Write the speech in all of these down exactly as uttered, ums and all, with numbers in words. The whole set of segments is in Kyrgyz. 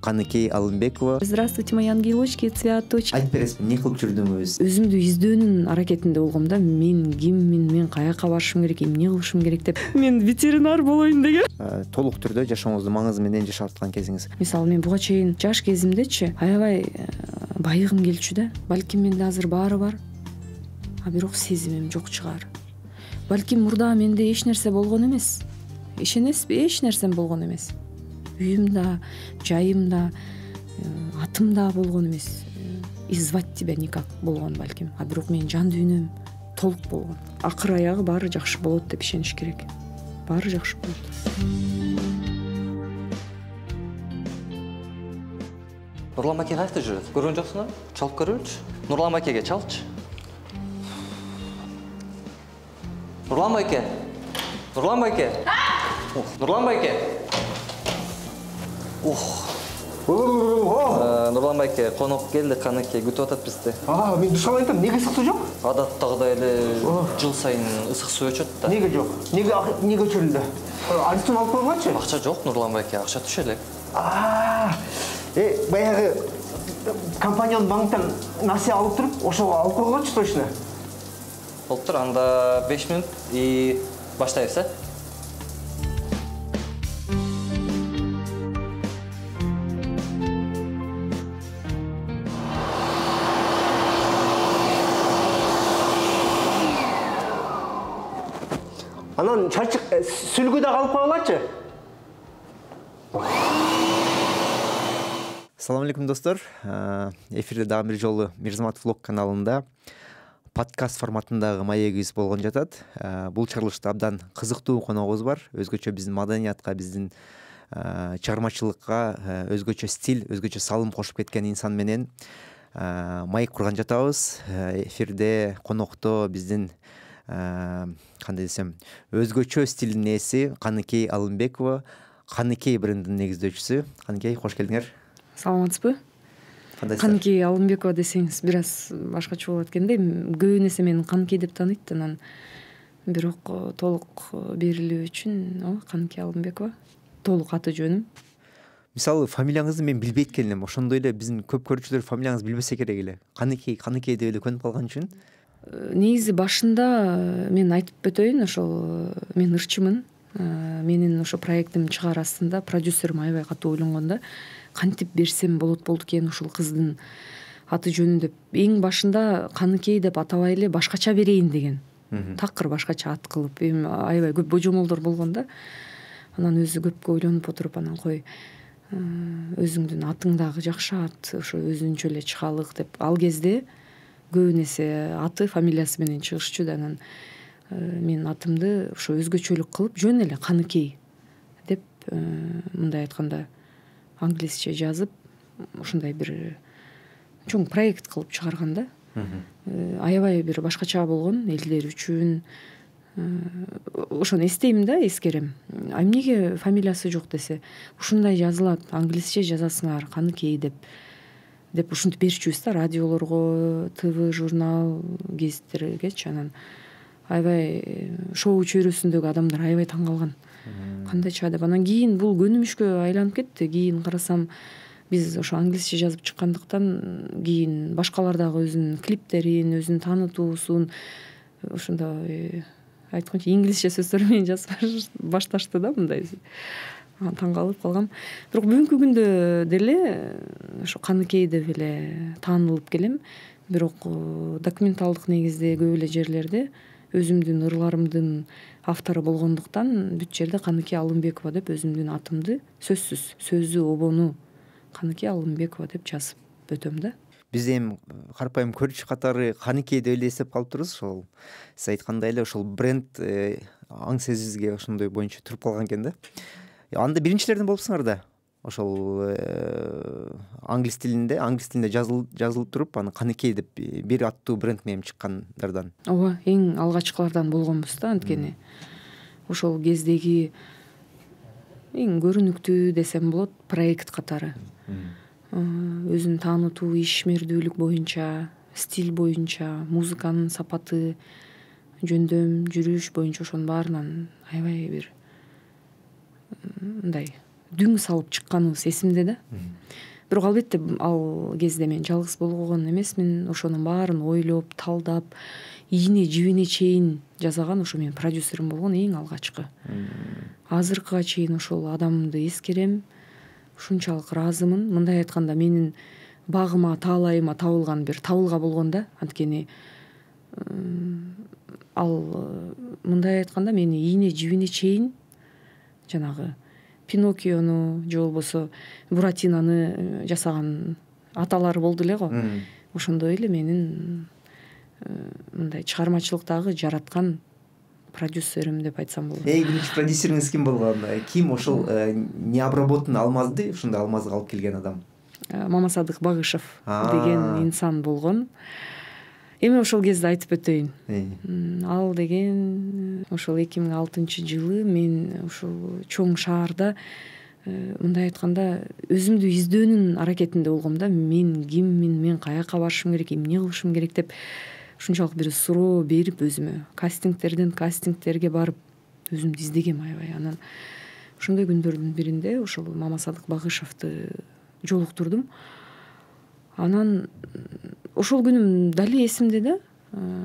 Каныкей Алымбекова. Здравствуйте, мои ангелочки, цветочки. Айтып бересиз, эмне кылып жүрдүңүз? Өзүмдү издөөнүн аракетинде болгом да. Мен киммин, мен каяка барышым керек, эмне кылышым керек деп. Мен ветеринар болоюн деген. Толук түрдө жашооңуздун маңызы менен жашап аткан кезиңиз. Мисалы, мен буга чейин жаш кезимдечи аябай байыгым келчү да. Балким менде азыр баары бар, а бирок сезимим жок чыгар. Балким мурда менде эч нерсе болгон эмес. Ишенесизби? Эч нерсем болгон эмес. Үйүм да, жайым да, атым да болгон эмес. И звать тебя никак болгон балким. А бирок менин жан дүйнөм толук болгон. Акыр аягы баары жакшы болот деп ишениш керек. Баары жакшы болот. Нурлан аке каякта жүрөт? Көргөн жоксуңар? Чалып көрөлүчү. Нурлан акеге чалчы. Нурлан байке. Нурлан байке. Нурлан байке. Ух. Нурлан байке, конок келди, Каныкей күтүп атат бизди. А, мен душ алайын, неге ысык суу жок? Адаттагыдай эле жыл сайын ысык суу өчөт да. Неге жок? Неге неге өчөрүлдү? Арзан алып койгончу? Акча жок, Нурлан байке, акча түшө элек. А, э, баягы компанияның банктан насия алып туруп, ошого алып койгончу точно. Болуп тур, анда беш мүнөт и баштайбыз, э? Анан чачык сүлгү да алып койгулачы. Assalamu алейкум достор. Эфирде дагы бир жолу Мирзамат влог каналында подкаст форматындагы маегибиз болгон жатат. Бул чыгарылышта абдан кызыктуу коногубуз бар. Өзгөчө биздин маданиятка, биздин чыгармачылыкка өзгөчө стиль, өзгөчө салым кошуп кеткен инсан менен маек курган жатабыз. Эфирде конокто биздин кандай десем, өзгөчө стилдин ээси Каныкей Алымбекова, Каныкей брендинин негиздөөчүсү. Каныкей, кош келдиңер. Саламатсызбы? Каныкей Алымбекова десеңиз бир аз башкача болот экенде. Көбүн эсе мени Каныкей деп тааныйт, анан бирок толук берилүү үчүн о Каныкей Алымбекова толук аты жөнүм. Мисалы, фамилияңызды мен билбейт келем. Ошондой эле биздин көп көрүүчүлөр фамилияңызды билбесе керек эле. Каныкей, Каныкей деп эле көнүп калган үчүн. Негизи башында мен айтып өтөйүн, ошол мен ырчымын. Менин ошо проектим чыгаар астында продюсерим аябай катуу ойлонгон да. Кантип берсем болот болду экен ушул кыздын аты жөнүн деп. Эң башында Каныкей деп атабай эле башкача берейин деген. Такыр башкача ат кылып, эми аябай көп божомолдор болгон да. Анан өзү көпкө ойлонуп отуруп, анан кой өзүңдүн атың дагы жакшы ат, ошо өзүнчө эле чыгалык деп. Ал кезде көбүн эсе аты, фамилиясы менен чыгышчу да. Анан мен атымды ошо өзгөчөлүк кылып, жөн эле Каныкей деп, мындай айтканда англисче жазып, ушундай бир чоң проект кылып чыгарган да. Аябай бир башкача болгон элдер үчүн. Ошону эстейм да, эскерем. А эмнеге фамилиясы жок десе, ушундай жазылат, англисче жазасыңар, Каныкей деп. деп ушинтип берчүбүз да радиолорго, ТВ, журнал, гезиттергечи. Анан аябай шоу чөйрөсүндөгү адамдар аябай таң калган. Кандайча деп. Анан кийин бул көнүмүшкө айланып кетти. Кийин карасам, биз ошо англисче жазып чыккандыктан кийин башкалар дагы өзүнүн клиптерин, өзүнүн таанытуусун ошондой айтканча инглисче сөздөр менен жазып башташты да, мындай. Таң калып калгам. Бирок бүгүнкү күндө деле ошо Каныкей деп эле таанылып келем. Бирок документалдык негизде көп эле жерлерде өзүмдүн ырларымдын автору болгондуктан бүт жерде Каныкей Алымбекова деп өзүмдүн атымды сөзсүз, сөзү обону Каныкей Алымбекова деп жазып өтөм да. Биз эми карапайым көрүүчү катары Каныкей деп эле эстеп калыптырбыз. Ошол сиз айткандай эле ошол бренд аң сезибизге ошондой боюнча туруп калган экен да. Анда биринчилерден болупсуңар да. Ошол англис тилинде, англис тилинде жазылып туруп, аны Каныкей деп бир аттуу бренд менен чыккандардан. Ооба, эң алгачкылардан болгонбуз да, анткени ошол кездеги эң көрүнүктүү десем болот проект катары. Өзүн таанытуу, ишмердүүлүк боюнча, стиль боюнча, музыканын сапаты, жөндөм, жүрүш боюнча ошонун баарынан аябай бир мындай дүң салып чыкканыбыз эсимде да. Бирок албетте ал кезде мен жалгыз болгон эмесмин. Ошонун баарын ойлоп, талдап, ийне жибине чейин жасаган ошо менин продюсерим болгон эң алгачкы. Азыркыга чейин ошол адамды эскерем. Ушунчалык ыраазымын. Мындай айтканда менин багыма, таалайыма табылган бир табылга болгон да. Анткени ал мындай айтканда мени ийне жибине чейин жанагы Пиноккиону же болбосо Буратинаны жасаган аталар болду эле го. Ошондой эле менин мындай чыгармачылыктагы жараткан продюсерим деп айтсам болот. Эй, биринчи продюсериңиз ким болгон? Ким ошол необработанный алмазды ушундай алмазга алып келген адам? Мамасадык Багышев деген инсан болгон. Эми ошол кезде айтып өтөйүн. Ал деген ошол эки миң алтынчы жылы мен ушул чоң шаарда мындай айтканда өзүмдү издөөнүн аракетинде болгом да. Мен киммин, мен каяка барышым керек, эмне кылышым керек деп ушунчалык бир суроо берип өзүмө кастингтерден кастингтерге барып өзүмдү издегем аябай. Анан ошондой күндөрдүн биринде ошол Мамасадык Багышевди жолуктурдум. Анан ошол күнүм дали эсимде да.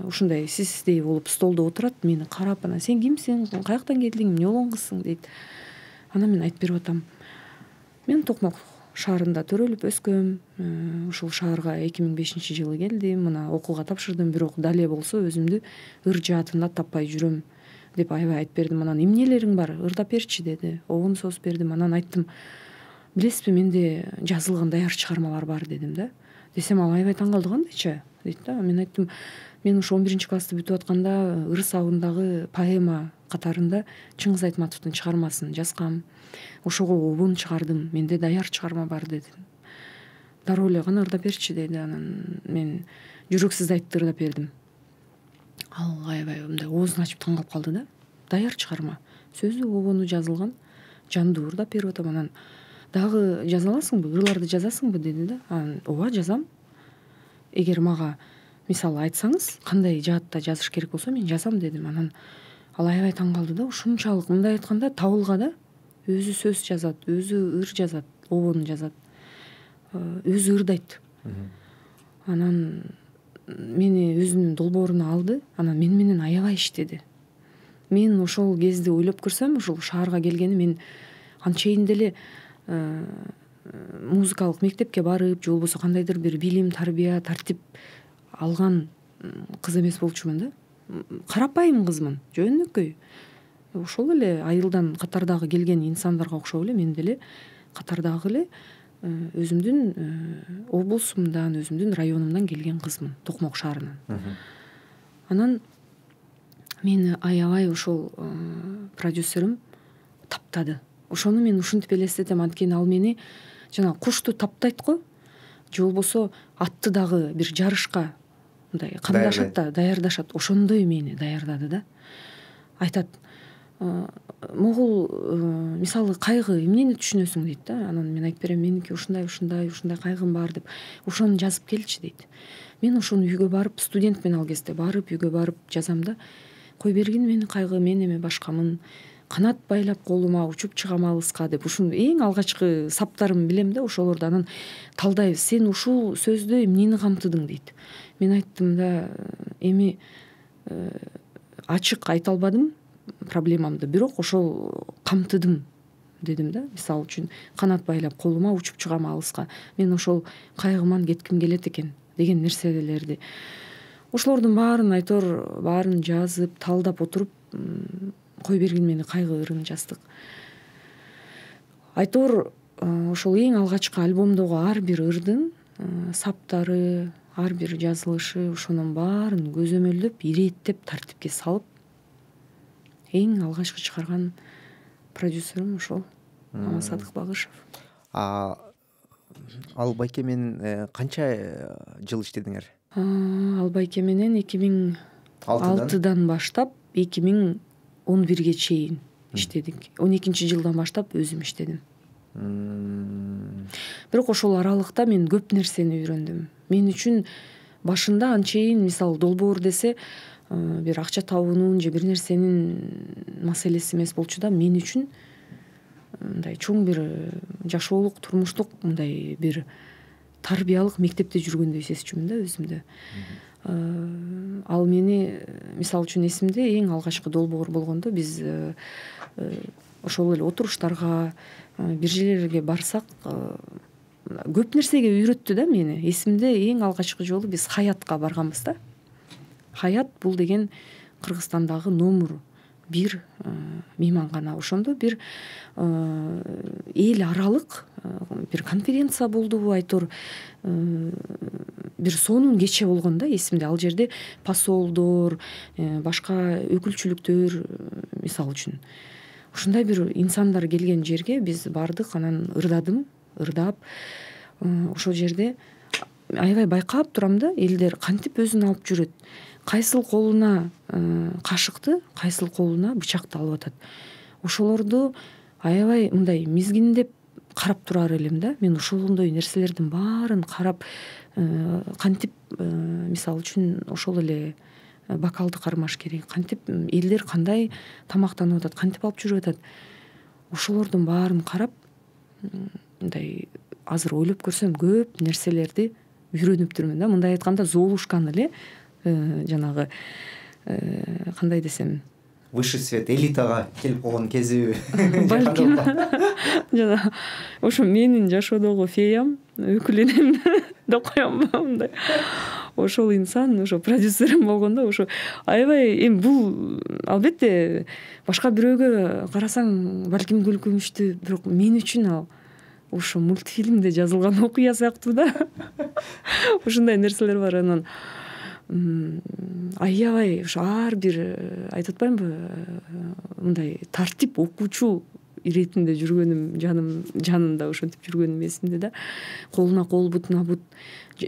Ушундай сиздей болуп столдо отурат, мени карап, анан сен кимсиң, каяктан келдиң, эмне болгон кызсың дейт. Анан мен айтып берип атам. Мен Токмок шаарында төрөлүп өскөм. Ушул шаарга эки миң бешинчи жылы келдим. Мына окууга тапшырдым, бирок дале болсо өзүмдү ыр жаатында таппай жүрөм деп аябай айтып бердим. Анан эмнелериң бар, ырдап берчи деди. Обон созуп бердим. Анан айттым, билесизби, менде жазылган даяр чыгармалар бар дедим да. Десем ал аябай таң калды, кандайча дейт да. Мен айттым, мен ушу он биринчи классты бүтүп атканда Ыр сабындагы поэма катарында Чыңгыз Айтматовдун чыгармасын жазгам. Ошого обон чыгардым. Менде даяр чыгарма бар дедим. Дароо эле гана ырдап берчи деди. Анан мен жүрөксүз айтты ырдап бердим. Ал аябай мындай оозун ачып таң калып калды да. Даяр чыгарма. Сөзү обону жазылган. Жандуу ырдап берип атам. Анан дагы жаза аласыңбы, ырларды жазасыңбы деди да. Анан ооба жазам. Эгер мага мисалы айтсаңыз, кандай жаатта жазыш керек болсо мен жазам дедим. Анан ал аябай таң калды да. Ушунчалык мындай айтканда табылга да. Өзү сөз жазат, өзү ыр жазат, обон жазат. Өзү ырдайт. Анан мени өзүнүн долбооруна алды. Анан мен менен аябай иштеди. Мен ошол кезде ойлоп көрсөм, ушул шаарга келгени мен анчейин деле музыкалык мектепке барып, же болбосо кандайдыр бир билим, тарбия, тартип алган кыз эмес болчумун да. Карапайым кызмын, жөнөкөй. Ошол эле айылдан катардагы келген инсандарга окшоп эле мен деле катардагы эле өзүмдүн облусумдан, өзүмдүн районумдан келген кызмын, Токмок шаарынан. Анан мени аябай ошол продюсерим таптады. Ошону мен ушинтип элестетем, анткени ал мени жана кушту таптайт го, же болбосо атты дагы бир жарышка мындай камдашат да, даярдашат. Ошондой мени даярдады да. Айтат, могул мисалы кайгы эмнени түшүнөсүң дейт да. Анан мен айтып берем, меники ушундай ушундай ушундай кайгым бар деп. Ошону жазып келчи дейт. Мен ошону үйгө барып, студентмен ал кезде барып, үйгө барып жазам да. Кой бергин менин кайгы, мен эми башкамын. Канат байлап колума, учуп чыгам алыска деп ушун эң алгачкы саптарым билем да, ошолорду. Анан талдайбыз, сен ушул сөздө эмнени камтыдың дейт. Мен айттым да, эми ачык айта албадым проблемамды, бирок ошол камтыдым дедим да. Мисалы үчүн канат байлап колума, учуп чыгам алыска. Мен ошол кайгыман кетким келет экен деген нерселерди. Ошолордун баарын айтор, баарын жазып, талдап отуруп, кой бергин мени кайгы ырын жаздык. Айтор ошол эң алгачкы альбомдогу ар бир ырдын саптары, ар бир жазылышы, ошонун баарын көзөмөлдөп, иреттеп, тартипке салып эң алгачкы чыгарган продюсерим ошол Мамасадык Багышев. А ал байке менен канча жыл иштедиңер? Ал байке менен эки миң алтыдан баштап эки миң он бирге чейин иштедик. он экинчи жылдан баштап өзүм иштедим. Бирок ошол аралыкта мен көп нерсени үйрөндүм. Мен үчүн башында анчейин, мисалы, долбоор десе бир акча табуунун же бир нерсенин маселеси эмес болчу да, мен үчүн мындай чоң бир жашоолук турмуштук мындай бир тарбиялык мектепте жүргөндөй сезчүмүн да өзүмдү. Ал мени мисалы үчүн эсимде эң алгачкы долбоор болгондо биз ошол эле отуруштарга бир жерлерге барсак көп нерсеге үйрөттү да мени. Эсимде эң алгачкы жолу биз Хаятка барганбыз да. Хаят бул деген Кыргызстандагы номер бир мейманкана. Ошондо бир эл аралык бир конференция болдубу айтор бир сонун кече болгон да эсимде. Ал жерде посолдор, башка өкүлчүлүктөр мисалы үчүн ушундай бир инсандар келген жерге биз бардык. Анан ырдадым, ырдап ошол жерде аябай байкап турам да, элдер кантип өзүн алып жүрөт. Кайсыл колуна кашыкты, кайсыл колуна бычакты алып атат. Ошолорду аябай мындай мизгиндеп карап турар элем да. Мен ошондой нерселердин баарын карап кантип мисалы үчүн ошол эле бокалды кармаш керек, кантип элдер кандай тамактанып атат, кантип алып жүрүп атат. Ошолордун баарын карап мындай азыр ойлоп көрсөм көп нерселерди үйрөнүптүрмүн да. Мындай айтканда Золушканы эле жанагы кандай десем высший свет, элитага келип калган кези балким жана ошо менин жашоодогу феям, өкүл энем деп коем мындай. Ошол инсан ошо продюсерим болгондо ошо аябай эми бул албетте башка бирөөгө карасаң балким күлкүнүчтүү, бирок мен үчүн ал ошо мультфильмде жазылган окуя сыяктуу да. Ушундай нерселер бар. Анан аябай ошо ар бир айтып атпаймынбы мындай тартип окуучу иретинде жүргөнүм, жаным жанында ошентип жүргөнүм эсимде да. Колуна кол, бутуна бут.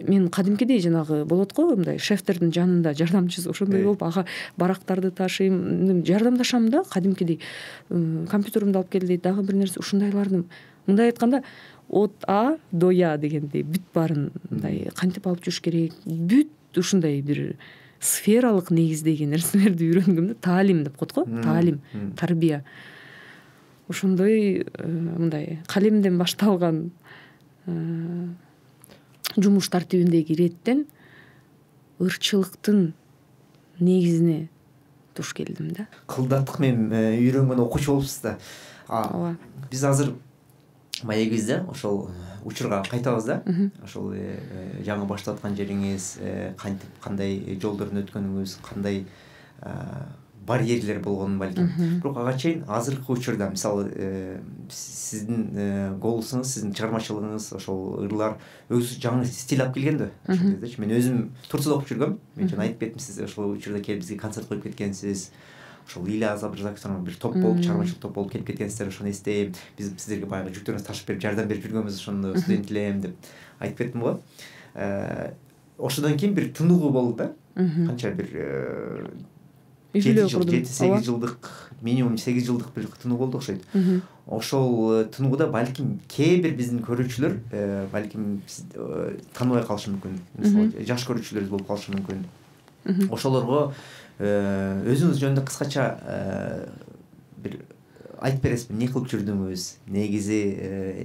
Мен кадимкидей жанагы болот го мындай шефтердин жанында жардамчысы ошондой болуп ага барактарды ташыйм, жардамдашам да кадимкидей. Компьютеримди алып кел дейт, дагы бир нерсе ушундайлардын. Мындай айтканда от А до Я дегендей бүт баарын мындай кантип алып жүрүш керек, бүт ушундай бир сфералык негиздеги нерселерди үйрөнгөм да. Таалим деп коет го, таалим, тарбия. Ошондой мындай калемден башталган жумуш тартибиндеги иреттен ырчылыктын негизине туш келдим да. Кылдаттык менен үйрөнгөн окуучу болупсуз да. Ооба. Биз азыр маегибизде ошол учурга кайтабыз да. Ошол жаңы баштап аткан жериңиз, кантип кандай жолдордон өткөнүңүз, кандай барьерлер болгонун балким. Бирок ага чейин азыркы учурда мисалы сиздин голосуңуз, сиздин чыгармачылыгыңыз, ошол ырлар өзү жаңы стиль алып келген да. Ошондойчу. Мен өзүм Турцияда окуп жүргөм. Мен жана айтып кеттим, сиз ошол учурда келип бизге концерт коюп кеткенсиз. Ошол Илья Забрзаковдун бир топ болуп, чыгармачылык топ болуп келип кеткенсиздер, ошону эстейм. Биз сиздерге баягы жүктөрүңүздү ташып берип, жардам берип жүргөнбүз, ошондо студент элем деп айтып кеттим го. Ошондон кийин бир тыныгуу болду да. Канча бир жети сегиз жылдык, минимум сегиз жылдык бир тынуу болду окшойт. Ошол тынууда балким кээ бир биздин көрүүчүлөр балким тааныбай калышы мүмкүн. Мисалы, жаш көрүүчүлөрүбүз болуп калышы мүмкүн. Ошолорго өзүңүз жөнүндө кыскача бир айтып бересизби, эмне кылып жүрдүңүз, негизи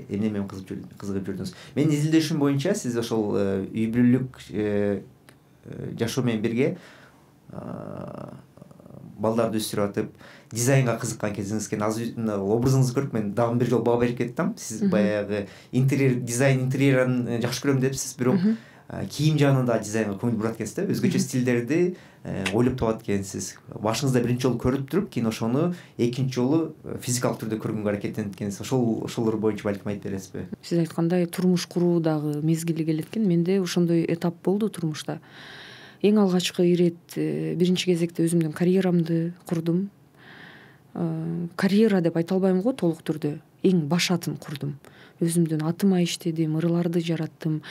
эмне менен кызыгып жүрдүңүз? Менин изилдөшүм боюнча сиз ошол үй бүлөлүк жашоо менен бирге балдарды өстүрүп атып, дизайнга кызыккан кезиңиз экен. Азыр образыңызды көрүп мен дагы бир жолу баа берип кеттим. Сиз баягы интерьер, дизайн интерьерин жакшы көрөм депсиз, бирок кийим жагында дизайнга көңүл бурат экенсиз да. Өзгөчө стилдерди ойлоп табат экенсиз. Башыңызда биринчи жолу көрүп туруп, кийин ошону экинчи жолу физикалык түрдө көргөнгө аракеттенип экенсиз. Ошол ошолор боюнча балким айтып бересизби? Сиз айткандай турмуш куруу дагы мезгили келет экен. Менде ошондой этап болду турмушта. Эң алгачкы ирет биринчи кезекте өзүмдүн карьерамды курдум. Карьера деп айта албайм го толук түрдө. Эң баш атын курдум. Өзүмдүн атыма иштедим, ырларды жараттым.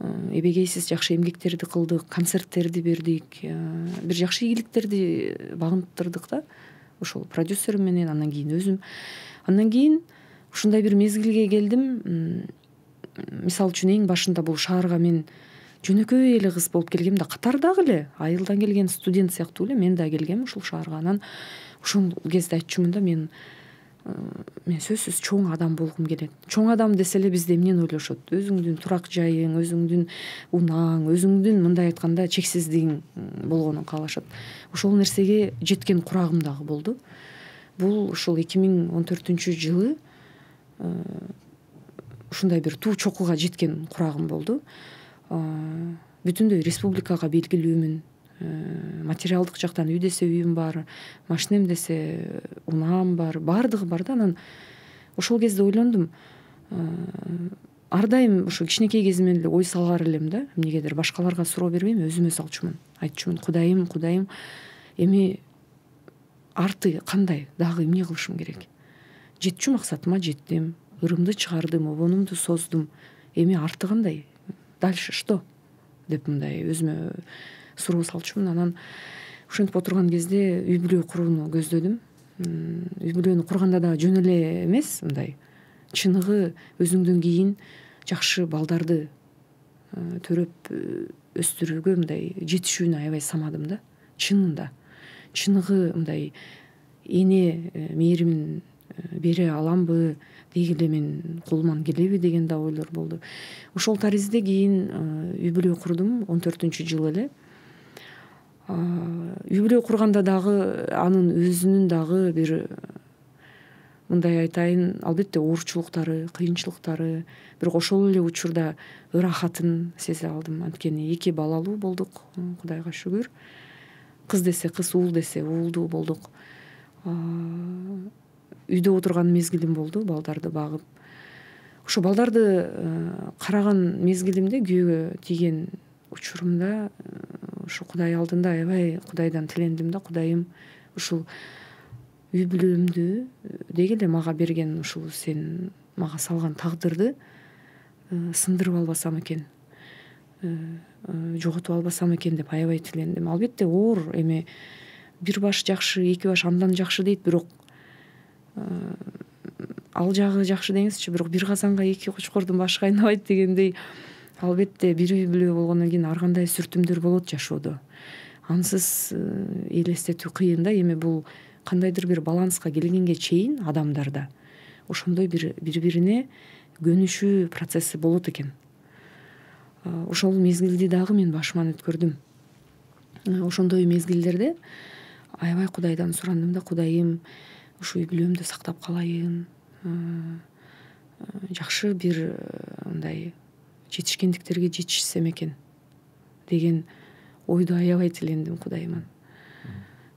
Эбегейсиз жакшы эмгектерди кылдык, концерттерди бердик, бир жакшы ийгиликтерди багынтырдык да. Ошол продюсерим менен, андан кийин өзүм. Андан кийин ушундай бир мезгилге келдим. Мисалы үчүн эң башында бул шаарга мен жөнөкөй эле кыз болуп келгем да, катардагы эле айылдан келген студент сыяктуу эле мен да келгем ушул шаарга. Анан ошол кезде айтчумун да, мен мен сөзсүз чоң адам болгум келет. Чоң адам десе эле бизде эмнени ойлошот? Өзүңдүн турак жайың, өзүңдүн унаң, өзүңдүн мындай айтканда чексиздигиң болгонун каалашат. Ошол нерсеге жеткен курагым дагы болду. Бул ушул эки миң он төртүнчү жылы ушундай бир туу чокуга жеткен курагым болду. Бүтүндөй республикага белгилүүмүн. Материалдык жактан үй десе үйүм бар, машинем десе унаам бар, баардыгы бар да. Анан ошол кезде ойлондум, ар дайым ушу кичинекей кезимден эле ой салгар элем да, эмнегедир башкаларга суроо бербейм, өзүмө салчумун. Айтчумун, Кудайым, Кудайым, эми арты кандай, дагы эмне кылышым керек? Жетчү максатыма жеттим, ырымды чыгардым, обонумду создум. Эми арты кандай? Дальше что? Деп мындай өзүмө суроо салчумун. Анан ушинтип отурган кезде үй бүлө курууну көздөдүм. Үй бүлөнү курганда да жөн эле эмес, мындай чыныгы өзүңдөн кийин жакшы балдарды төрөп өстүрүүгө мындай жетишүүнү аябай самадым да. Чынында чыныгы мындай эне мээримин бере аламбы, деги эле мен колуман келеби деген да ойлор болду. Ошол таризде кийин үй бүлө курдум он төртүнчү жылы эле. Үй бүлө курганда дагы анын өзүнүн дагы бир мындай айтайын, албетте оорчулуктары, кыйынчылыктары, бирок ошол эле учурда ырахатын сезе алдым. Анткени эки балалуу болдук, Кудайга шүгүр. Кыз десе кыз, уул десе уулдуу болдук. Үйдө отурган мезгилим болду, балдарды багып. Ошо балдарды караган мезгилимде, күйөөгө тийген учурумда ушу Кудай алдында аябай Кудайдан тилендим да, Кудайым, ушул үй бүлөмдү деги эле мага берген ушул сен мага салган тагдырды сындырып албасам экен, жоготуп албасам экен деп аябай тилендим. Албетте оор эми бир баш жакшы, эки баш андан жакшы дейт, бирок ал жагы жакшы деңизчи, бирок бир казанга эки кочкордун башы кайнабайт дегендей, албетте бир үй бүлө болгондон кийин ар кандай сүртүмдөр болот жашоодо. Ансыз элестетүү кыйын да. Эми бул кандайдыр бир баланска келгенге чейин адамдарда ошондой бир бири-бирине көнүшүү процесси болот экен. Ошол мезгилди дагы мен башыман өткөрдүм. Ошондой мезгилдерде аябай Кудайдан сурандым да, Кудайым, ушу үй бүлөмдү сактап калайын, жакшы бир мындай жетишкендиктерге жетишсем экен деген ойду аябай тилендим Кудайыман.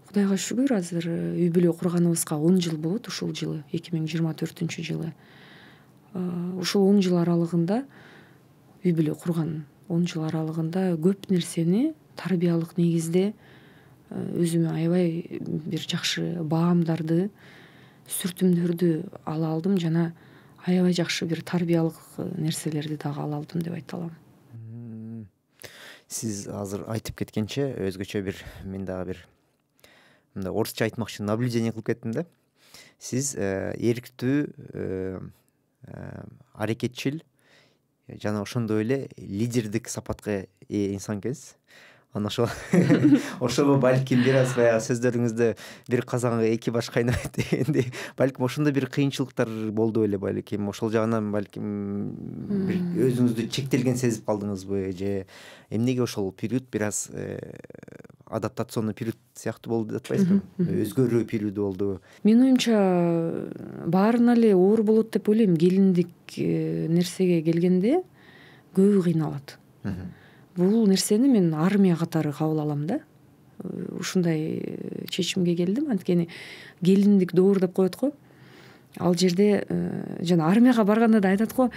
Кудайга шүгүр, азыр үй бүлө курганыбызга он жыл болот. Ушул жылы эки миң жыйырма төртүнчү жылы. Ушул он жыл аралыгында, үй бүлө курган он жыл аралыгында көп нерсени тарбиялык негизде өзүмө аябай бир жакшы баамдарды, сүртүмдөрдү ала алдым жана аябай жакшы бир тарбиялык нерселерди дагы ала алдым деп айта алам. Сиз азыр айтып кеткенче өзгөчө бир мен дагы бир мындай орусча айтмакчы наблюдение кылып кеттим да. Сиз эрктүү, аракетчил жана ошондой эле лидердик сапатка ээ инсан экенсиз. Анан ошол ошого балким бир аз баягы сөздөрүңүздө бир казанга эки баш кайнайт дегендей, балким ошондой бир кыйынчылыктар болду беле, балким ошол жагынан балким бир өзүңүздү чектелген сезип калдыңызбы, же эмнеге ошол период бир аз адаптационный период сыяктуу болду деп атпайсызбы? Өзгөрүү периоду болду. Менин оюмча баарына эле оор болот деп ойлойм. Келиндик нерсеге келгенде көбү кыйналат. Бул нерсени мен армия катары кабыл алам да. Ушундай чечимге келдим. Анткени келиндик доор деп коет го. Ал жерде жана армияга барганда да айтат го,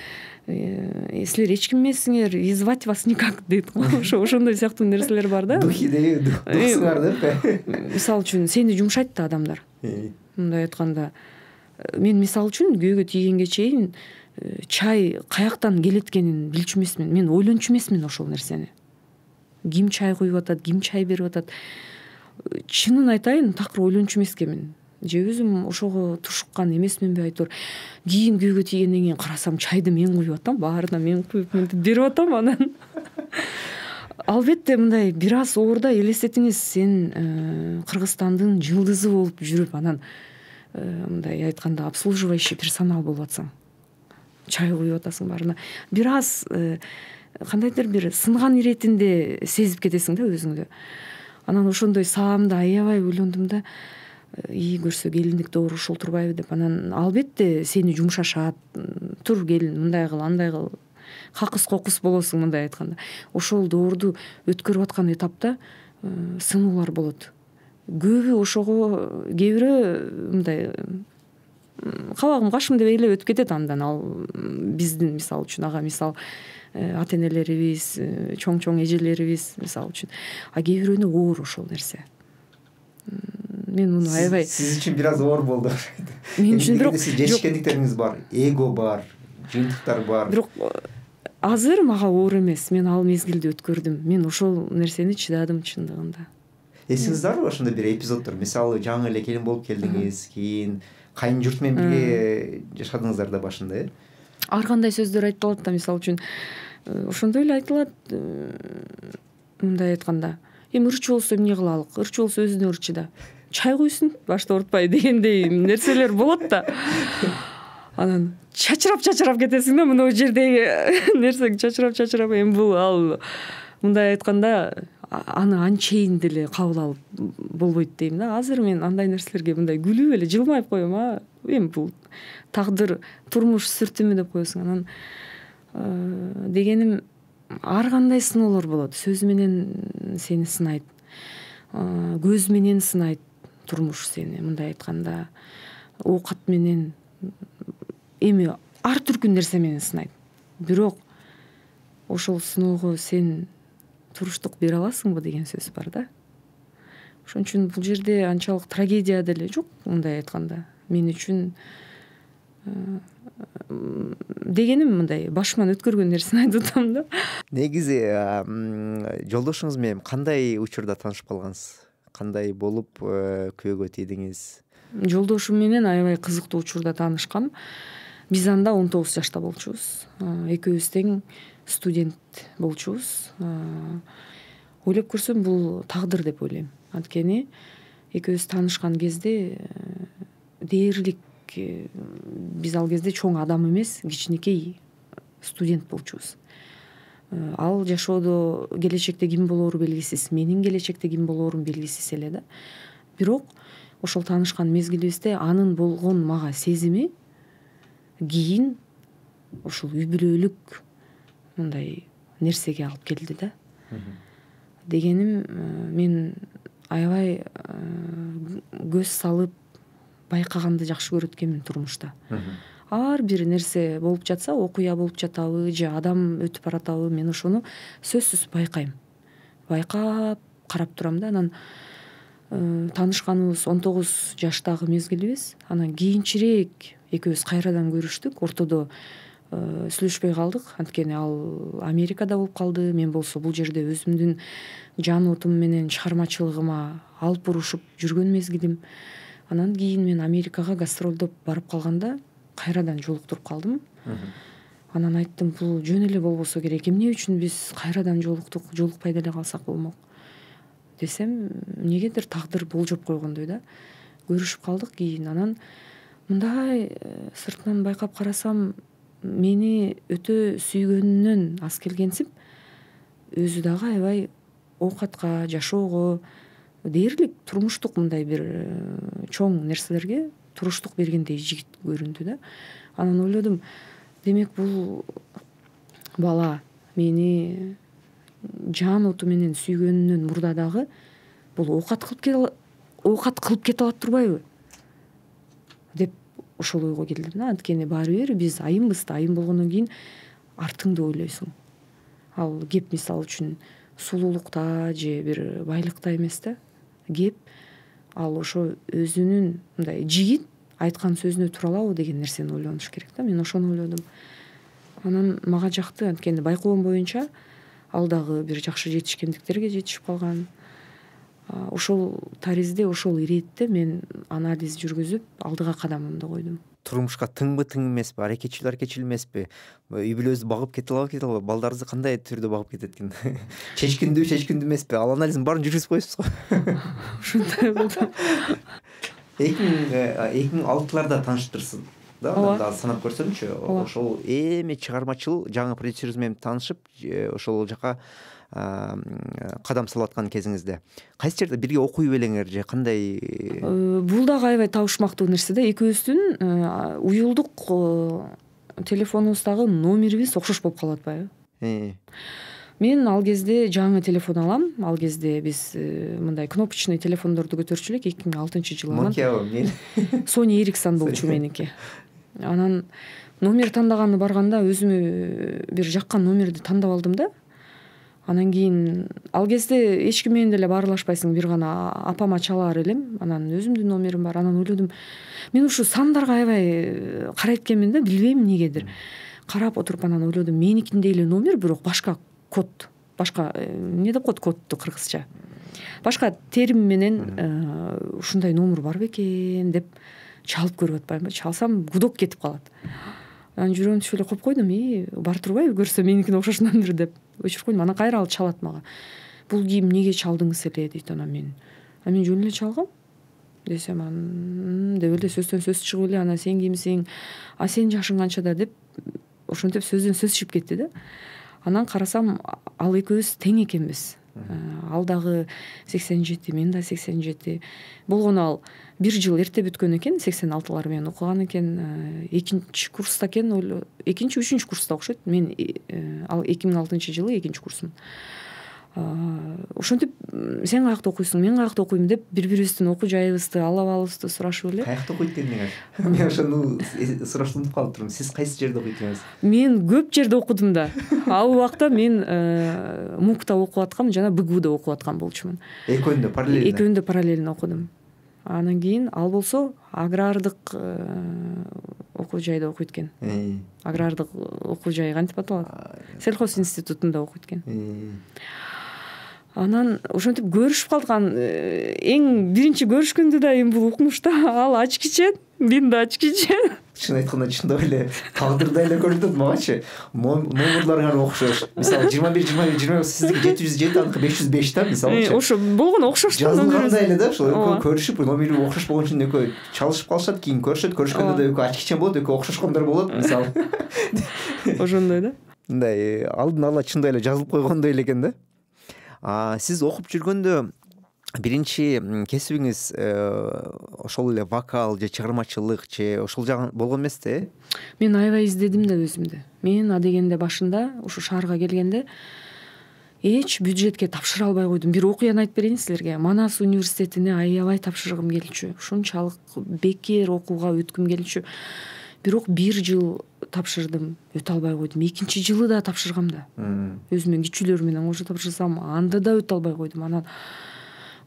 силер эч ким эмессиңер, и звать вас никак дейт го. Ошо ошондой сыяктуу нерселер бар да. Духи дейби, духсуңар деп. Мисалы үчүн сени жумшайт да адамдар. Мындай айтканда, мен мисалы үчүн күйөөгө тийгенге чейин чай каяктан келеткенин билчү эмесмин. Мен ойлончу эмесмин ошол нерсени. Ким чай куюп атат, ким чай берип атат. Чынын айтайын, такыр ойлончу эмескенмин. Же өзүм ошого тушуккан эмесминби айтор. Кийин күйөөгө тийгенден кийин карасам, чайды мен куюп атам, баарына мен куюп мынтип берип атам. Анан албетте мындай бир аз оорда элестетиңиз, сен Кыргызстандын жылдызы болуп жүрүп, анан мындай айтканда обслуживающий персонал болуп атсаң, чай куюп атасың баарына, бир аз кандайдыр бир сынган иретинде сезип кетесиң да өзүңдү. Анан ошондой саамды аябай ойлондум да, ии көрсө келиндик доор ушул турбайбы деп. Анан албетте сени жумшашат, тур келин мындай кыл, андай кыл, какыс кокус болосуң мындай айтканда. Ошол доорду өткөрүп аткан этапта сынуулар болот. Көбү ошого кээ бирөө мындай кабагым кашым деп эле өтүп кетет. Андан ал биздин мисалы үчүн ага мисал ата энелерибиз, чоң-чоң эжелерибиз мисалы үчүн. А кээ бирөөнө оор ошол нерсе. Мен муну аябай сиз үчүн бир аз оор болду. Мен үчүн бирок жетишкендиктериңиз бар, эго бар, жыйынтыктар бар. Бирок азыр мага оор эмес. Мен ал мезгилди өткөрдүм. Мен ошол нерсени чыдадым чындыгында. Эсиңизде барбы ошондой бир эпизоддор? Мисалы, жаңы эле келин болуп келдиңиз, кийин кайын журт менен бирге жашадыңыздар да башында, э? Ар кандай сөздөр айтылат да, мисалы үчүн ошондой эле айтылат. Мындай айтканда, эми ырчы болсо эмне кылалык? Ырчы болсо өзүнө ырчы да. Чай куйсун, башта урутпай дегендей нерселер болот да. Анан чачырап-чачырап кетесиң да, мына жердеги нерсең чачырап-чачырап, эми бул ал мындай айтканда аны анчейин деле кабыл алып болбойт дейм да. Азыр мен андай нерселерге мындай күлүп эле жылмайып коем. А эми бул тагдыр, турмуш сүртүмү деп коесуң. Анан дегеним, ар кандай сыноолор болот. Сөз менен сени сынайт, көз менен сынайт турмуш сени, мындай айтканда оокат менен, эми ар түркүн нерсе менен сынайт. Бирок ошол сыноого сен туруштук бере аласыңбы деген сөз бар да. Ошон үчүн бул жерде анчалык трагедия деле жок, мындай айтканда. Мен үчүн дегеним мындай башыман өткөргөн нерсени айтып атам да. Негизи жолдошуңуз менен кандай учурда таанышып калгансыз? Кандай болуп күйөөгө тийдиңиз? Жолдошум менен аябай кызыктуу учурда таанышкам. Биз анда он тогуз жашта болчубуз. Экөөбүз тең студент болчубуз. Ойлоп көрсөм, бул тагдыр деп ойлойм. Анткени экөөбүз таанышкан кезде дээрлик биз ал кезде чоң адам эмес, кичинекей студент болчубуз. Ал жашоодо келечекте ким болоору белгисиз, менин келечекте ким болоорум белгисиз эле да. Бирок ошол таанышкан мезгилибизде анын болгон мага сезими кийин ушул үй бүлөлүк мындай нерсеге алып келди да. Дегеним, мен аябай көз салып байкаганды жакшы көрөт экенмин турмушта. Ар бир нерсе болуп жатса, окуя болуп жатабы же адам өтүп баратабы, мен ошону сөзсүз байкайм. Байкап карап турам да. Анан таанышканыбыз он тогуз жаштагы мезгилибиз. Анан кийинчерээк экөөбүз кайрадан көрүштүк. Ортодо сүйлөшпөй калдык, анткени ал Америкада болуп калды. Мен болсо бул жерде өзүмдүн жан отум менен чыгармачылыгыма алып урушуп жүргөн мезгилим. Анан кийин мен Америкага гастролдоп барып калганда кайрадан жолуктуруп калдым. Анан айттым, бул жөн эле болбосо керек. Эмне үчүн биз кайрадан жолуктук, жолукпай деле калсак болмок десем, эмнегедир тагдыр болжоп койгондой да. Көрүшүп калдык кийин. Анан мындай сыртынан байкап карасам, мени өтө сүйгөнүнөн аз келгенсип, өзү дагы аябай оокатка, жашоого, дээрлик турмуштук мындай бир чоң нерселерге туруштук бергендей жигит көрүндү да. Анан ойлодум, демек бул бала мени жан оту менен сүйгөнүнөн мурда дагы бул оокат кылып кете оокат кылып кете алат турбайбы деп ошол ойго келдим да. Анткени баары бир биз айымбыз да, айым болгондон кийин артыңды ойлойсуң. Ал кеп мисалы үчүн сулуулукта же бир байлыкта эмес да. Кеп ал ошо өзүнүн мындай жигит айткан сөзүнө тура алабы деген нерсени ойлонуш керек да. Мен ошону ойлодум. Анан мага жакты, анткени байкоом боюнча ал дагы бир жакшы жетишкендиктерге жетишип калган. Ошол таризде, ошол иретте мен анализ жүргүзүп, алдыга кадамымды койдум. Турмушка тыңбы тың эмеспи, аракетчил аракетчил эмеспи? Үй бүлөбүздү багып кете алабы, кете албайбы? Балдарыңызды кандай түрдө багып кетет экен? Чечкиндүү, чечкиндүү эмеспи? Ал анализдин баарын жүргүзүп коесуз го. Ушундай болду. эки миң алтыларда тааныштырсыз да, анда санап көрсөмчү, ошол эми чыгармачыл жаңы продюсерибиз менен таанышып, ошол жака кадам салып аткан кезиңизде кайсы жерде бирге окуй белеңер же кандай? Бул дагы аябай табышмактуу нерсе да. Экөөбүздүн уюлдук телефонубуздагы номерибиз окшош болуп калып атпайбы? Мен ал кезде жаңы телефон алам. Ал кезде биз мындай кнопочный телефондорду көтөрчү элек. эки миң алтынчы жылы алган. Sony Ericsson болчу меники. Анан номер тандаганы барганда өзүмө бир жаккан номерди тандап алдым да. Анан кийин ал кезде эч ким менен деле баарлашпайсың, бир гана апама чалаар элем. Анан өзүмдүн номерим бар. Анан ойлодум, мен ушу сандарга аябай карайт экенмин да, билбейм эмнегедир. Карап отуруп анан ойлодум, меникиндей эле номер, бирок башка код, башка эмне деп коет кодду кыргызча. Башка терим менен ушундай номер бар бекен деп чалып көрүп атпаймынбы? Чалсам гудок кетип калат. Анан жүрөгүм түшүп эле коюп койдум, и бар турбайбы көрсө меникине окшош номер деп өчүрүп койдум. Анан кайра ал чалат мага. Бул кийим эмнеге чалдыңыз эле дейт. Анан мен а мен жөн эле чалгам десем, анан деп эле сөздөн сөз чыгып эле, анан сен кимсиң, а сен жашың канчада деп ошентип сөздөн сөз чыгып кетти да. Анан карасам ал экөөбүз тең экенбиз. Ал дагы сексен жети, мен да сексен жети. Болгону ал бир жыл эрте бүткөн экен, сексен алтылар менен окуган экен. Экинчи курста экен, экинчи, үчүнчү курста окшойт. Мен ал эки миң алтынчы жылы экинчи курсум. Ошентип сен каякта окуйсуң, мен каякта окуйм деп бири-бирибиздин окуу жайыбызды, алабыбызды сурашып эле. Каякта окуйт дедиңер? Мен ошону сурашып унутуп калыптырмын. Сиз кайсы жерде окуйт экенсиз? Мен көп жерде окудум да. Ал убакта мен МУКта окуп аткам, жана БГУда окуп аткан болчумун. Экөөндө параллельно? Экөөндө параллельно окудум. Анан кийин ал болсо агрардык окуу жайда окуйт экен. Агрардык окуу жай кантип аталат? Сельхоз институтунда окуйт экен. Анан ошентип көрүшүп калдык. Эң биринчи көрүшкөндө да эми бул укмушта ал ачкичен, мен да ачкичен. Чын айтканда чындап эле тагдырдай эле көрүнөт магачы. Номерларыңар окшош. Мисалы жыйырма бир жыйырма бир жыйырма сиздики жети жүз жети, аныкы беш жүз беш да, мисалы. Ошо болгону окшош. Жазылгандай эле да, ошол экөө көрүшүп, номери окшош болгон үчүн экөө чалышып калышат, кийин көрүшөт, көрүшкөндө да экөө ачкичен болот, экөө окшошкондор болот, мисалы. Ошондой да. Мындай алдын ала чындай эле жазылып койгондой эле экен да. А сиз окуп жүргөндө биринчи кесибиңиз ошол эле вокал же чыгармачылык же ошол жагы болгон эмес да? Мен аябай издедим да өзүмдү. Мен адегенде башында ушу шаарга келгенде эч бюджетке тапшыра албай койдум. Бир окуяны айтып берейин силерге. Манас университетине аябай тапшыргым келчү. Ушунчалык бекер окууга өткүм келчү. Бирок бир жыл тапшырдым, өтө албай койдум. Экинчи жылы да тапшыргам да. Өзүмдүн кичүүлөр менен кошо тапшырсам, анда да өтө албай койдум. Анан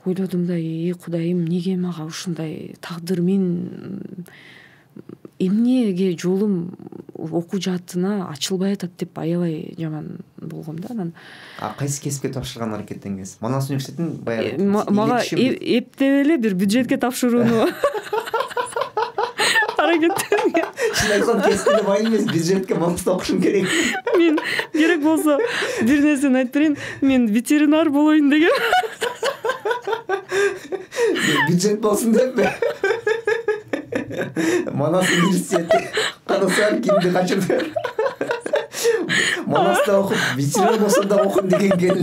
ойлодум да, эй Кудайым, неге мага ушундай тагдыр, мен эмнеге жолум окуу жаатына ачылбай атат деп аябай жаман болгом да. Анан а кайсы кесипке тапшырган аракеттеңиз? Манас университетин баягы мага эптеп эле бир бюджетке тапшырууну аракеттенген. Чын айтканда кесипте бай эмес, бюджетке Манаста окушум керек. Мен керек болсо бир нерсени айтып берейин, мен ветеринар болоюн деген. Бюджет болсун деппи? Манас университети канасаар кимди качырды? Манаста окуп, ветеринар болсо да окуйм деген кел.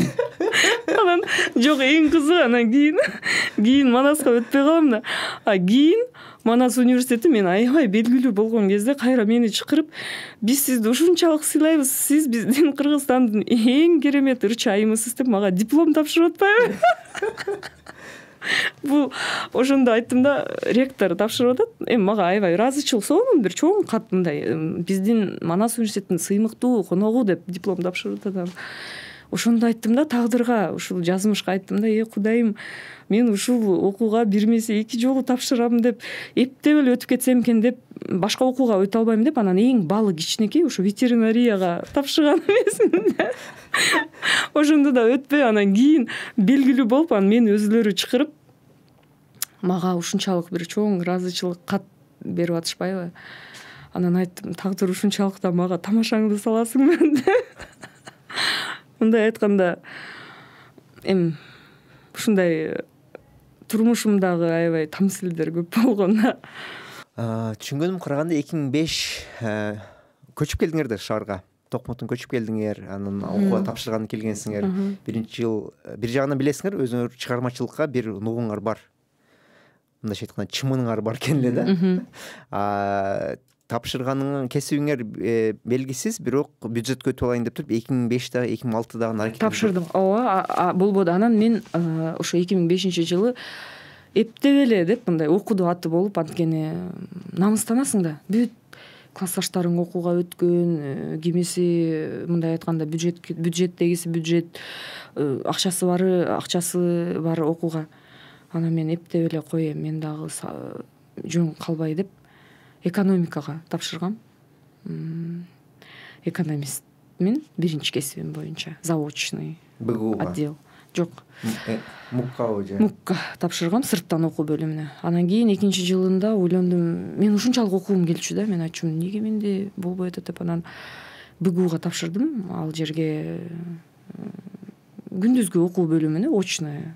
Анан жок, эң кызыгы анан кийин кийин Манаска өтпөй калам да. А кийин Манас университети мен аябай белгилүү болгон кезде кайра мени чакырып, биз сизди ушунчалык сыйлайбыз, сиз биздин Кыргызстандын эң керемет ырчы айымысыз деп мага диплом тапшырып атпайбы? Бул ошондо айттым да, ректор тапшырып атат. Эми мага аябай ыраазычылык сонун бир чоң кат мындай биздин Манас университетинин сыймыктуу коногу деп диплом тапшырып атат. Ошондо айттым да, тагдырга, ушул жазмышка айттым да, эй Кудайым, мен ушул окууга бир эмесе эки жолу тапшырам деп, эптеп эле өтүп кетсем экен деп, башка окууга өтө албайм деп, анан эң балы кичинекей ушу ветеринарияга тапшырган эмесмин да. Ошондо да өтпөй, анан кийин белгилүү болуп, анан мени өзүлөрү чакырып, мага ушунчалык бир чоң ыраазычылык кат берип атышпайбы? Анан айттым, тагдыр ушунчалык да мага тамашаңды саласыңбы деп. Мындай айтканда, эми ушундай турмушумдагы аябай тамсилдер көп болгон да. Түшүнгөнүм караганда эки миң беш көчүп келдиңер да шаарга. Токмоттон көчүп келдиңер, анан окууга тапшырганы келгенсиңер. Биринчи жыл бир жагынан билесиңер, өзүңөр чыгармачылыкка бир нугуңар бар. Мындайча айтканда чымыныңар бар экен эле да. Тапшырганыңыз кесибиңер белгисиз, бирок бюджетке өтүп алайын деп туруп эки миң бештеги эки миң алтыдагы аракет тапшырдым. Ооба, болбоду. Анан мен ошо эки миң бешинчи жылы эптеп эле деп мындай окуду аты болуп, анткени намыстанасың да. Бүт классташтарың окууга өткөн, кимиси мындай айтканда бюджет бюджеттегиси бюджет, акчасы бары акчасы бар окууга. Анан мен эптеп эле коем, мен дагы жөн калбай деп экономикага тапшыргам. Экономистмин биринчи кесибим боюнча, заочный отдел. Жок. Муккабы же? Мукка тапшыргам, сырттан окуу бөлүмүнө. Анан кийин экинчи жылында ойлондум, мен ушунчалык окугум келчү да, мен айтчумун, эмнеге менде болбой атат деп анан БГУга тапшырдым. Ал жерге күндүзгү окуу бөлүмүнө, очное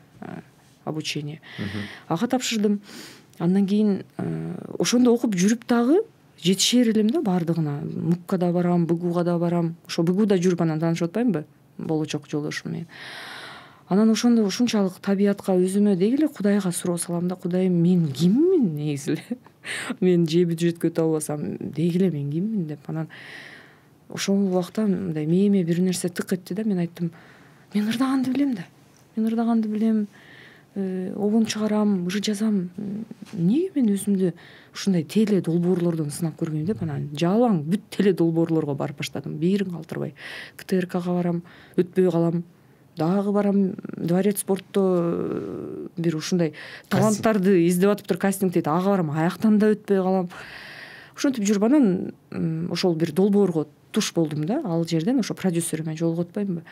обучение. Ага тапшырдым. Андан кийин ошондо окуп жүрүп дагы жетишер элем да баардыгына. Мукка да барам, БГУга да барам. Ошо БГУда жүрүп анан таанышып атпаймынбы болочок жолдошум менен. Анан ошондо ушунчалык табиятка өзүмө деги эле Кудайга суроо салам да, Кудайым, мен киммин негизи эле? Мен же бюджетке өтө албасам, деги эле мен киммин деп. Анан ошол убакта мындай мээме бир нерсе тык этти да, мен айттым, мен ырдаганды билем да. Мен ырдаганды билем, обон чыгарам, ыр жазам. Эмнеге мен өзүмдү ушундай теле долбоорлордон сынап көрбөйм деп, анан жалаң бүт теле долбоорлорго барып баштадым, бирин калтырбай. КТРКга барам, өтпөй калам. Дагы барам, Дворец спортто бир ушундай таланттарды издеп атыптыр, кастинг дейт, ага барам, аяктан да өтпөй калам. Ошентип жүрүп анан ошол бир долбоорго туш болдум да. Ал жерден ошо продюсериме жолугуп атпаймынбы.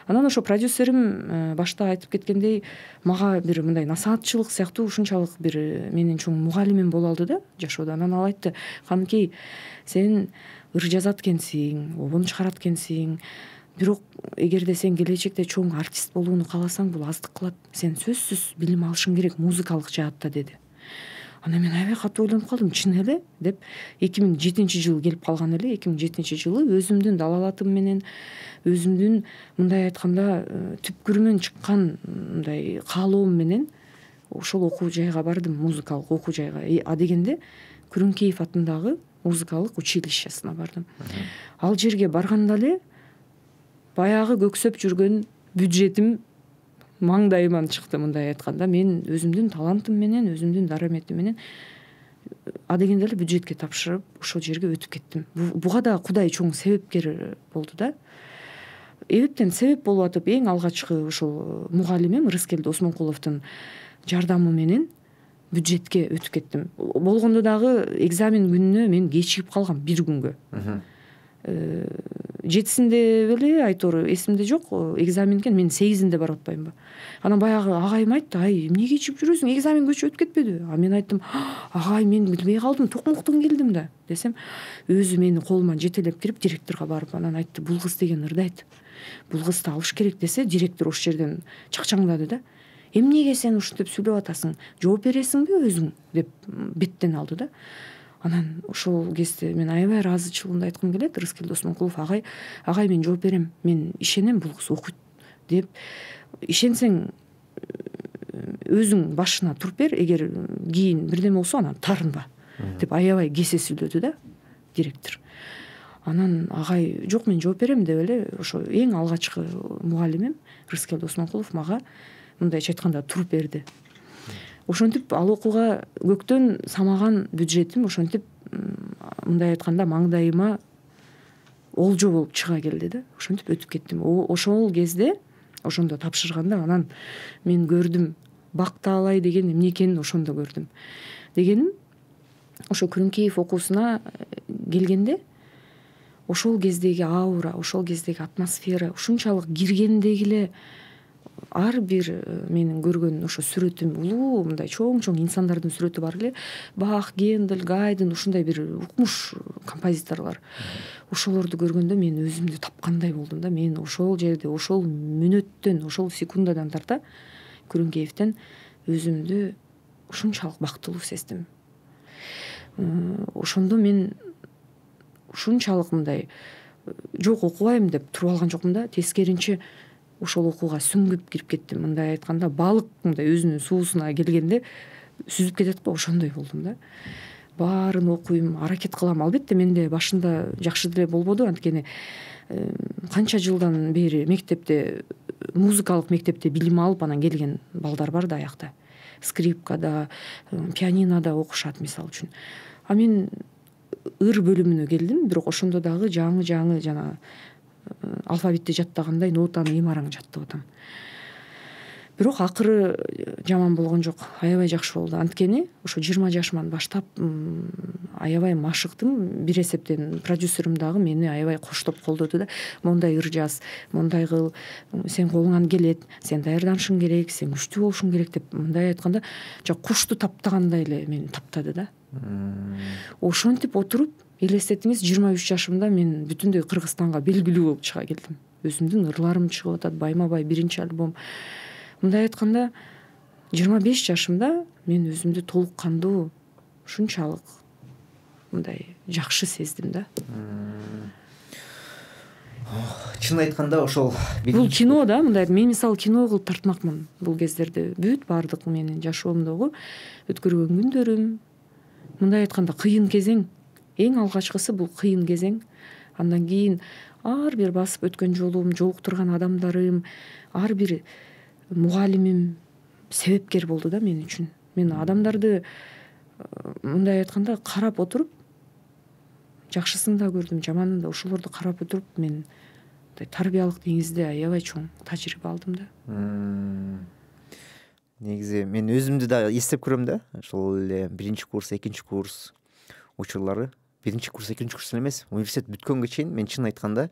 Анан ошо продюсерим башта айтып кеткендей, мага бир мындай насаатчылык сыяктуу ушунчалык бир менин чоң мугалимим боло алды да жашоодо. Анан ал айтты, Каныкей, сен ыр жазат экенсиң, обон чыгарат экенсиң, бирок эгерде сен келечекте чоң артист болууну кааласаң, бул аздык кылат. Сен сөзсүз билим алышың керек музыкалык жаатта деди. Анан мен аябай катуу ойлонуп калдым, чын эле деп. эки миң жетинчи жыл келип калган эле. эки миң жетинчи жылы өзүмдүн далалатым менен, өзүмдүн мындай айтканда түпкүрүмөн чыккан мындай каалоом менен ошол окуу жайга бардым, музыкалык окуу жайга. А дегенде Күрүнкеев атындагы музыкалык училищесине бардым. Ал жерге барганда эле баягы көксөп жүргөн бюджетим маңдайыман чыкты, мындай айтканда. Мен өзүмдүн талантым менен, өзүмдүн дараметим менен а дегенде эле бюджетке тапшырып, ошол жерге өтүп кеттим. Буга да Кудай чоң себепкер болду да. Эбептен себеп болуп атып, эң алгачкы ошол мугалимим Рыскел Досмонкуловдун жардамы менен бюджетке өтүп кеттим. Болгондо дагы экзамен күнүнө мен кечигип калгам бир күнгө. Жетисинде беле айтор эсимде жок, экзамен экен, мен сегизинде барып атпаймынбы. Анан баягы агайым айтты, ай эмне кечигип жүрөсүң, экзамен көчүп өтүп кетпедиби? А мен айттым, агай, мен билбей калдым, Токмоктон келдим да десем, өзү мени колуман жетелеп кирип директорго барып анан айтты, бул кыз деген ырдайт, бул кызды алыш керек десе, директор ошол жерден чакчаңдады да. Эмнеге сен ушинтип сүйлөп атасың, жооп бересиңби өзүң деп беттен алды да. Анан ошол кезде мен аябай ыраазычылыгымды айткым келет. Рыскел Досмонкулов, агай, агай мен жооп берем, мен ишенем бул кыз окуйт деп. Ишенсең өзүң башына туруп бер, эгер кийин бирдеме болсо анан тарынба деп аябай кесе сүйлөдү да директор. Анан агай, жок мен жооп берем деп эле ошо эң алгачкы мугалимим Рыскел Досмонкулов мага мындайча айтканда туруп берди. Ошентип ал окууга көктөн самаган бюджетим ошентип мындай айтканда маңдайыма олжо болуп чыга келди да. Ошентип өтүп кеттим. Ошол кезде, ошондо тапшырганда анан мен көрдүм, бактаалай деген эмне экенин ошондо көрдүм. Дегеним, ошо Күрүнкеев окуусуна келгенде ошол кездеги аура, ошол кездеги атмосфера ушунчалык киргендеги эле ар бир менин көргөн ошо сүрөтүм, улуу мындай чоң-чоң инсандардын сүрөтү бар эле. Бах, Гендель, Гайден ушундай бир укмуш композиторлор. Ошолорду көргөндө мен өзүмдү тапкандай болдум да. Мен ошол жерде, ошол мүнөттөн, ошол секундадан тарта Күрүнкеевден өзүмдү ушунчалык бактылуу сездим. Ошондо мен ушунчалык мындай жок окубайм деп туруп алган жокмун да, тескеринче ошол окууга сүңгүп кирип кеттим. Мындай айтканда балык мындай өзүнүн суусуна келгенде сүзүп кетет го, ошондой болдум да. Баарын окуйм, аракет кылам. Албетте менде башында жакшы деле болбоду, анткени канча жылдан бери мектепте, музыкалык мектепте билим алып анан келген балдар бар да аякта. Скрипкада, пианинода окушат мисалы үчүн. А мен ыр бөлүмүнө келдим, бирок ошондо дагы жаңы жаңы жана алфавитти жаттагандай нотаны имараң жаттап атам. Бирок акыры жаман болгон жок, аябай жакшы болду. Анткени ошо жыйырма жашыман баштап аябай машыктым. Бир эсептен продюсерим дагы мени аябай коштоп колдоду да. Мондай ыр жаз, мондай кыл, сен колуңан келет, сен даярданышың керек, сен күчтүү болушуң керек деп мындай айтканда, жок кушту таптагандай эле мени таптады да. Ошентип отуруп, элестетиңиз, жыйырма үч жашымда мен бүтүндөй Кыргызстанга белгилүү болуп чыга келдим. Өзүмдүн ырларым чыгып атат, байма бай биринчи альбом. Мындай айтканда, жыйырма беш жашымда мен өзүмдү толук кандуу ушунчалык мындай жакшы сездим да. Чын айтканда ошол бул кино да, мындай мен мисалы кино кылып тартмакмын бул кездерде. Бүт баардык менин жашоомдогу өткөргөн күндөрүм, мындай айтканда кыйын кезең. Эң алгачкысы бул кыйын кезең. Андан кийин ар бир басып өткөн жолум, жолуктурган адамдарым, ар бир мугалимим себепкер болду да мен үчүн. Мен адамдарды мындай айтканда карап отуруп, жакшысын да көрдүм, жаманын да, ошолорду карап отуруп мен тарбиялык деңизде аябай чоң тажрыйба алдым да. Негизи мен өзүмдү да эстеп көрөм да. Ошол эле биринчи курс, экинчи курс учурлары. Биринчи курс, экинчи курс эмес, университет бүткөнгө чейин мен чын айтканда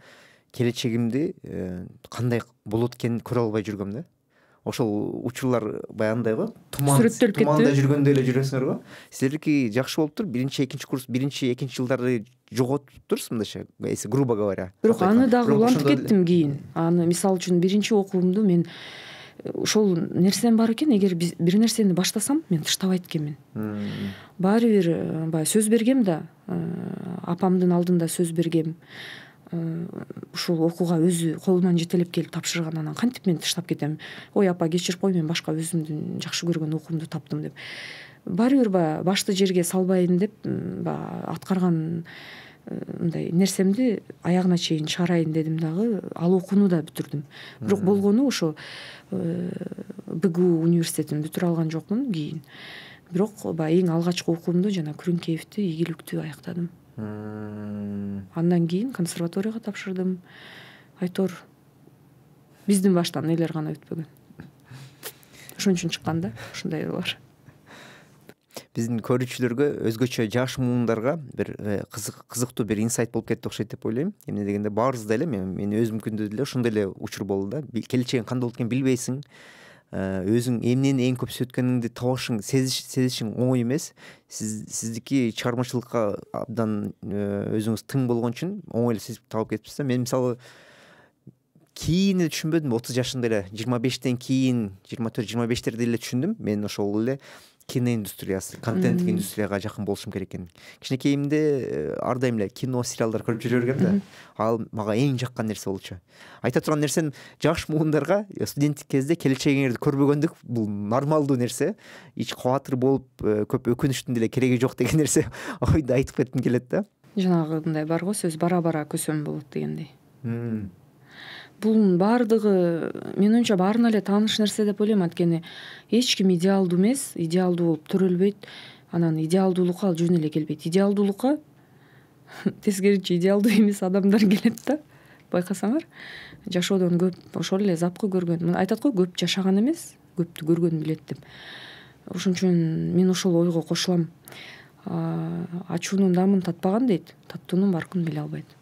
келечегимди кандай болот экенин көрө албай жүргөм да. Ошол учурлар баягындай го, туман туманда жүргөндөй эле жүрөсүңөр го. Силердики жакшы болуптур. Биринчи, экинчи курс, биринчи, экинчи жылдарды жоготуп турсуз мындайча, если грубо говоря. Бирок аны дагы улантып кеттим кийин. Аны мисалы үчүн биринчи окуумду мен ошол нерсем бар экен, эгер бир нерсени баштасам, мен тыштабайт экенмин. Баары бир баягы сөз бергем да, апамдын алдында сөз бергем. Ушул окууга өзү колунан жетелеп келип тапшырган, анан кантип мен тыштап кетем. Ой апа кечирип кой, мен башка өзүмдүн жакшы көргөн окуумду таптым деп. Баары бир баягы башты жерге салбайын деп баягы аткарган мындай нерсемди аягына чейин чыгарайын дедим дагы, ал окууну да бүтүрдүм. Бирок болгону ошо БГУ университетин бүтүрө алган жокмун кийин. Бирок баягы эң алгачкы окуумду жана Күрүнкеевди ийгиликтүү аяктадым. Андан кийин консерваторияга тапшырдым. Айтор биздин баштан элер гана өтпөгөн. Ошон үчүн чыккан да ушундай ырлар. Биздин көрүүчүлөргө, өзгөчө жаш муундарга бир кызык кызыктуу бир инсайт болуп кетти окшойт деп ойлойм. Эмне дегенде баарыбызда эле мен мен өзүмкүндө деле ошондой эле учур болду да. Келечегиң кандай болот экенин билбейсиң. Өзүң эмнени эң көп сүйөткөнүңдү табышың, сезишиң оңой эмес. Сиз сиздики чыгармачылыкка абдан өзүңүз тың болгон үчүн оңой эле сезип таап кетипсиз да. Мен мисалы кийин эле түшүнбөдүм, отуз жашымда эле, жыйырма бештен кийин, жыйырма төрт жыйырма бештерде эле түшүндүм. Мен ошол эле кино индустриясы, контент индустрияга жакын болушум керек экенин. Кичинекейимде ар дайым эле кино, сериалдар көрүп жүрө бергем да. Ал мага эң жаккан нерсе болчу. Айта турган нерсем, жаш муундарга студенттик кезде келечегиңерди көрбөгөндүк бул нормалдуу нерсе. Эч кабатыр болуп, көп өкүнүчтүн деле кереги жок деген нерсе ойду айтып кетким келет да. Жанагындай бар го сөз, бара-бара көсөм болот дегендей. Бунун баардыгы менин оюмча баарына эле тааныш нерсе деп ойлойм, анткени эч ким идеалдуу эмес, идеалдуу болуп төрөлбөйт. Анан идеалдуулукка ал жөн эле келбейт. Идеалдуулукка тескеринче идеалдуу эмес адамдар келет да. Байкасаңар, жашоодон көп ошол эле запкы көргөн. Айтат го, көп жашаган эмес, көптү көргөн билет деп. Ошон үчүн мен ошол ойго кошулам. Ачуунун дамын татпаган дейт, таттуунун баркын биле албайт.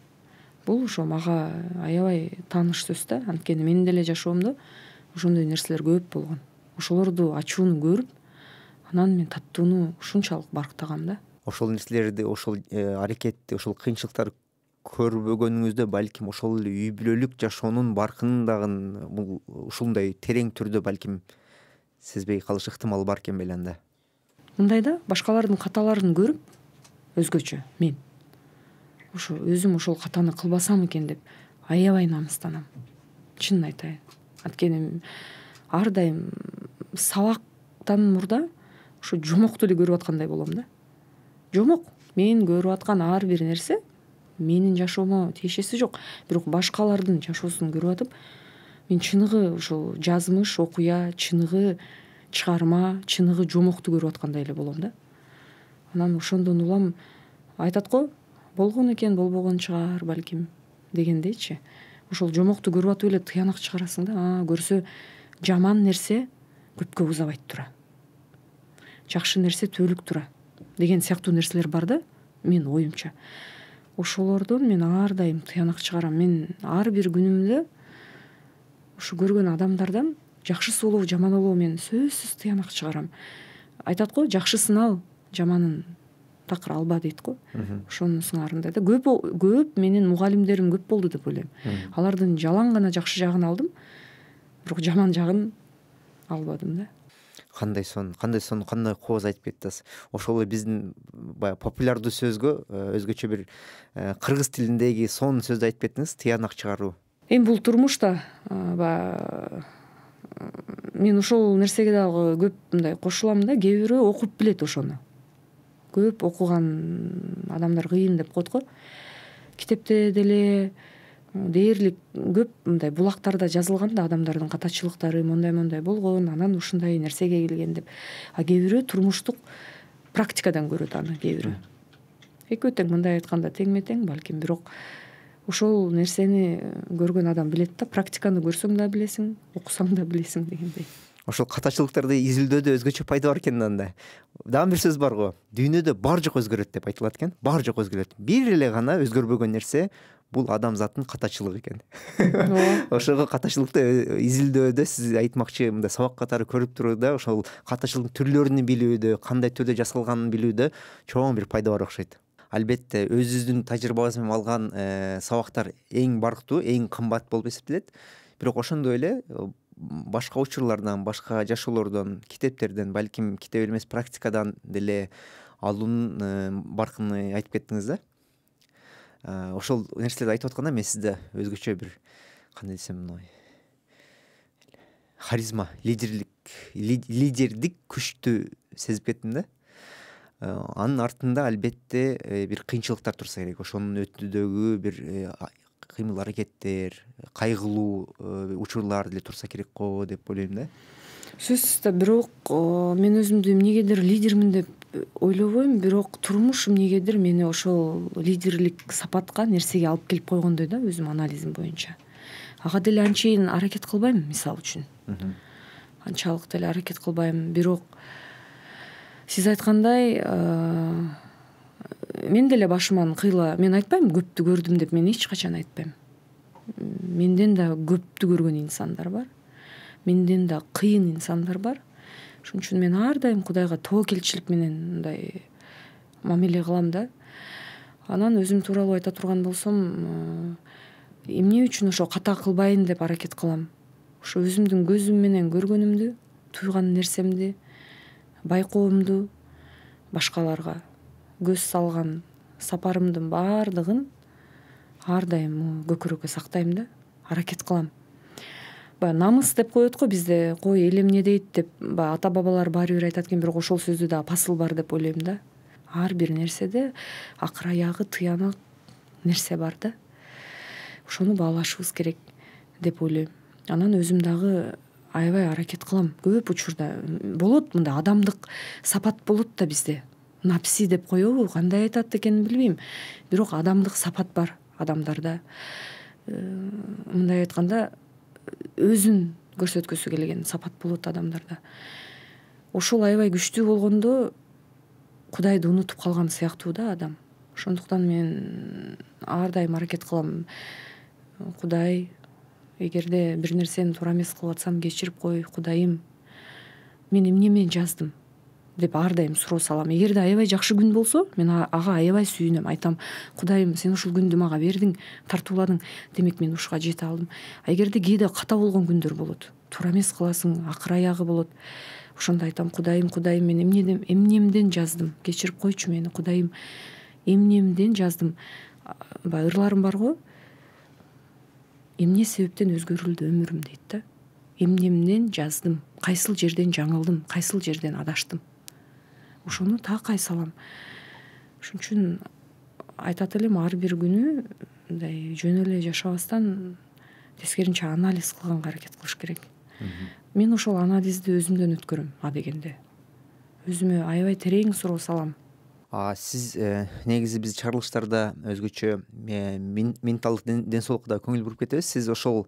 Бул ошо мага аябай тааныш сөз да. Анткени менин деле жашоомдо ошондой нерселер көп болгон. Ошолорду ачууну көрүп, анан мен таттууну ушунчалык барктагам да. Ошол нерселерди, ошол аракетти, ошол кыйынчылыктар көрбөгөнүңүздө балким ошол эле үй бүлөлүк жашоонун баркын дагы бул ушундай терең түрдө балким сезбей калыш ыктымалы бар экен беле анда. Мындай да, башкалардын каталарын көрүп өзгөчө мен ошо өзүм ошол катаны кылбасам экен деп аябай намыстанам. Чынын айтайын. Анткени ар дайым сабактан мурда ошо жомокту эле көрүп аткандай болом да. Жомок мен көрүп аткан ар бир нерсе менин жашоомо тиешеси жок, бирок башкалардын жашоосун көрүп атып мен чыныгы ошол жазмыш, окуя, чыныгы чыгарма, чыныгы жомокту көрүп аткандай эле болом да. Анан ошондон улам айтат го, болгон экен, болбогон чыгар балким дегендейчи. Ошол жомокту көрүп атып эле тыянак чыгарасың да. А, көрсө жаман нерсе көпкө узабайт тура. Жакшы нерсе түбөлүк тура деген сыяктуу нерселер бар да, мен оюмча. Ошолордон мен ар дайым тыянак чыгарам. Мен ар бир күнүмдө ушу көргөн адамдардан жакшысы болобу, жаманы болобу мен сөзсүз тыянак чыгарам. Айтат го, жакшысын ал, жаманын такыр алба дейт го. Ошонун сыңарындай да. Көп көп менин мугалимдерим көп болду деп ойлойм. Алардын жалаң гана жакшы жагын алдым, бирок жаман жагын албадым да. Кандай сон, кандай сон, кандай кооз айтып кеттиңиз. Ошол эле биздин баягы популярдуу сөзгө өзгөчө бир кыргыз тилиндеги сон сөздү айтып кеттиңиз, тыянак чыгаруу. Эми бул турмушта баягы мен ошол нерсеге дагы көп мындай кошулам да. Кээ бирөө окуп билет ошону. Көп окуган адамдар кыйын деп коет го. Китепте деле дээрлик көп мындай булактарда жазылган да, адамдардын катачылыктары мондай-мондай болгон, анан ушундай нерсеге келген деп. А кээ бирөө турмуштук практикадан көрөт аны, кээ бирөө. Экөө тең, мындай айтканда теңме-тең балким, бирок ошол нерсени көргөн адам билет да. Практиканы көрсөң да билесиң, окусаң да билесиң дегендей. Ошол катачылыктарды изилдөөдө өзгөчө пайда бар экен анда. Дагы бир сөз бар го. Дүйнөдө бар жок өзгөрөт деп айтылат экен. Бар жок өзгөрөт. Бир эле гана өзгөрбөгөн нерсе бул адамзаттын катачылыгы экен. Ошого катачылыкты изилдөөдө сиз айтмакчы мындай сабак катары көрүп турууда ошол катачылыктын түрлөрүн билүүдө, кандай түрдө жасалганын билүүдө чоң бир пайда бар окшойт. Албетте өзүбүздүн тажрыйбабыз менен алган сабактар эң барктуу, эң кымбат болуп эсептелет. Бирок ошондой эле башка учурлардан, башка жашоолордон, китептерден, балким китеп эмес практикадан деле алуунун баркын айтып кеттиңиз да. Ошол нерселерди айтып атканда мен сизде өзгөчө бир кандай десем, харизма, лидерлик, лидердик күчтү сезип кеттим да. Анын артында албетте бир кыйынчылыктар турса керек. Ошонун өтүүдөгү бир кыймыл аракеттер, кайгылуу учурлар деле турса керек го деп ойлойм да. Сөзсүз да, бирок мен өзүмдү эмнегедир лидермин деп ойлобойм, бирок турмуш эмнегедир мени ошол лидерлик сапатка, нерсеге алып келип койгондой да, өзүм анализим боюнча. Ага деле анчейин аракет кылбайм, мисалы үчүн. Анчалык деле аракет кылбайм, бирок сиз айткандай мен деле башыман кыйла, мен айтпайм көптү көрдүм деп, мен эч качан айтпайм. Менден да көптү көргөн инсандар бар. Менден да кыйын инсандар бар. Ошон үчүн мен ар дайым Кудайга тобокелчилик менен мындай мамиле кылам да. Анан өзүм тууралуу айта турган болсом, эмне үчүн ошо ката кылбайын деп аракет кылам. Ошо өзүмдүн көзүм менен көргөнүмдү, туйган нерсемди, байкоомду башкаларга көз салган сапарымдын баардыгын ар дайым көкүрөккө сактайм да, аракет кылам. Баягы намыс деп коет го бизде, кой эл эмне дейт деп, баягы ата бабалар баары бир айтат экен, бирок ошол сөздө дагы пасыл бар деп ойлойм да. Ар бир нерседе акыр аягы тыянак нерсе бар да. Ошону баалашыбыз керек деп ойлойм. Анан өзүм дагы аябай аракет кылам. Көп учурда болот мындай адамдык сапат болот да бизде. Напси деп коебу, кандай айтат экенин билбейм. Бирок адамдык сапат бар адамдарда. Мындай айтканда өзүн көрсөткөсү келген сапат болот адамдарда. Ошол аябай күчтүү болгондо Кудайды унутуп калган сыяктуу да адам. Ошондуктан мен ар дайым аракет кылам. Кудай, эгерде бир нерсени туура эмес кылып атсам кечирип кой, Кудайым. Мен эмне менен жаздым деп ар дайым суроо салам. Эгерде аябай жакшы күн болсо, мен ага аябай сүйүнөм, айтам: Кудайым, сен ушул күндү мага бердиң, тартууладың, демек мен ушуга жете алдым. А эгерде кээде ката болгон күндөр болот. туура эмес кыласың, акыр аягы болот. Ошондо айтам, Кудайым, Кудайым, мен эмнеден эмнемден жаздым, кечирип койчу мени Кудайым, эмнемден жаздым. Баягы ырларым барго, эмне себептен өзгөрүлдү өмүрүм дейт да. Эмнемден жаздым, кайсыл жерден жаңылдым, кайсыл жерден адаштым. Ошону такай салам. Ошон үчүн айтат элем, ар бир күнү мындай жөн эле жашабастан тескеринче анализ кылганга аракет кылыш керек. Мен ошол анализди өзүмдөн өткөрөм, а дегенде. Өзүмө аябай терең суроо салам. А сиз негизи биз чыгарылыштарда өзгөчө менталдык ден соолукка да көңүл буруп кетебиз. Сиз ошол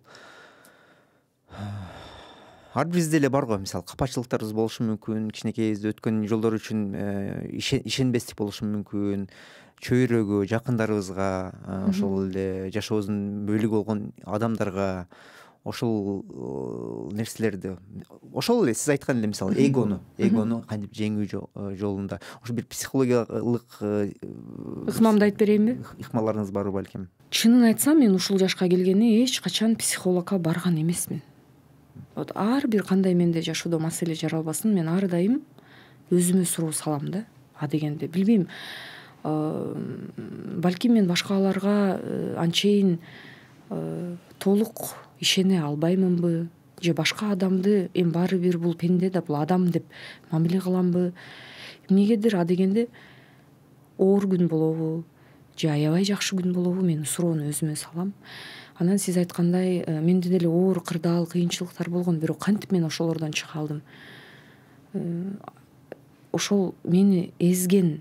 ар бирибизде эле бар го, мисалы капачылыктарыбыз болушу мүмкүн, кичинекейибизде өткөн жолдор үчүн ишенбестик болушу мүмкүн, чөйрөгө, жакындарыбызга, ошол эле жашообуздун бөлүгү болгон адамдарга ошол нерселерди, ошол эле сиз айткан эле мисалы эгону эгону кантип жеңүү жолунда ошо бир психологиялык ыкмамды айтып берейинби? Ыкмаларыңыз барбы балким? Чынын айтсам, мен ушул жашка келгени эч качан психологко барган эмесмин. Вот ар бир кандай менде жашоодо маселе жаралбасын, мен ар дайым өзүмө суроо салам да. А дегенде билбейм, балким мен башкаларга анчейин толук ишене албаймынбы, же башка адамды эми баары бир бул пенде да, бул адам деп мамиле кыламбы, эмнегедир. А дегенде оор күн болобу же аябай жакшы күн болобу, мен суроону өзүмө салам. Анан сиз айткандай, менде деле оор кырдаал, кыйынчылыктар болгон, бирок кантип мен ошолордон чыга алдым? Ошол мени эзген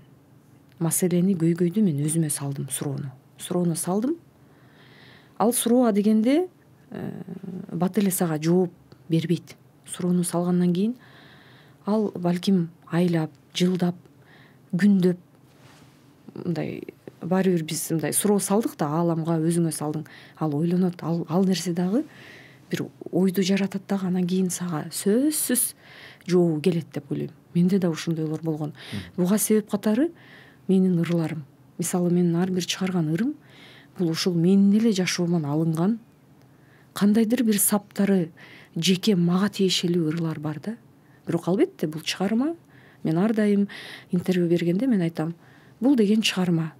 маселени, көйгөйдү мен өзүмө салдым, суроону. Суроону салдым. Ал суроо а дегенде бат эле сага жооп бербейт. Суроону салгандан кийин ал балким айлап, жылдап, күндөп, мындай баары бир биз мындай суроо салдык да, ааламга өзүңө салдың. Ал ойлонот, ал ал нерсе дагы бир ойду жаратат дагы, анан кийин сага сөзсүз жообу келет деп ойлойм. Менде да ушундойлор болгон. Буга себеп катары менин ырларым. Мисалы, менин ар бир чыгарган ырым бул ушул менин эле жашоомон алынган кандайдыр бир саптары жеке мага тиешелүү ырлар бар да. Бирок албетте бул чыгарма, мен ар дайым интервью бергенде мен айтам, бул деген чыгарма.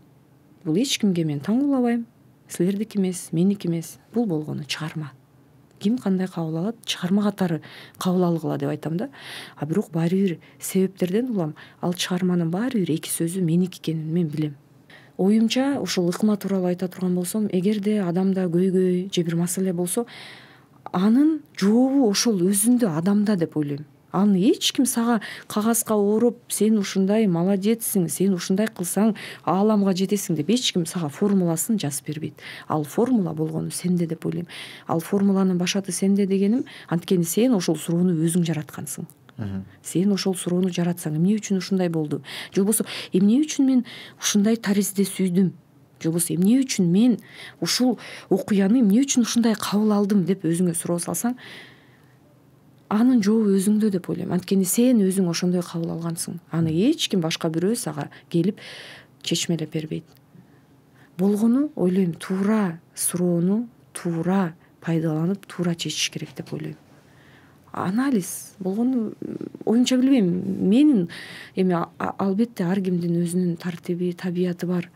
Бул эч кимге мен таңуулабайм, силердики эмес, меники эмес. Бул болгону чыгарма. Ким кандай кабыл алат, чыгарма катары кабыл алгыла деп айтам да. А бирок баары бир себептерден улам ал чыгарманын баары бир эки сөзү меники экенин мен билем. Оюмча, ушул ыкма тууралуу айта турган болсом, эгерде адамда көйгөй же бир маселе болсо, анын жообу ошол өзүндө, адамда деп ойлойм. Аны эч ким сага кагазга ороп, сен ушундай молодецсиң, сен ушундай кылсаң ааламга жетесиң деп эч ким сага формуласын жазып бербейт. Ал формула болгону сенде деп ойлойм. Ал формуланын башаты сенде дегеним, анткени сен ошол суроону өзүң жараткансың. Сен ошол суроону жаратсаң, эмне үчүн ушундай болду? Же болбосо, эмне үчүн мен ушундай таризде сүйдүм? Же болбосо, эмне үчүн мен ушул окуяны эмне үчүн ушундай кабыл алдым деп өзүңө суроо салсаң, анын жообу өзүңдө деп ойлойм. Анткени сен өзүң ошондой кабыл алгансың. Аны эч ким башка бирөө сага келип чечмелеп бербейт. Болгону ойлойм, туура суроону туура пайдаланып, туура чечиш керек деп ойлойм. Анализ болгону, оюмча билбейм, менин эми албетте ар кимдин өзүнүн тартиби, табияты бар.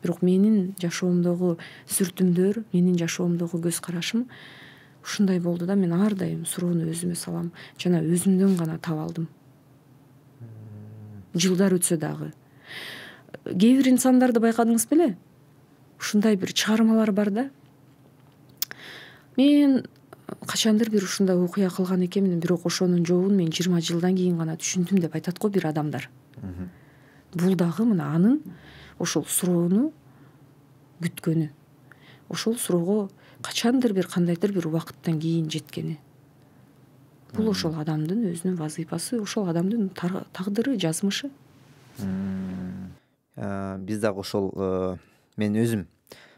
Бирок менин жашоомдогу сүртүмдөр, менин жашоомдогу көз карашым ушундай болду да. Мен ар дайым суроону өзүмө салам, жана өзүмдөн гана таба алдым. Жылдар өтсө дагы. Кээ бир инсандарды байкадыңыз беле? Ушундай бир чыгармалар бар да. Мен качандыр бир ушундай окуя кылган экенмин, бирок ошонун жообун мен жыйырма жылдан кийин гана түшүндүм деп айтат го бир адамдар. Бул дагы мына анын ошол суроону күткөнү. Ошол суроого качандыр бир кандайдыр бир убакыттан кийин жеткени. Бул ошол адамдын өзүнүн вазыйфасы, ошол адамдын тагдыры, жазмышы. Биз дагы ошол, мен өзүм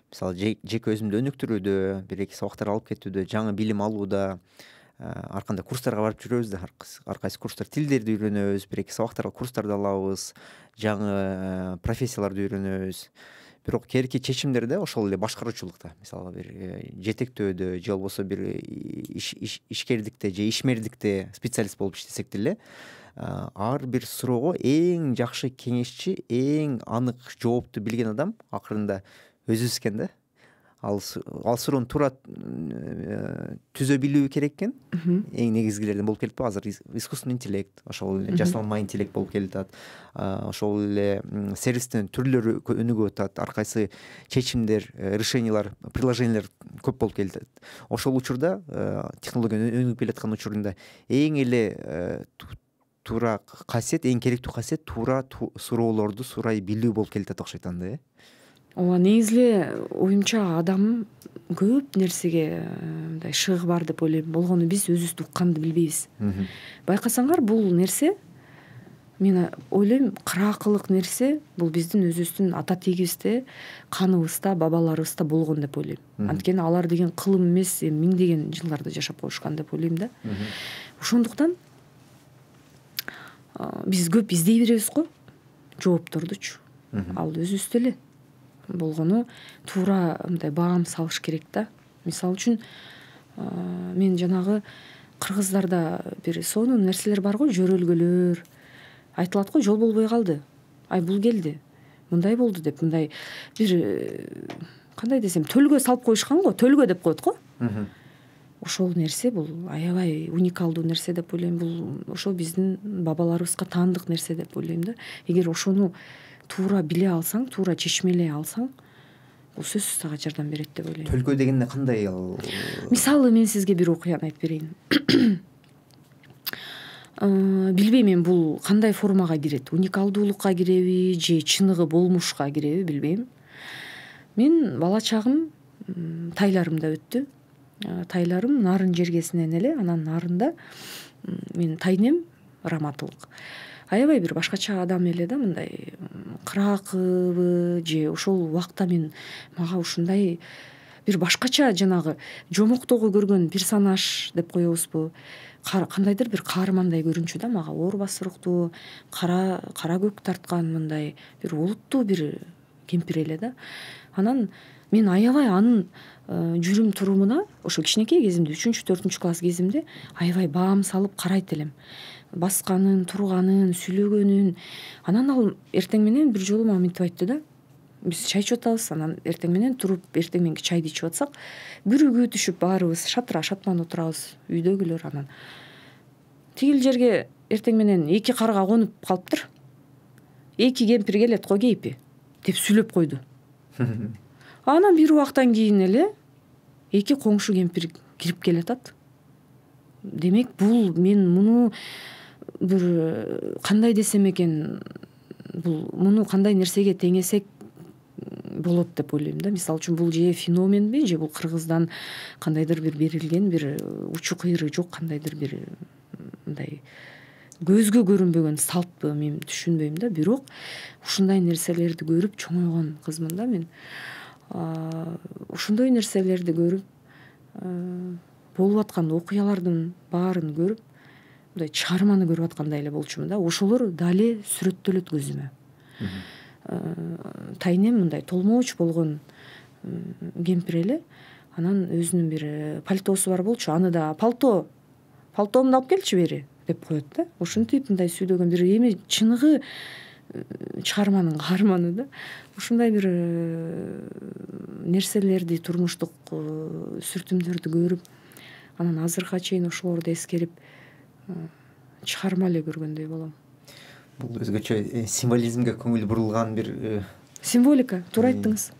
мисалы жеке өзүмдү өнүктүрүүдө, бир эки сабактар алып кетүүдө, жаңы билим алууда, ар кандай курстарга барып жүрөбүз да, ар кайсы курстар, тилдерди үйрөнөбүз, бир эки сабактарга курстарды алабыз, жаңы профессияларды үйрөнөбүз. бирок кээинки чечимдерде ошол эле башкаруучулукта, мисалы бир жетектөөдө же болбосо бир ишкердикте же ишмердикте специалист болуп иштесек деле ар бир суроого эң жакшы кеңешчи, эң анык жоопту билген адам акырында өзүбүз экен да. Ал ал суроону туура түзө билүү керек экен. Эң негизгилерден болуп келип атпайбы азыр искусственный интеллект, ошол эле жасалма интеллект болуп келатат. Ошол эле сервистин түрлөрү өнүгүп атат. Ар кайсы чечимдер, решениялар, приложениялар көп болуп келатат. Ошол учурда технология өнүгүп келаткан учурунда эң эле туура касиет, эң керектүү касиет туура суроолорду сурай билүү болуп келатат окшойт анда, э? Ооба, негизи эле оюмча адам көп нерсеге мындай шыгы бар деп ойлойм. Болгону биз өзүбүздү укканды билбейбиз. Байкасаңар, бул нерсе мен ойлойм кыраакылык нерсе бул биздин өзүбүздүн ата тегибизде, каныбызда, бабаларыбызда болгон деп ойлойм. Анткени алар деген кылым эмес, миңдеген жылдарды жашап коюшкан деп ойлойм да. Ошондуктан биз көп издей беребиз го жооптордучу. Ал өзүбүздө эле болгону туура мындай баам салыш керек да. Мисалы үчүн мен жанагы кыргыздарда бир сонун нерселер бар го, жөрөлгөлөр айтылат го, жол болбой калды, ай бул келди, мындай болду деп, мындай бир кандай десем төлгө салып коюшкан го, төлгө деп коет го. Ошол нерсе бул аябай уникалдуу нерсе деп ойлойм. Бул ошо биздин бабаларыбызга таандык нерсе деп ойлойм да. Эгер ошону туура биле алсаң, туура чечмелей алсаң, бул сөзсүз сага жардам берет деп ойлойм. Төлкө дегенде кандай ал? Мисалы мен сизге бир окуяны айтып берейин. Билбейм мен бул кандай формага кирет, уникалдуулукка киреби же чыныгы болмушка киреби билбейм. Мен бала чагым тайларымда өттү. Тайларым нарын жергесинен эле, анан нарында мен тайнем Раматылык. Аябай бир башкача адам эле да, мындай кыраакыбы же ошол убакта мен мага ушундай бир башкача жанагы жомоктогу көргөн персонаж деп коебузбу, кандайдыр бир каармандай көрүнчү да мага, оор басырыктуу, кара кара көк тарткан мындай бир олуттуу бир кемпир эле да. Анан мен аябай анын жүрүм турумуна ошо кичинекей кезимде, үчүнчү төртүнчү класс кезимде аябай баам салып карайт элем. Басканын, турганын, сүйлөгөнүн. Анан ал эртең менен бир жолу мага мынтип айтты да. Биз чай ичип атабыз, анан эртең менен туруп эртең мененки чайды ичип атсак, бүрүгү түшүп баарыбыз шатыра шатман отурабыз, үйдөгүлөр. Анан тигил жерге эртең менен эки карга конуп калыптыр. Эки кемпир келет го кейпи деп сүйлөп койду. Анан бир убактан кийин эле эки коңшу кемпир кирип келатат. Демек, бул мен муну бир кандай десем экен, бул муну кандай нерсеге теңесек болот деп ойлойм да. Мисалы үчүн бул же феноменби, же бул кыргыздан кандайдыр бир берилген бир учу кыйры жок кандайдыр бир мындай көзгө көрүнбөгөн салтпы, мен түшүнбөйм да. Бирок ушундай нерселерди көрүп чоңойгон кызмын да мен. Ушундай нерселерди көрүп, болуп аткан окуялардын баарын көрүп, мындай чыгарманы көрүп аткандай эле болчумун да. Ошолор дале сүрөттөлөт көзүмө. Тайнем мындай толмооч болгон кемпир эле. Анан өзүнүн бир пальтосу бар болчу. Аны да пальто, пальтомду алып келчи бери деп коет да. Ушинтип мындай сүйлөгөн бир эми чыныгы чыгарманын каарманы да. Ушундай бир нерселерди, турмуштук сүртүмдөрдү көрүп, анан азыркыга чейин ошолорду эскерип чыгарма эле көргөндөй болом. Бул өзгөчө символизмге көңүл бурулган бир символика, туура айттыңыз.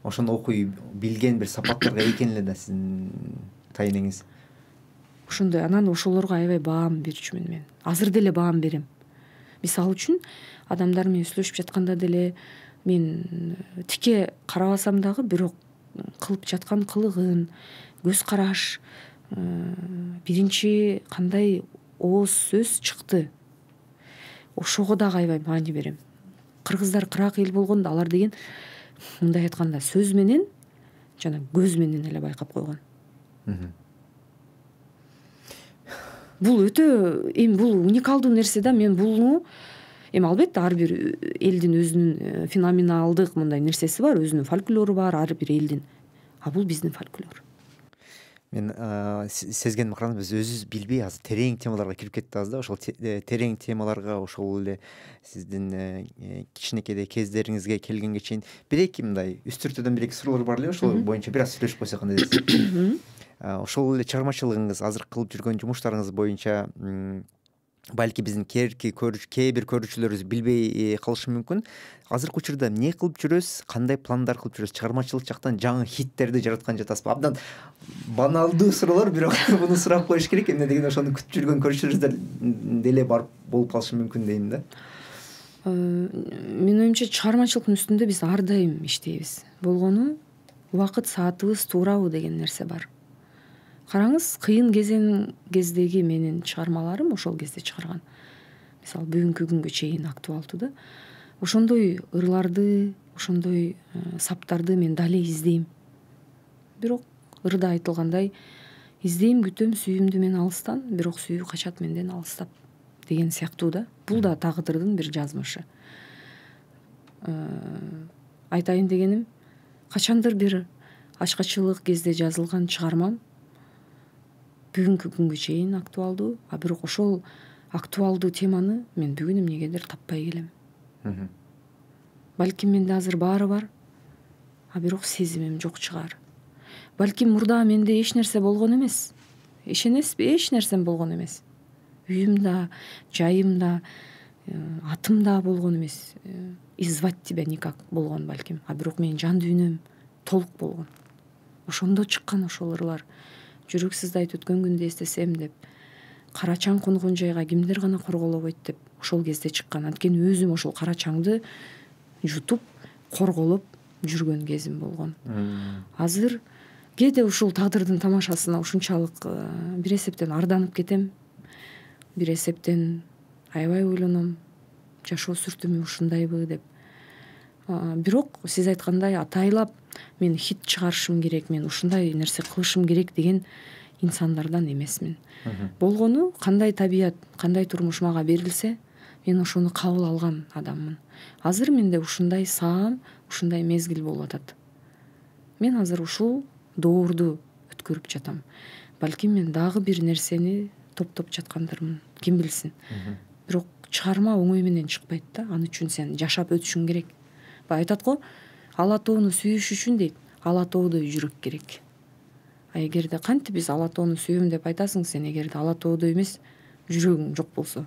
Ошону окуй билген бир сапаттарга экен эле да сиздин тайнеңиз. Ошондой. Анан ошолорго аябай баам берчүмүн мен. Азыр деле баам берем. Мисалы үчүн адамдар менен сүйлөшүп жатканда деле мен тике карабасам дагы, бирок кылып жаткан кылыгын, көз караш, биринчи кандай ооз сөз чыкты, ошого дагы аябай маани берем. Кыргыздар кыраак эл болгондо алар деген мындай айтканда сөз менен жана көз менен эле байкап койгон. Бул өтө эми бул уникалдуу нерсе да. Мен буну эми албетте ар бир элдин өзүнүн феноменалдык мындай нерсеси бар, өзүнүн фольклору бар ар бир элдин. А бул биздин фольклор. Мен сезгеним караңыз, биз өзүбүз билбей азыр терең темаларга кирип кетебиз да. Ошол терең темаларга ошол эле сиздин кичинекейде кездериңизге келгенге чейин бир эки мындай үстүртөдөн бир эки суроолор бар эле, ошол боюнча бир аз сүйлөшүп койсок кандай дейсиз? Ошол эле чыгармачылыгыңыз, азыр кылып жүргөн жумуштарыңыз боюнча балки биздин кээрки көрүүчү кээ бир көрүүчүлөрүбүз билбей калышы мүмкүн. Азыркы учурда эмне кылып жүрөсүз, кандай пландар кылып жүрөсүз? Чыгармачылык жактан жаңы хиттерди жараткан жатасызбы? Абдан баналдуу суроолор, бирок муну сурап коюш керек. Эмне дегенде ошону күтүп жүргөн көрүүчүлөрүбүз деле барып болуп калышы мүмкүн дейм да. Менин оюмча чыгармачылыктын үстүндө биз ар дайым иштейбиз. Болгону убакыт саатыбыз туурабы деген нерсе бар. Караңыз, кыйын кезең кездеги менин чыгармаларым ошол кезде чыгарган. Мисалы, бүгүнкү күнгө чейин актуалдуу да. Ошондой ырларды, ошондой саптарды мен дале издейм. Бирок ырда айтылгандай, издейм, күтөм сүйүүмдү мен алыстан, бирок сүйүү качат менден алыстап деген сыяктуу да. Бул да тагдырдын бир жазмышы. Айтайын дегеним, качандыр бир ачкачылык кезде жазылган чыгармам бүгүнкү күнгө чейин актуалдуу, а бирок ошол актуалдуу теманы мен бүгүн эмнегедир таппай келем. Балким менде азыр баары бар, а бирок сезимим жок чыгар. Балким мурда менде эч нерсе болгон эмес. Ишенесизби? Эч нерсем болгон эмес. Үйүм да, жайым да, атым да болгон эмес. И звать тебя никак болгон балким. А бирок менин жан дүйнөм толук болгон. Ошондо чыккан ошол ырлар. Жүрөк сыздайт өткөн күндү эстесем деп, кара чаң конгон жайга кимдер гана корголобойт деп ошол кезде чыккан. Анткени өзүм ошол кара чаңды жутуп, корголоп жүргөн кезим болгон. Азыр кээде ушул тагдырдын тамашасына ушунчалык бир эсептен арданып кетем, бир эсептен аябай ойлоном, жашоо сүртүмү ушундайбы деп. Бирок сиз айткандай атайлап мен хит чыгарышым керек, мен ушундай нерсе кылышым керек деген инсандардан эмесмин. Болгону кандай табият, кандай турмуш мага берилсе, мен ошону кабыл алган адаммын. Азыр менде ушундай саам, ушундай мезгил болуп атат. Мен азыр ушул доорду өткөрүп жатам. Балким мен дагы бир нерсени топтоп жаткандырмын, ким билсин. Бирок чыгарма оңой менен чыкпайт да, аны үчүн сен жашап өтүшүң керек. Бай айтат го, ала тоону сүйүш үчүн дейт, ала тоодой жүрөк керек. А эгерде кантип биз ала тоону сүйөм деп айтасың сен, эгерде ала тоодой эмес, жүрөгүң жок болсо,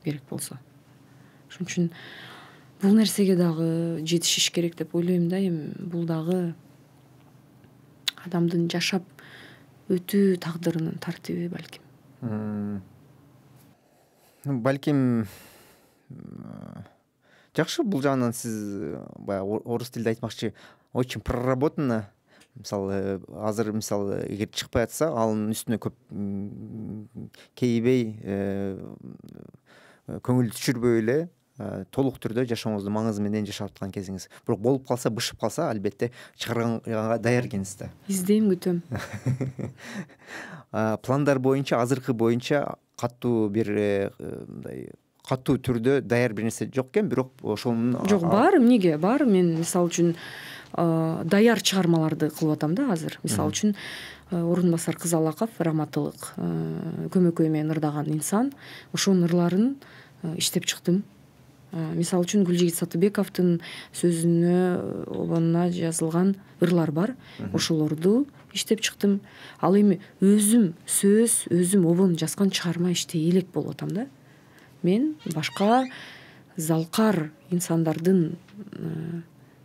керек болсо. Ошон үчүн бул нерсеге дагы жетишиш керек деп ойлойм да. Эми бул дагы адамдын жашап өтүү тагдырынын тартиби балким. Балким жакшы, бул жагынан сиз баягы орус тилде айтмакчы, очень проработано. Мисалы, азыр мисалы эгер чыкпай атса, анын үстүнө көп кейбей, көңүл түшүрбөй эле толук түрдө жашооңузду маңызы менен жашап аткан кезиңиз. Бирок болуп калса, бышып калса, албетте чыгарганга даяр экенсиз да. Издейм, күтөм. Пландар боюнча, азыркы боюнча катуу бир мындай катуу түрдө даяр бир нерсе жок экен, бирок ошонун жок, бар, эмнеге бар. Мен мисалы үчүн даяр чыгармаларды кылып атам да азыр. Мисалы үчүн Орун басар Кызалаков, раматылык көмөкөй менен ырдаган инсан, ошонун ырларын иштеп чыктым. Мисалы үчүн Гүлжигит Сатыбековдун сөзүнө, обонуна жазылган ырлар бар. Ошолорду иштеп чыктым. Ал эми өзүм сөз, өзүм обон жазган чыгарма иштей элек болуп атам да. Мен башка залкар инсандардын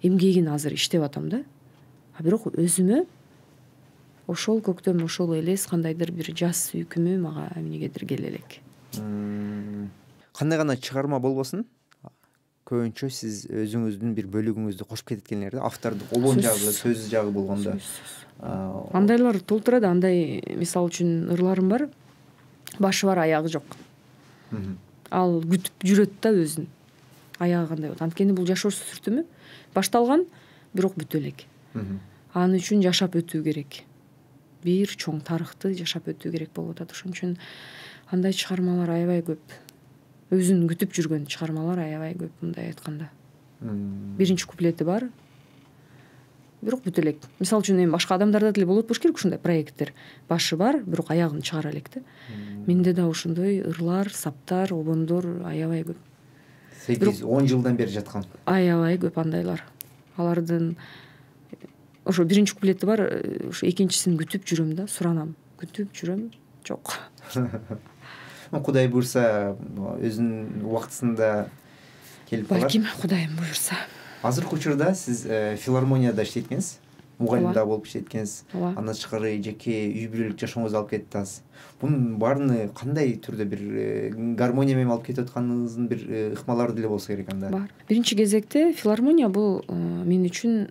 эмгегин азыр иштеп атам да. А бирок өзүмө ошол көктөм, ошол элес кандайдыр бир жаз сүйкүмү мага эмнегедир келе элек. Кандай гана чыгарма болбосун, көбүнчө сиз өзүңүздүн бир бөлүгүңүздү кошуп кетет экенсиңер да, автордук обон жагы, сөз жагы болгондо. Андайлар толтурат. Андай мисалы үчүн ырларым бар, башы бар, аягы жок. Ал күтүп жүрөт да өзүн. Аягы кандай болот? Анткени бул жашоо сүртүмү башталган, бирок бүтө элек. Аны үчүн жашап өтүү керек. Бир чоң тарыхты жашап өтүү керек болуп атат. Ошон үчүн андай чыгармалар аябай көп. өзүн күтүп жүргөн чыгармалар аябай көп. Мындай айтканда биринчи куплети бар, бирок бүтө элек. Мисалы үчүн эми башка адамдарда деле болот болуш керек ушундай проекттер. Башы бар, бирок аягын чыгара элек да. Менде да ошондой ырлар, саптар, обондор аябай көп. сегиз он жылдан бери жаткан. Аябай көп андайлар. Алардын ошо биринчи куплети бар, ошо экинчисин күтүп жүрөм да, суранам. Күтүп жүрөм, жок. Кудай буйрса өзүнүн убактысында келип калат. Балким Кудайым буйрса. Азыркы учурда сиз филармонияда иштейт экенсиз, мугалим да болуп иштейт экенсиз. Андан тышкары жеке үй бүлөлүк жашооңузду алып кетип атасыз. Бунун баарыны кандай түрдө бир гармония менен алып кетип атканыңыздын бир ыкмалары деле болсо керек анда? Бар. Биринчи кезекте филармония бул мен үчүн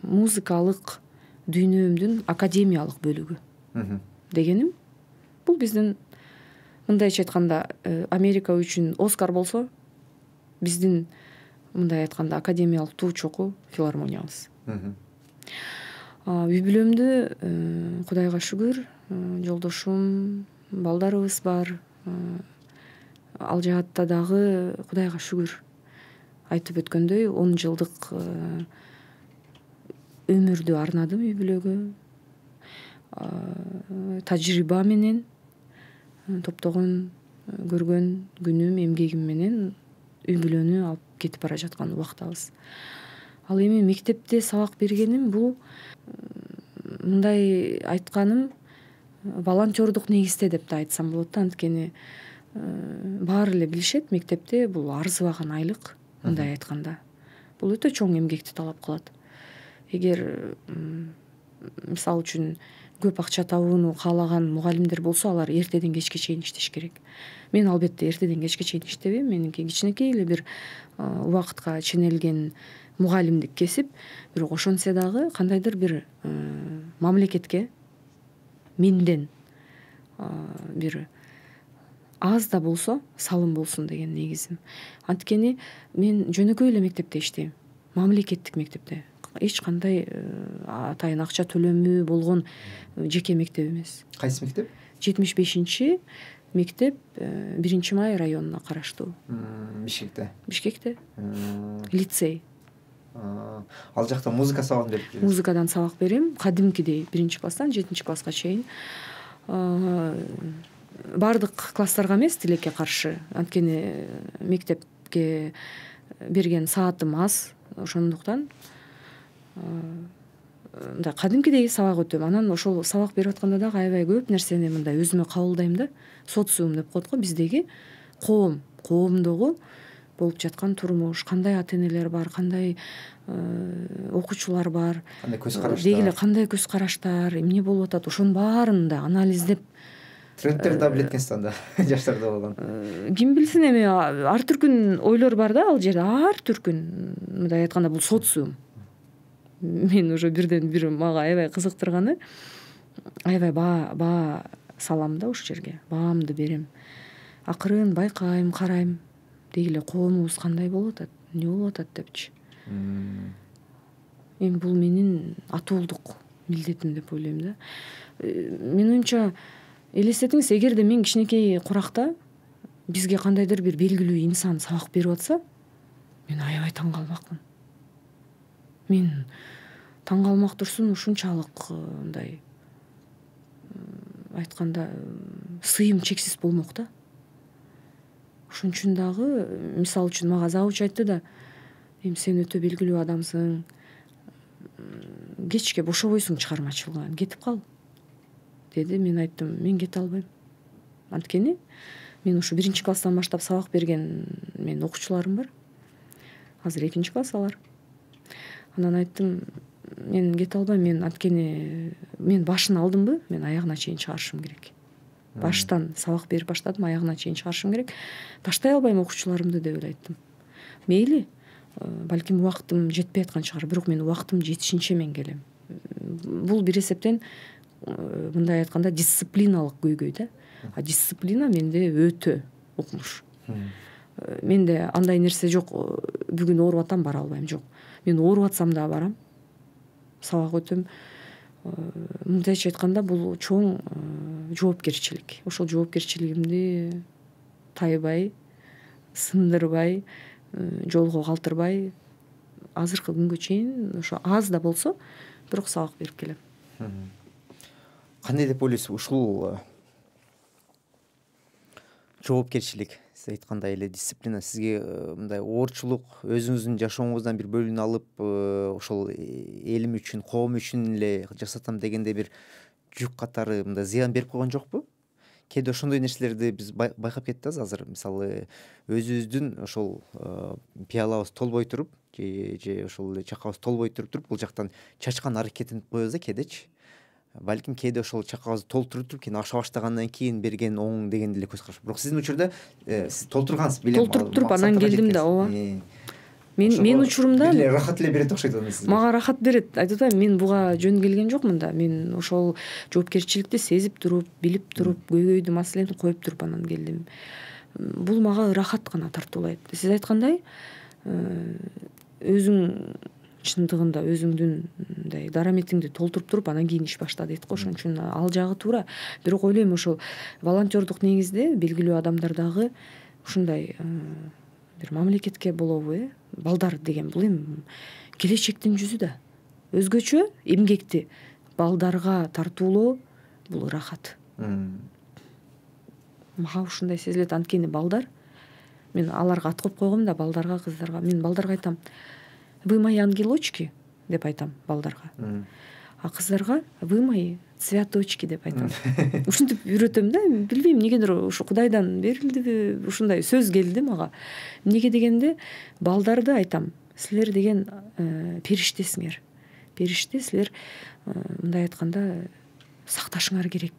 музыкалык дүйнөмдүн академиялык бөлүгү. Дегеним, бул биздин мындайча айтканда Америка үчүн Оскар болсо, биздин мындай айтканда академиялык туу чоку филармониябыз. Үй бүлөмдү Кудайга шүгүр, жолдошум, балдарыбыз бар. Ал жаатта дагы Кудайга шүгүр. Айтып өткөндөй он жылдык өмүрдү арнадым үй бүлөгө. Тажрыйба менен, топтогон көргөн күнүм, эмгегим менен үй бүлөнү алып кетип бара жаткан убактабыз. Ал эми мектепте сабак бергеним бул мындай айтканым волонтердук негизде деп да айтсам болот да. Анткени баары эле билишет, мектепте бул арзыбаган айлык, мындай айтканда. Бул өтө чоң эмгекти талап кылат. Эгер мисалы үчүн көп акча табууну каалаган мугалимдер болсо, алар эртеден кечке чейин иштеш керек. Мен албетте эртеден кечке чейин иштебейм. Меники кичинекей эле бир убакытка ченелген мугалимдик кесип, бирок ошонсо дагы кандайдыр бир мамлекетке менден бир аз да болсо салым болсун деген негизим. Анткени мен жөнөкөй эле мектепте иштейм. Мамлекеттик мектепте. Эч кандай атайын акча төлөмү болгон жеке мектеп эмес. Кайсы мектеп? жетимиш бешинчи мектеп биринчи май районуна караштуу. Бишкекте. Бишкекте. Лицей. Ал жакта музыка сабагын берип жүрөсүз? Музыкадан сабак берем. Кадимкидей биринчи класстан жетинчи класска чейин. Бардык класстарга эмес, тилекке каршы. Анткени мектепке берген саатым аз. Ошондуктан мындай кадимкидей сабак өтөм. Анан ошол сабак берип атканда дагы аябай көп нерсени мындай өзүмө кабылдайм да. Социум деп коет го, биздеги коом, коомдогу болуп жаткан турмуш, кандай ата-энелер бар, кандай окуучулар бар, кандай көз караштар, деги эле кандай көз караштар, эмне болуп атат, ошонун баарын да анализдеп. Трендтерди да билет экенсиз анда, жаштарда болгон. Ким билсин, эми ар түркүн ойлор бар да ал жерде, ар түркүн. Мындай айтканда бул социум. Мен уже бирден бир мага аябай кызыктырганы, аябай баа баа салам да ошол жерге, баамды берем. Акырын байкайм, карайм. Деги эле коомубуз кандай болуп атат, эмне болуп атат депчи. Эми бул менин атуулдук милдетим деп ойлойм да. Менин оюмча, элестетиңиз, эгерде мен кичинекей куракта бизге кандайдыр бир белгилүү инсан сабак берип атса, мен аябай таң калмакмын. Мен таң калмак турсун, ушунчалык мындай айтканда сыйым чексиз болмок да. Ошон үчүн дагы, мисалы үчүн мага завуч айтты да, эми сен өтө белгилүү адамсың, кечке бошобойсуң чыгармачылыган, кетип кал деди. Мен айттым, мен кете албайм. Анткени мен ушу биринчи класстан баштап сабак берген мен окуучуларым бар. Азыр экинчи класс алар. Анан айттым, мен кете албайм, мен анткени мен башын алдымбы, мен аягына чейин чыгарышым керек. Баштан сабак берип баштадым, аягына чейин чыгарышым керек. Таштай албайм окуучуларымды деп эле айттым. Мейли, балким убактым жетпей аткан чыгар, бирок мен убактым жетишинче мен келем. Бул бир эсептен мындай айтканда дисциплиналык көйгөй да. А дисциплина менде өтө укмуш. Менде андай нерсе жок, бүгүн ооруп атам, бара албайм, жок. Мен ооруп атсам да барам, сабак өтөм. Мындайча айтканда бул чоң жоопкерчилик. Ошол жоопкерчилигимди тайбай сындырбай, жолго калтырбай азыркы күнгө чейин ошо аз да болсо бирок сабак берип келем. Кандай деп ойлойсуз ушул жоопкерчилик, сиз айткандай эле дисциплина сизге мындай оорчулук өзүңүздүн жашооңуздан бир бөлүнүп алып ошол элим үчүн, коом үчүн эле жасатам дегенде бир жүк катары мындай зыян берип койгон жокпу? Кээде ошондой нерселерди биз байкап кетебиз азыр. Мисалы өзүбүздүн ошол пиалабыз толбой туруп же же ошол эле чакабыз толбой туруп туруп бул жактан чачкан аракетинип коебуз да кээдечи. Балким кээде ошол чакабызды толтуруп туруп кийин аша баштагандан кийин берген оң деген деле көз караш. Бирок сиздин учурда сиз толтургансыз билем. Толтуруп туруп анан келдим да, ооба. Мен мен учурумда эле рахат эле берет окшойт аны сизге. Мага рахат берет. Айтып атпаймынбы, мен буга жөн келген жокмун да. Мен ошол жоопкерчиликти сезип туруп, билип туруп, көйгөйдү, маселени коюп туруп анан келдим. Бул мага рахат гана тартуулайт. Сиз айткандай, өзүң чындыгында өзүңдүн мындай дараметиңди толтуруп туруп анан кийин иш башта дейт го. Ошон үчүн ал жагы туура. Бирок ойлойм ошол волонтердук негизде белгилүү адамдар дагы ушундай бир мамлекетке болобу, э балдар деген бул эми келечектин жүзү да. Өзгөчө эмгекти балдарга тартуулоо бул рахат. Мага ушундай сезилет. Анткени балдар, мен аларга ат коюп койгом да, балдарга, кыздарга. Мен балдарга айтам: "Вы мои ангелочки" деп айтам балдарга. А кыздарга: "Вы мои цветочки" деп айтам. Ушинтип үйрөтөм да. Билбейм, эмнегедир ушу Кудайдан берилдиби, ушундай сөз келди мага. Эмнеге дегенде, балдарды айтам: "Силер деген периштесиңер. Периште, силер мындай айтканда сакташыңар керек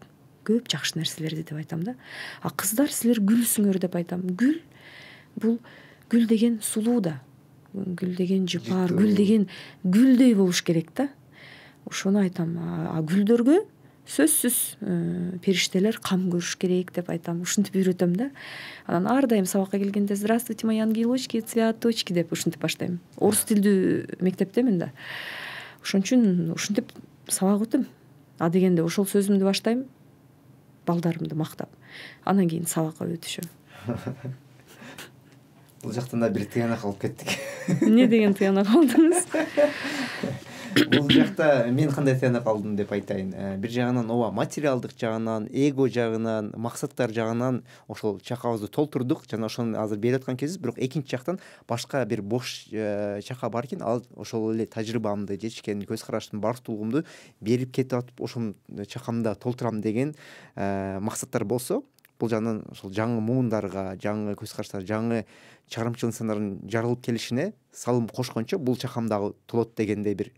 көп жакшы нерселерди" деп айтам да. А кыздар: "Силер гүлсүңөр" деп айтам. Гүл бул гүл деген сулуу да. Гүл деген жыпар, гүл деген гүлдөй болуш керек да. Ошону айтам. А гүлдөргө сөзсүз периштелер кам көрүш керек деп айтам. Ушинтип үйрөтөм да. Анан ар дайым сабакка келгенде: "Здравствуйте, мои ангелочки, цветочки" деп ушинтип баштайм. Орус тилдүү мектептемин да. Ошон үчүн ушинтип сабак өтөм. А дегенде ошол сөзүмдү баштайм, балдарымды мактап. Анан кийин сабакка өтүшөм. Бул жактан да бир тыянак алып кеттик. Эмне деген тыянак алдыңыз? Бул жакта мен кандай тыянак алдым деп айтайын. Бир жагынан ооба, материалдык жагынан, эго жагынан, максаттар жагынан ошол чакабызды толтурдук жана ошону азыр берип аткан кезибиз. Бирок экинчи жактан башка бир бош чака бар экен. Ал ошол эле тажрыйбамды, жетишкен көз караштын бардыгымды берип кетип атып, ошол чакамда толтурам деген максаттар болсо, бул жагынан ошол жаңы муундарга, жаңы көз караштар, жаңы чыгарымчыл инсандардын жаралып келишине салым кошкончо бул чакам дагы толот дегендей бир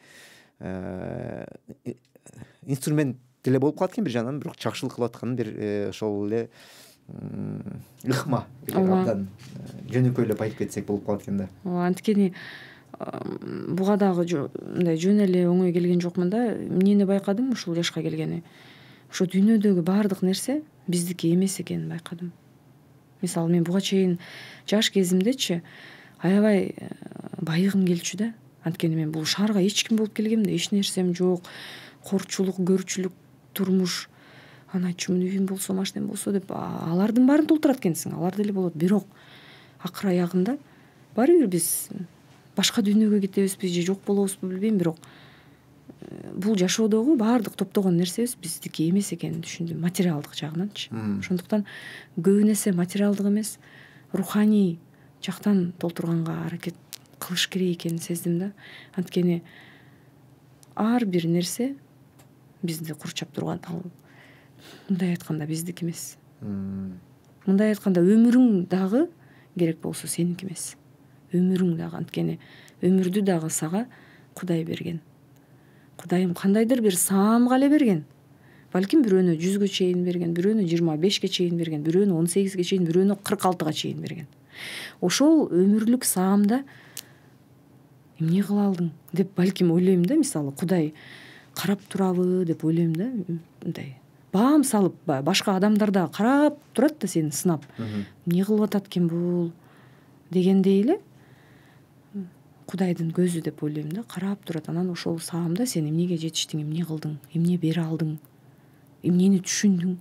инструмент деле болуп калат экен бир жагынан. Бирок жакшылык кылып аткан бир ошол эле ыкма абдан жөнөкөйлөп айтып кетсек болуп калат экен да. Ооба, анткени буга дагы мындай жөн эле оңой келген жокмун да. Эмнени байкадым ушул жашка келгени? Ошо дүйнөдөгү баардык нерсе биздики эмес экенин байкадым. Мисалы, мен буга чейин жаш кезимдечи аябай байыгым келчү да. Анткени мен бул шаарга эч ким болуп келгем да, эч нерсем жок. Корчулук, көрчүлүк турмуш. Анан айтчумун: "Үйүм болсо, машинем болсо" деп, алардын баарын толтурат экенсиң. Алар деле болот. Бирок акыр аягында баары бир биз башка дүйнөгө кетебизби же жок болобузбу билбейм, бирок бул жашоодогу баардык топтогон нерсебиз биздики эмес экенин түшүндүм, материалдык жагынанчы. Ошондуктан көбү нерсе материалдык эмес, руханий жактан толтурганга аракет кылыш керек экенин сездим да. Анткени ар бир нерсе бизди курчап турган, ал мындай айтканда биздики эмес. Мындай айтканда өмүрүң дагы керек болсо сеники эмес. Өмүрүң дагы, анткени өмүрдү дагы сага Кудай берген. Кудайым кандайдыр бир саамга эле берген. Балким бирөөнө жүзгө чейин берген, бирөөнө жыйырма бешке чейин берген, бирөөнө он сегизге чейин, бирөөнө кырк алтыга чейин берген. Ошол өмүрлүк саамда эмне кыла алдың деп балким ойлойм да. Мисалы, Кудай карап турабы деп ойлойм да. Мындай баам салып, башка адамдар да карап турат да сени сынап. Эмне кылып атат экен бул дегендей эле Кудайдын көзү деп ойлойм да. Карап турат. Анан ошол саамда сен эмнеге жетиштиң, эмне кылдың, эмне бере алдың, эмнени түшүндүң,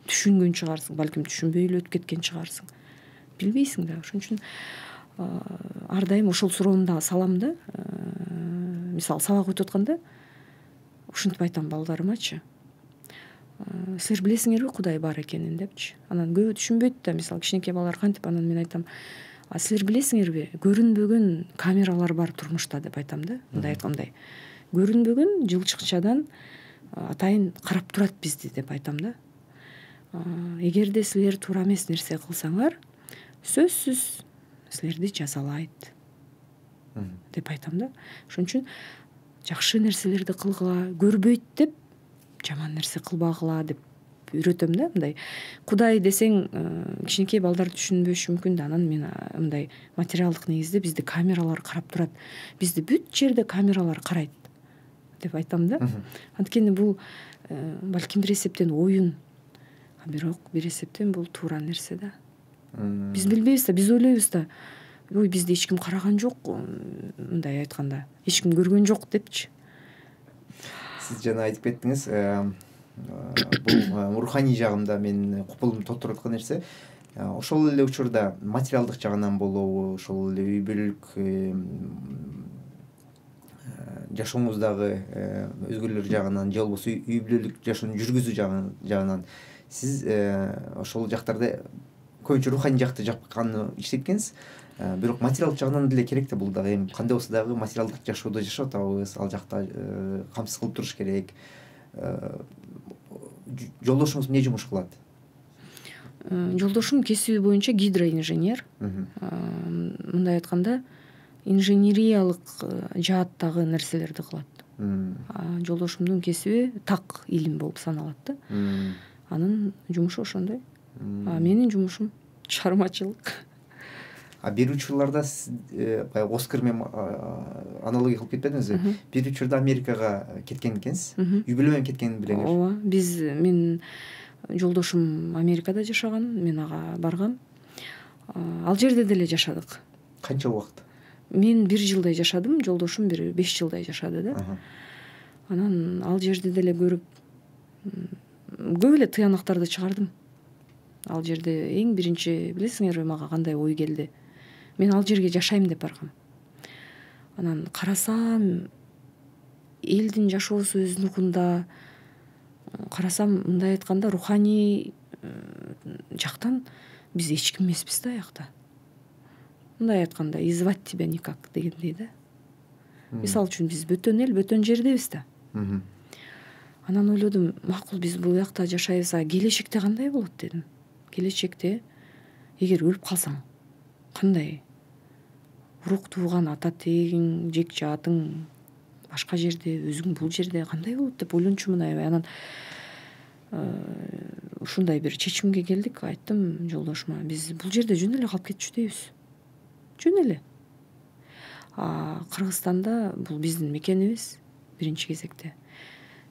түшүнгөн чыгарсың, балким түшүнбөй эле өтүп кеткен чыгарсың. билбейсиң да. Ошон үчүн ар дайым ошол суроону дагы салам да. Мисалы сабак өтүп атканда ушинтип айтам балдарымачы, силер билесиңерби Кудай бар экенин депчи. Анан көбү түшүнбөйт да, мисалы кичинекей балалар кантип. Анан мен айтам, а силер билесиңерби көрүнбөгөн камералар бар турмушта деп айтам да. Мындай айткандай, көрүнбөгөн жылчыкчадан атайын карап турат бизди деп айтам да. Эгерде силер туура эмес нерсе кылсаңар, сөзсүз силерди жазалайт деп айтам да. Ошон үчүн жакшы нерселерди кылгыла, көрбөйт деп жаман нерсе кылбагыла деп үйрөтөм да. Мындай Кудай десең кичинекей балдар түшүнбөшү мүмкүн да. Анан мен мындай материалдык негизде бизди камералар карап турат, бизди бүт жерде камералар карайт деп айтам да. Анткени бул балким бир эсептен оюн, а бирок бир эсептен бул туура нерсе да. Биз билбейбиз да, биз ойлойбуз да, ой бизди эч ким караган жок, мындай айтканда эч ким көргөн жок депчи. Сиз жана айтып кеттиңиз, бул руханий жагында менин купулумду толтуруп аткан нерсе, ошол эле учурда материалдык жагынан болобу, ошол эле үй бүлөлүк жашооңуздагы өзгөлөр жагынан же болбосо үй бүлөлүк жашоону жүргүзүү жагынан сиз ошол жактарда көбүнчө руханий жакты жакканы иштеткенсиз. Бирок материалдык жагынан деле керек да, бул дагы эми кандай болсо дагы материалдык жашоодо жашап атабыз, ал жакта камсыз кылып туруш керек. Жолдошуңуз эмне жумуш кылат? Жолдошум кесиби боюнча гидроинженер. Мындай айтканда инженериялык жааттагы нерселерди кылат. Жолдошумдун кесиби так илим болуп саналат да. Анын жумушу ошондой. А менин жумушум чыгармачылык. А бир учурларда сиз баягы Оскар менен аналогия кылып кетпедиңизби? Бир учурда Америкага кеткен экенсиз. Үй бүлө менен кеткенин билеңер. Ооба, биз мен жолдошум Америкада жашаган, мен ага баргам. Ал жерде деле жашадык. Канча убакыт? Мен бир жылдай жашадым, жолдошум бир беш жылдай жашады да. Анан ал жерде деле көрүп көп эле тыянактарды чыгардым. Ал жерде эң биринчи билесиңерби мага кандай ой келди? Мен ал жерге жашайм деп баргам. Анан карасам элдин жашоосу өз нугунда, карасам мындай айтканда руханий жактан биз эч ким эмеспиз да аякта. Мындай айтканда и звать тебя никак дегендей да. Мисалы үчүн биз бөтөн эл, бөтөн жердебиз да. Анан ойлодум, макул биз бул жакта жашайбыз, а келечекте кандай болот дедим. Келечекте эгер өлүп калсаң кандай? Урук тууган ата тегиң, жек жаатың башка жерде, өзүң бул жерде кандай болот деп ойлончумун аябай. Анан ушундай бир чечимге келдик. Айттым жолдошума, биз бул жерде жөн эле калып кетчү дейбиз. Жөн эле. А Кыргызстанда бул биздин мекенибиз биринчи кезекте.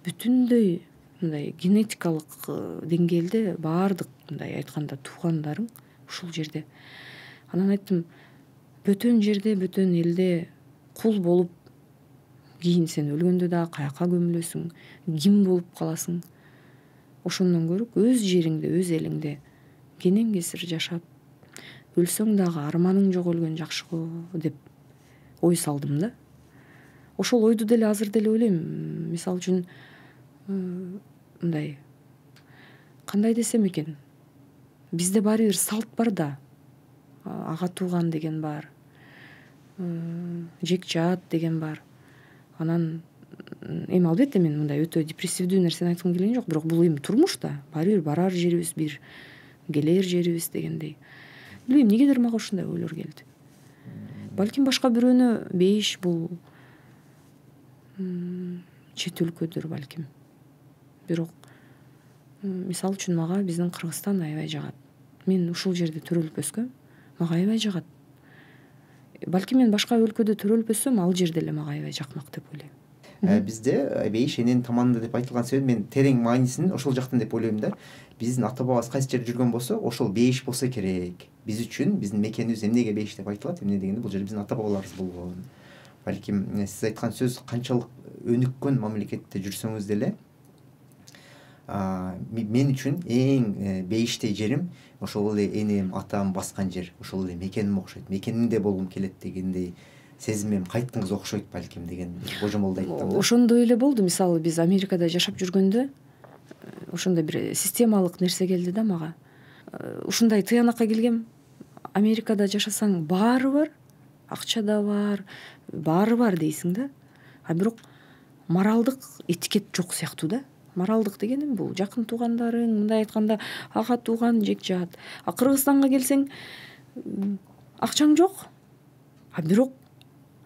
Бүтүндөй мындай генетикалык деңгээлде баардык мындай айтканда туугандарың ушул жерде. Анан айттым, бөтөн жерде, бөтөн элде кул болуп кийин сен өлгөндө да каяка көмүлөсүң, ким болуп каласың? Ошондон көрүп өз жериңде, өз элиңде кенен кесир жашап, өлсөң дагы арманың жок өлгөн жакшы го деп ой салдым да. Ошол ойду деле азыр деле ойлойм. Мисалы үчүн мындай кандай десем экен, бизде баары бир салт бар да. Ага тууган деген бар, жек жаат деген бар. Анан эми албетте мен мындай өтө депрессивдүү нерсени айткым келген жок, бирок бул эми турмуш да, баары бир барар жерибиз, бир келер жерибиз дегендей. Билбейм, эмнегедир мага ушундай ойлор келди. Балким башка бирөөнө бейиш бул чет өлкөдүр балким. Бирок мисалы үчүн мага биздин Кыргызстан аябай жагат. Мен ушул жерде төрөлүп өскөм, мага аябай жагат. Балким мен башка өлкөдө төрөлүп өссөм, ал жер деле мага аябай жакмак деп ойлойм. Бизде бейиш эненин таманында деп айтылган себеп мен терең маанисин ошол жактан деп ойлойм да. Биздин ата бабабыз кайсы жерде жүргөн болсо, ошол бейиш болсо керек. Биз үчүн биздин мекенибиз эмнеге бейиш деп айтылат? Эмне дегенде бул жерде биздин ата бабаларыбыз болгон. Балким сиз айткан сөз канчалык өнүккөн мамлекетте жүрсөңүз деле мен үчүн эң бейиштей жерим ошол эле энем атам баскан жер, ошол эле мекеним окшойт, мекенинде болгум келет дегендей сезимим кайттыңыз окшойт балким деген божомолду айттым. Ошондой эле болду. Мисалы биз Америкада жашап жүргөндө ошондой бир системалык нерсе келди да мага. Ушундай тыянакка келгем. Америкада жашасаң баары бар, акча да бар, баары бар дейсиң да. А бирок моралдык этикет жок сыяктуу да. Моралдык дегеним бул жакын туугандарың, мындай айтканда ага тууган жекжат. А Кыргызстанга келсең акчаң жок, а бирок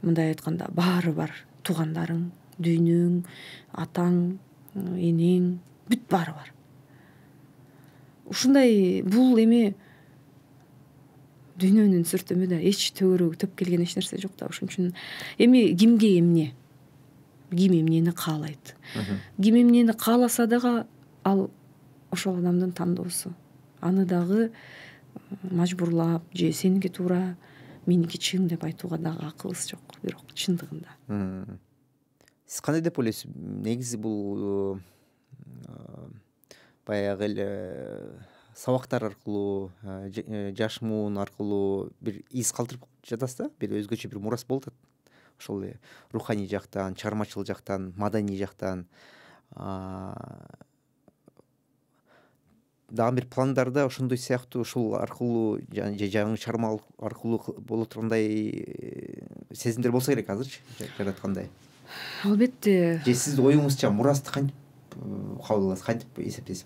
мындай айтканда баары бар. Туугандарың, дүйнөң, атаң, энең, бүт баары бар. Ушундай бул эми дүйнөнүн сүртүмү да эч төгөрөгү төп келген эч нерсе жок да. Ошон үчүн эми кимге эмне, ким эмнени каалайт, ким эмнени кааласа дагы ал ошол адамдын тандоосу. Аны дагы мажбурлап же сеники туура, меники чын деп айтууга дагы акыбыз жок. Бирок чындыгында сиз кандай деп ойлойсуз? Негизи бул баягы эле сабактар аркылуу, жаш муун аркылуу бир из калтырып жатасыз да, бир өзгөчө бир мурас болуп атат. Ошол эле руханий жактан, чыгармачыл жактан, маданий жактан дагы бир пландарда ошондой сыяктуу ушул аркылуу же жаңы чыгарма аркылуу боло тургандай сезимдер болсо керек азырчы жараткандай. Албетте. Же сиздин оюңузча мурасты кантип кабыл аласыз, кантип эсептейсиз?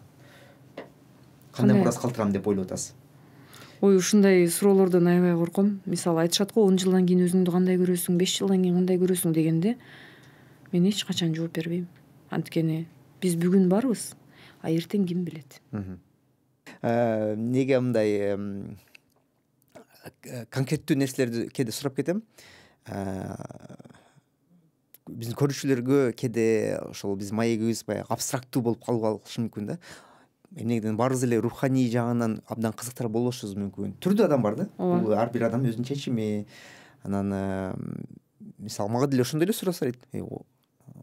Кандай мурас калтырам деп ойлоп атасыз? Ой, ушундай суроолордон аябай корком. Мисалы айтышат го он жылдан кийин өзүңдү кандай көрөсүң, беш жылдан кийин кандай көрөсүң дегенде мен эч качан жооп бербейм. Анткени биз бүгүн барбыз, а эртең ким билет. Неге мындай конкреттүү нерселерди кээде сурап кетем. Биздин көрүүчүлөргө кээде ошол биздин маегибиз баягы абстрактуу болуп калышы мүмкүн да. Эмнегеден баарыбыз эле руханий жагынан абдан кызыктар болушубуз мүмкүн. Түрдүү адам бар да. Бул ар бир адам өзүнүн чечими. Анан мисалы мага деле ошондой эле сураса дейт.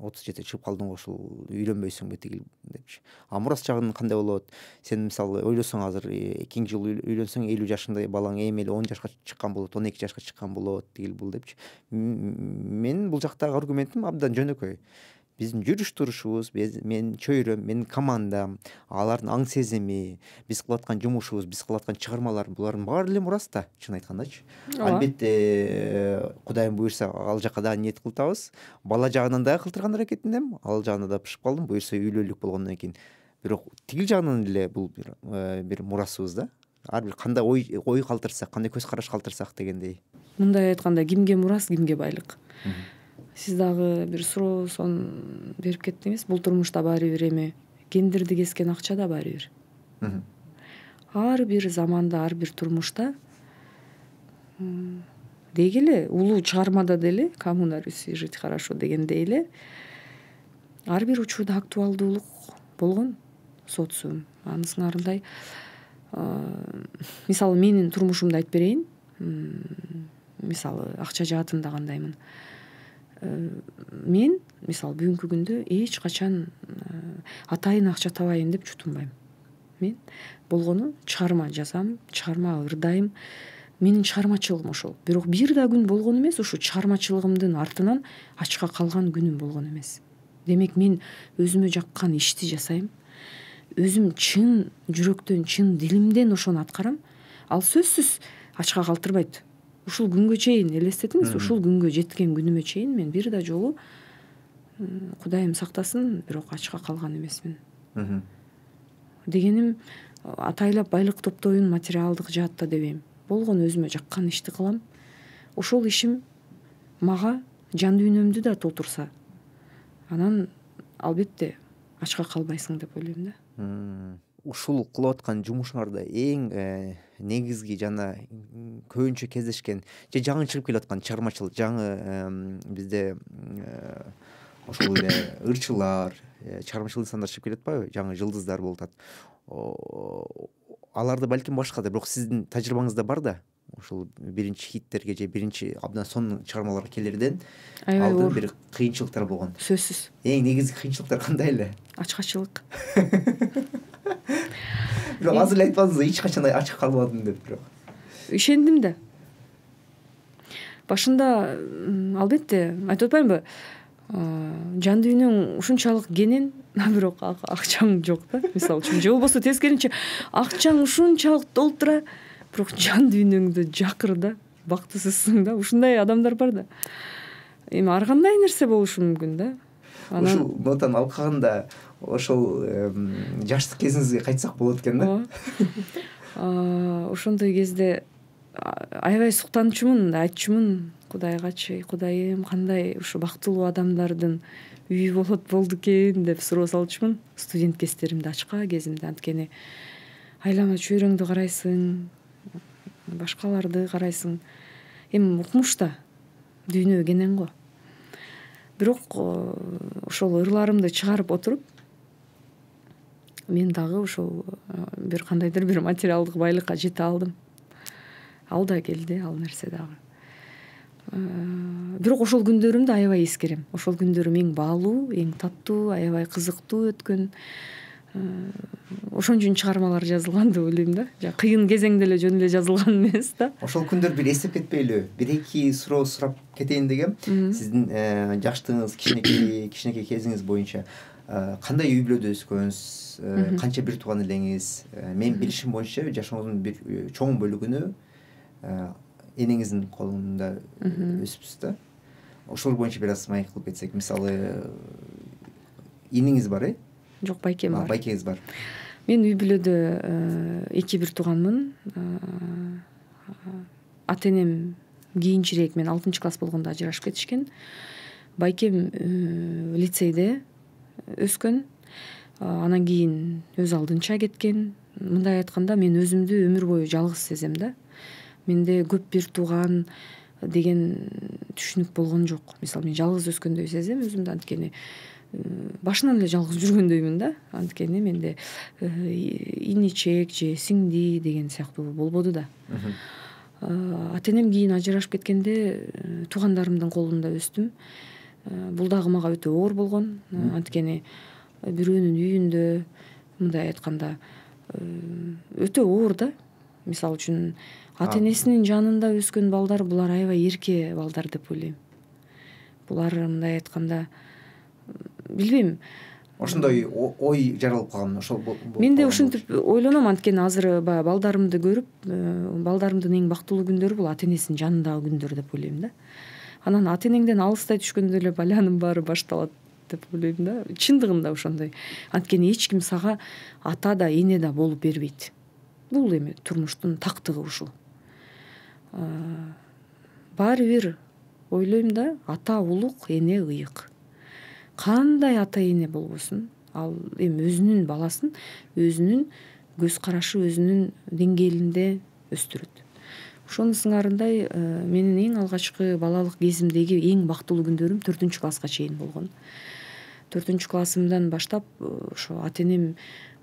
отуз жетиге чыгып калдың го, ушул үйлөнбөйсүңбү тигил депчи. А мурас жагын кандай болот? Сен мисалы ойлосоң азыр экинчи жолу үйлөнсөң элүү жашында балаң эми эле он жашка чыккан болот, он эки жашка чыккан болот тигил бул депчи. Мен бул жактагы аргументим абдан жөнөкөй. Биздин жүрүш турушубуз, менин чөйрөм, менин командам, алардын аң сезими, биз кылып аткан жумушубуз, биз кылып аткан чыгармалар, булардын баары эле мурас да, чын айткандачы. Албетте, Кудайым буйрса, ал жака дагы ниет кылып атабыз. Бала жагынан дагы кылтырган аракетиндем, ал жагына да бышып калдым, буйрса үйлүүлүк болгондон кийин. Бирок тигил жагынан эле бул бир бир мурасыбыз да. Ар бир кандай ой ой калтырсак, кандай көз караш калтырсак дегендей. Мындай айтканда, кимге мурас, кимге байлык. Сиз дагы бир суроосон берип кеттиңиз. Бул турмушта баары бир эми гендерди кескен акча да баары бир. Ар бир заманда, ар бир турмушта деги эле улуу чыгармада деле кому на Руси жить хорошо дегендей эле ар бир учурда актуалдуулук болгон социум. Анысыңарындай мисалы менин турмушумду айтып берейин. Мисалы акча жаатында кандаймын. Мен мисалы бүгүнкү күндө эч качан атайын акча табайын деп чутунбайм. Мен болгону чыгарма жазам, чыгарма ырдайм. Менин чыгармачылыгым ошол. Бирок бир да күн болгон эмес, ушу чыгармачылыгымдын артынан ачка калган күнүм болгон эмес. Демек мен өзүмө жаккан ишти жасайм. Өзүм чын жүрөктөн, чын дилимден ошону аткарам. Ал сөзсүз ачка калтырбайт. Ушул күнгө чейин элестетиңиз, ушул күнгө жеткен күнүмө чейин мен бир да жолу Кудайым сактасын, бирок ачка калган эмесмин. Дегеним атайлап байлык топтоюн материалдык жаатта дебейм. Болгон өзүмө жаккан ишти кылам. Ошол ишим мага жан дүйнөмдү да толтурса, анан албетте ачка калбайсың деп ойлойм да. Ушул кылып аткан жумушуңарда эң негизги жана көбүнчө кездешкен же жаңы чыгып келе аткан чыгармачыл жаңы бизде ошол эле ырчылар, чыгармачыл инсандар чыгып келе атпайбы? Жаңы жылдыздар болуп атат. Аларды балким башкадыр, бирок сиздин тажрыйбаңызда бар да ушул биринчи хиттерге же биринчи абдан сонун чыгармаларга келерден аябай алдын оор. бир кыйынчылыктар болгон. Сөзсүз. Эң негизги кыйынчылыктар кандай эле? Ачкачылык. Бирок азыр эле айтып атасыз, эч качан ачык калбадым деп. Бирок ишендим да. Башында албетте айтып атпаймынбы, жан дүйнөң ушунчалык кенен, бирок акчаң жок да, мисалы үчүн. Же болбосо тескеринче акчаң ушунчалык толтура, бирок жан дүйнөңдө жакыр да, бактысызсың да. Ушундай адамдар бар да. Эми ар кандай нерсе болушу мүмкүн да. Ушул нотаны алып калганда ошол жаштык кезиңизге кайтсак болот экен да. Ошондой кезде аябай суктанчумун, айтчумун Кудайгачы, Кудайым, кандай ушу бактылуу адамдардын үйү болот болду экен деп суроо салчумун студент кездеримде, ачка кезимде. Анткени айлама чөйрөңдү карайсың, башкаларды карайсың. Эми укмушта дүйнө кенен го. Бирок ошол ырларымды чыгарып отуруп, мен дагы ошол бир кандайдыр бир материалдык байлыкка жете алдым. Ал да келди, ал нерсе дагы. Бирок ошол күндөрүмдү аябай эскерем. Ошол күндөрүм эң баалуу, эң таттуу, аябай кызыктуу өткөн. Ошон үчүн чыгармалар жазылган деп ойлойм да. Кыйын кезеңде эле жөн эле жазылган эмес да. Ошол күндөр бир эстеп кетпейлү? Бир эки суроо сурап кетейин дегем. Сиздин жаштыгыңыз, кичинекей кичинекей кезиңиз боюнча кандай үй бүлөдө өскөнсүз, канча бир тууган элеңиз? Мен билишим боюнча жашооңуздун бир чоң бөлүгүнү энеңиздин колунда өсүпсүз да. Ошол боюнча бир аз маек кылып кетсек, мисалы иниңиз бар, э? Жок, байкем бар. Байкеңиз бар. Мен үй бүлөдө эки бир тууганмын. Ата энем кийинчерээк, мен алтынчы класс болгондо ажырашып кетишкен. Байкем лицейде өскөн. Анан кийин өз алдынча кеткен. Мындай айтканда, мен өзүмдү өмүр бою жалгыз сезем да. Менде көп бир тууган деген түшүнүк болгон жок. Мисалы, мен жалгыз өскөндөй сезем өзүмдү, анткени башынан эле жалгыз жүргөндөймүн да. Анткени менде иничек же сиңди деген сыяктуу болбоду да. Ата энем кийин ажырашып кеткенде туугандарымдын колунда өстүм. Бул дагы мага өтө оор болгон. Анткени бирөөнүн үйүндө, мындай айтканда, өтө оор да. Мисалы үчүн ата энесинин жанында өскөн балдар, булар аябай эрке балдар деп ойлойм. Булар мындай айтканда, билбейм, ошондой ой жаралып калган. Ошол мен да ушинтип ойлоном, анткени азыр баягы балдарымды көрүп, балдарымдын эң бактылуу күндөрү бул ата энесинин жанындагы күндөр деп ойлойм да. Анан ата энеңден алыстай түшкөндө эле балянын баары башталат деп ойлойм да. Чындыгында ошондой. Анткени эч ким сага ата да, эне да болуп бербейт. Бул эми турмуштун тактыгы ушул. Баары бир ойлойм да, ата улук, эне ыйык. Кандай ата эне болбосун, ал эми өзүнүн баласын өзүнүн көз карашы, өзүнүн деңгээлинде өстүрөт. Ошонун сыңарындай менин эң алгачкы балалык кезимдеги эң бактылуу күндөрүм төртүнчү класска чейин болгон. төртүнчү классымдан баштап ошо ата энем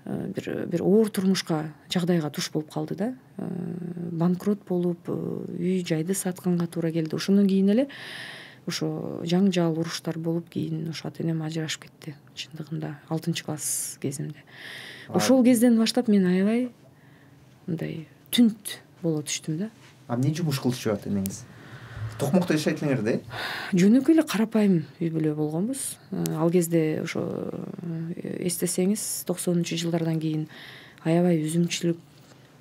бир бир оор турмушка, жагдайга туш болуп калды да. Банкрот болуп, үй жайды сатканга туура келди. Ошондон кийин эле ошо жаңжал, уруштар болуп, кийин ошо ата энем ажырашып кетти. Чындыгында алтынчы класс кезимде. Ошол кезден баштап мен аябай мындай түнт боло түштүм да. А эмне жумуш кылчу ата энеңиз? Токмокто жашайт элеңер да? Жөнөкөй эле карапайым үй бүлө болгонбуз. Ал кезде ошо эстесеңиз, токсонунчу жылдардан кийин аябай үзүмчүлүк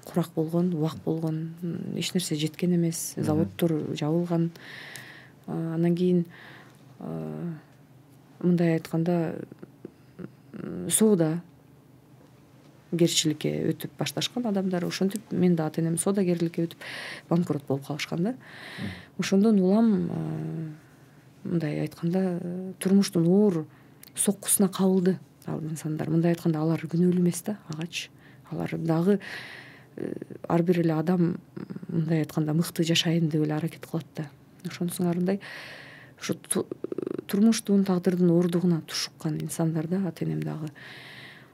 курак болгон, убак болгон, эч нерсе жеткен эмес, заводдор жабылган. Анан кийин мындай айтканда соода герчиликке өтүп башташкан адамдар. Ошентип мен да ата энем соодагерликке өтүп банкрот болуп калышкан да. Ошондон улам мындай айтканда турмуштун оор соккусуна кабылды ал инсандар. Мындай айтканда алар күнөөлүү эмес да, агач. Алар дагы ар бир эле адам мындай айтканда мыкты жашайын деп эле аракет кылат да. Ошонун сыңарындай ушу турмуштун, тагдырдын оордугуна тушуккан инсандар да, ата энем дагы.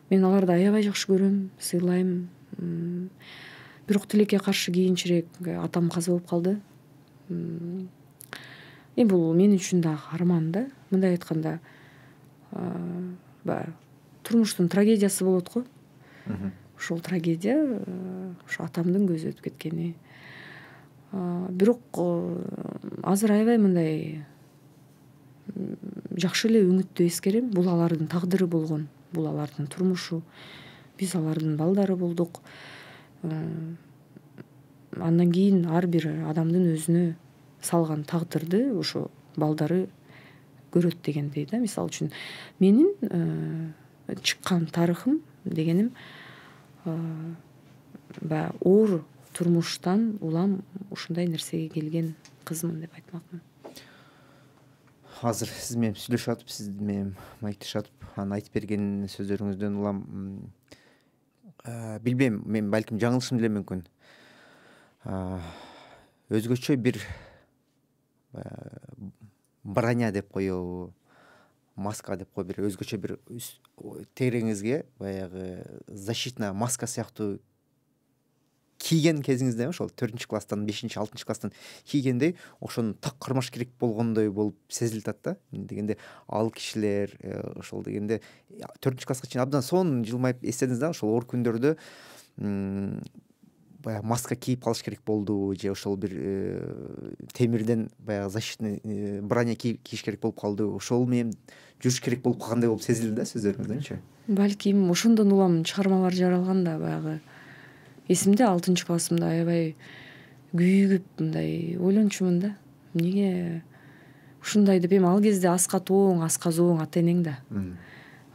Мен аларды аябай жакшы көрөм, сыйлайм. бирок тилекке каршы кийинчерээк атам каза болуп калды. Эми бул мен үчүн дагы арман да. Мындай айтканда баягы турмуштун трагедиясы болот го. Ошол трагедия ошо атамдын көзү өтүп кеткени. Бирок азыр аябай мындай жакшы эле үмүттүү эскерем. Бул алардын тагдыры болгон, бул алардын турмушу. Биз алардын балдары болдук. Андан кийин ар бир адамдын өзүнө салган тагдырды ошо балдары көрөт дегендей да. Мисалы үчүн менин чыккан тарыхым дегеним баягы оор турмуштан улам ушундай нерсеге келген кызмын деп айтмакмын. Азыр сиз менен сүйлөшүп атып, сиз менен маектешип атып, анан айтып берген сөздөрүңүздөн улам билбейм, мен балким жаңылышым деле мүмкүн. Өзгөчө бир броня деп коебу, маска деп коебу, бир өзгөчө бир тереңизге баягы защитная маска сыяктуу кийген кезиңизде, ошол төртүнчү класстан, бешинчи, алтынчы класстан кийгендей ошону так кармаш керек болгондой болуп сезилип атат да. Дегенде ал кишилер ошол дегенде төртүнчү класска чейин абдан сонун жылмайып эстедиңиз да, ошол оор күндөрдө баягы маска кийип калыш керек болду, же ошол бир темирден баягы защитный броня кийиш керек болуп калды, ошол менен жүрүш керек болуп калгандай болуп сезилди да сөздөрүңүздөнчү. Балким ошондон улам чыгармалар жаралган да. Баягы эсимде алтынчы классымда аябай күйүгүп мындай ойлончумун да. Эмнеге ушундай деп, эми ал кезде аска тооң, аска зооң ата энең да.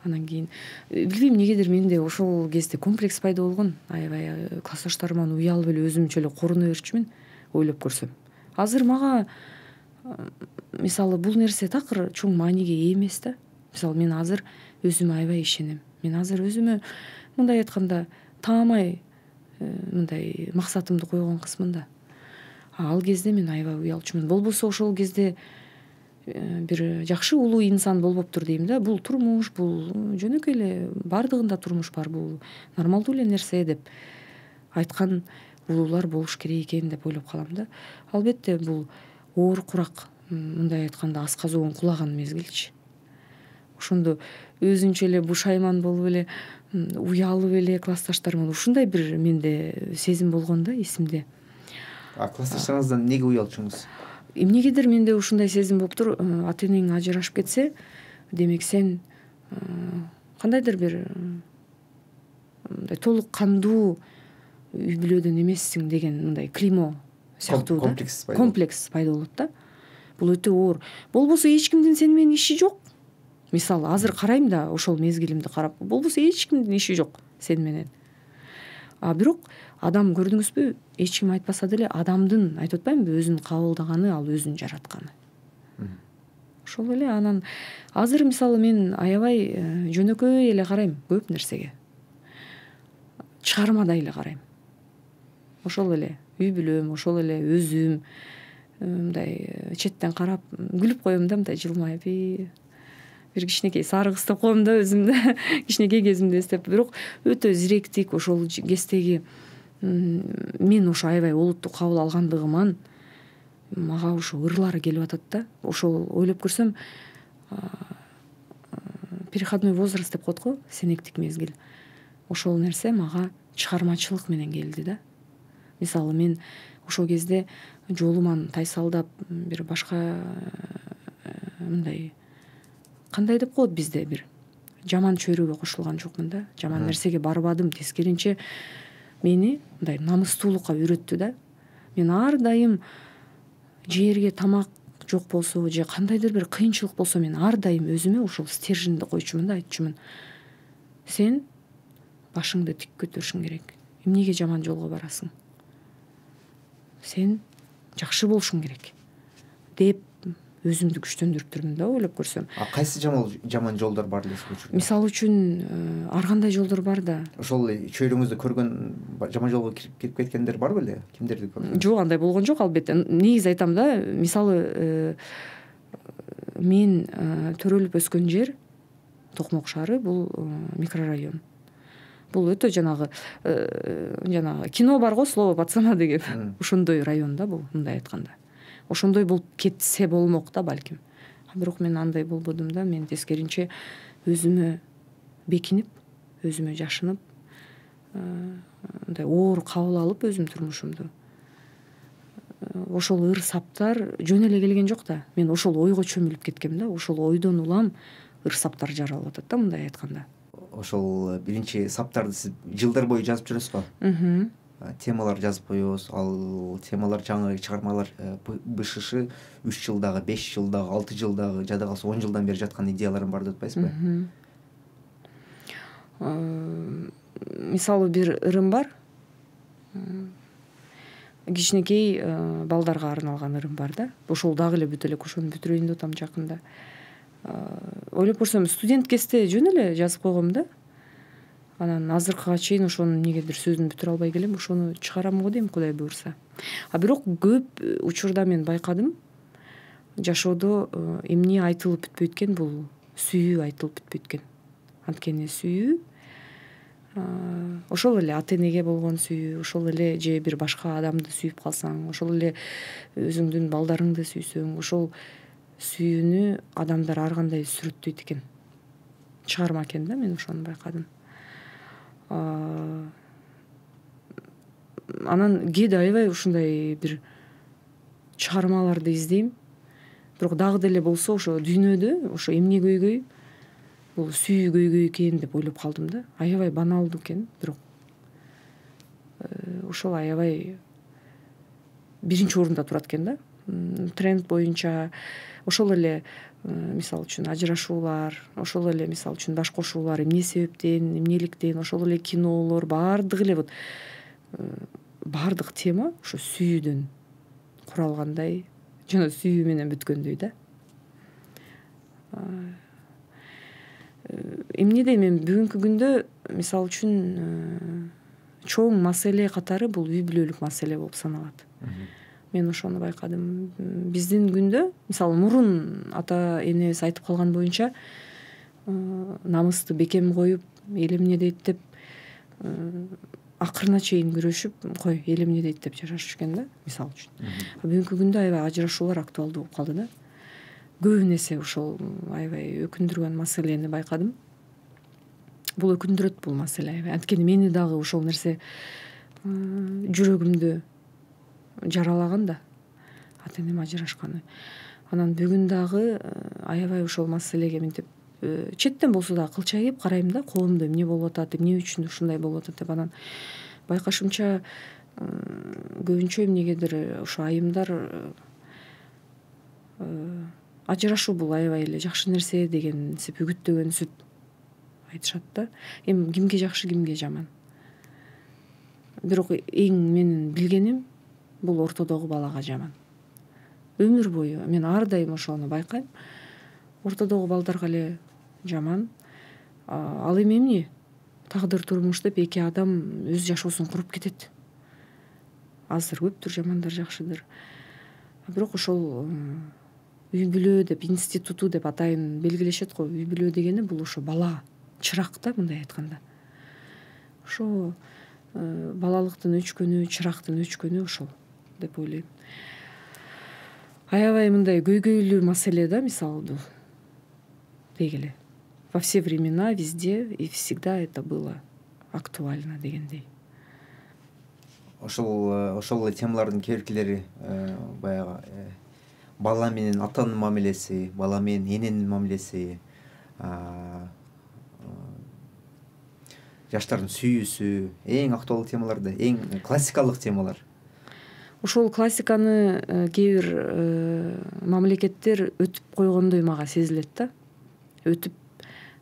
Анан кийин билбейм эмнегедир менде ошол кезде комплекс пайда болгон. Аябай классташтарыман уялып эле өзүмчө эле коруна берчүмүн, ойлоп көрсөм. Азыр мага мисалы бул нерсе такыр чоң мааниге ээ эмес да. Мисалы мен азыр өзүмө аябай ишенем. Мен азыр өзүмө мындай айтканда таамай мындай максатымды койгон кызмын да. Ал кезде мен аябай уялчумун. Болбосо ошол кезде бир жакшы улуу инсан болбоптур дейм да. Бул турмуш, бул жөнөкөй эле, бардыгында турмуш бар, бул нормалдуу эле нерсе деп айткан улуулар болуш керек экен деп ойлоп калам да. Албетте бул оор курак, мындай айтканда аска зооң кулаган мезгилчи. Ошондо өзүнчө эле бушайман болуп эле, уялып эле классташтарыман ушундай бир менде сезим болгон да эсимде. А классташтарыңыздан эмнеге уялчуңуз? Эмнегедир менде ушундай сезим болуптур. Ата энең ажырашып кетсе, демек сен кандайдыр бир мындай толук кандуу үй бүлөдөн эмессиң деген мындай клеймо сыяктуу да. Комплекс пайда болот да. Бул өтө оор. Болбосо эч кимдин сени менен иши жок. Мисалы азыр карайм да, ошол мезгилимди карап, болбосо эч кимдин иши жок сен менен. А бирок адам, көрдүңүзбү, эч ким айтпаса деле адамдын, айтып атпаймынбы, өзүн кабылдаганы ал өзүн жаратканы. Ошол эле. Анан азыр мисалы мен аябай жөнөкөй эле карайм көп нерсеге. Чыгармадай эле карайм. Ошол эле үй бүлөм, ошол эле өзүм мындай четтен карап күлүп коем да, мындай жылмайып. Бир кичинекей сары кыз деп коем да өзүмдү, кичинекей кезимди эстеп. Бирок өтө зиректик ошол кездеги мен ошо аябай олутту кабыл алгандыгыман мага ошо ырлары келип атат да. Ошол ойлоп көрсөм, переходной возраст деп коет го, сенектик мезгил. Ошол нерсе мага чыгармачылык менен келди да. Мисалы мен ошол кезде жолуман тайсалдап, бир башка мындай кандай деп коет бизде, бир жаман чөйрөгө кошулган жокмун да. Жаман нерсеге барбадым, тескеринче мени мындай намыстуулукка үйрөттү да. Мен ар дайым жерге тамак жок болсо же кандайдыр бир кыйынчылык болсо, мен ар дайым өзүмө ошол стерженди койчумун да, айтчумун. Сен башыңды тик көтөрүшүң керек. Эмнеге жаман жолго барасың? Сен жакшы болушуң керек деп өзүмдү күчтөндүрүп турмун да, ойлоп көрсөм. А кайсы жаман жолдор бар эле ушул? Мисалы үчүн ар кандай жолдор бар да. Ошол чөйрөңүздө көргөн жаман жолго кирип кеткендер бар беле? Кимдерди көрдүңүз? Жок, андай болгон жок албетте. Негизи айтам да, мисалы мен төрөлүп өскөн жер Токмок шаары, бул микрорайон. бул өтө жанагы жанагы кино бар го «Слово пацана» деген ошондой район да бул, мындай айтканда. Ошондой болуп кетсе болмок да балким. Бирок мен андай болбодум да. Мен тескеринче өзүмө бекинип, өзүмө жашынып, мындай оор кабыл алып өзүм турмушумду. Ошол ыр саптар жөн эле келген жок да. Мен ошол ойго чөмүлүп кеткем да. Ошол ойдон улам ыр саптар жаралып атат да, мындай айтканда. Ошол биринчи саптарды сиз жылдар бою жазып жүрөсүз го. Темалар жазып коебуз. Ал темалар жаңы чыгармалар БШШ үч жылдагы, беш жылдагы, алты жылдагы, жада калса он жылдан бери жаткан идеяларым бар деп атпайсызбы? Мисалы бир ырым бар. Кичинекей балдарга арналган ырым бар да. Ошол дагы эле бүтө элек, ошону бүтүрөйүн деп атам жакында. Ойлоп көрсөм, студент кезде жөн эле жазып койгом да. Анан азыркыга чейин ошону эмнегедир сөзүн бүтүрө албай келем. Ошону чыгарам го дейм, Кудай буйрса. А бирок көп учурда мен байкадым, жашоодо эмне айтылып бүтпөйт экен, бул сүйүү айтылып бүтпөйт экен. Анткени сүйүү ошол эле ата энеге болгон сүйүү, ошол эле же бир башка адамды сүйүп калсаң, ошол эле өзүңдүн балдарыңды сүйсөң, ошол сүйүүнү адамдар ар кандай сүрөттөйт экен. Чыгарма экен да, мен ошону байкадым. Анан кээде аябай ушундай бир чыгармаларды издейм. Бирок дагы деле болсо ошо дүйнөдө ошо эмне көйгөй, бул сүйүү көйгөй экен деп ойлоп калдым да. Аябай баналдуу экен, бирок ошол аябай биринчи орунда турат экен да. Тренд боюнча ошол эле мисалы үчүн ажырашуулар, ошол эле мисалы үчүн баш кошуулар эмне себептен, эмнеликтен, ошол эле кинолор баардыгы эле вот баардык тема ошо сүйүүдөн куралгандай, жана сүйүү менен бүткөндөй да. Эмнеде мен бүгүнкү күндө мисалы үчүн чоң маселе катары бул үй бүлөлүк маселе болуп саналат. Мен ошону байкадым. Биздин күндө, мисалы, мурун ата энебиз айтып калган боюнча, намысты бекем коюп, эл эмне дейт деп акырына чейин күрөшүп, кой, эл эмне дейт деп жашашып жүргөн да, мисалы үчүн. Бүгүнкү күндө аябай ажырашуулар актуалдуу болуп калды да. Көбүн эсе ошол аябай өкүндүргөн маселени байкадым. Бул өкүндүрөт бул маселе аябай. Анткени мени дагы ошол нерсе жүрөгүмдү жаралаган да, ата энем ажырашканы. Анан бүгүн дагы аябай ошол маселеге мынтип четтен болсо да кылчайып карайм да, коомдо эмне болуп атат, эмне үчүн ушундай болуп атат деп. Анан байкашымча көбүнчө эмнегедир ошо айымдар ажырашуу бул аябай эле жакшы нерсе дегенсип үгүттөгөнсүп айтышат да. Эми кимге жакшы, кимге жаман. Бирок эң менин билгеним бул ортодогу балага жаман. Өмүр бою мен ар дайым ошону байкайм. Ортодогу балдарга эле жаман. Ал эми эмне? Тагдыр турмуш деп эки адам өз жашоосун куруп кетет. Азыр көптүр жамандар, жакшыдыр. Бирок ошол үй бүлө деп, институту деп атайын белгилешет го. Үй бүлө дегени бул ошо бала, чырак да, мындай айтканда. Ошо балалыктын өчкөнү, чырактын өчкөнү ошол деп ойлойм. Аябай мындай көйгөйлүү маселе да, мисалы бул. Дегеле. Во все времена, везде и всегда это было актуально дегендей. Ошол ошол эле темалардын кээ-биркилери баягы бала менен атанын мамилеси, бала менен эненин мамилеси, жаштардын сүйүүсү, эң актуалдуу темалар да, эң классикалык темалар. Ошол классиканы кээ бир мамлекеттер өтүп койгондой мага сезилет да. Өтүп,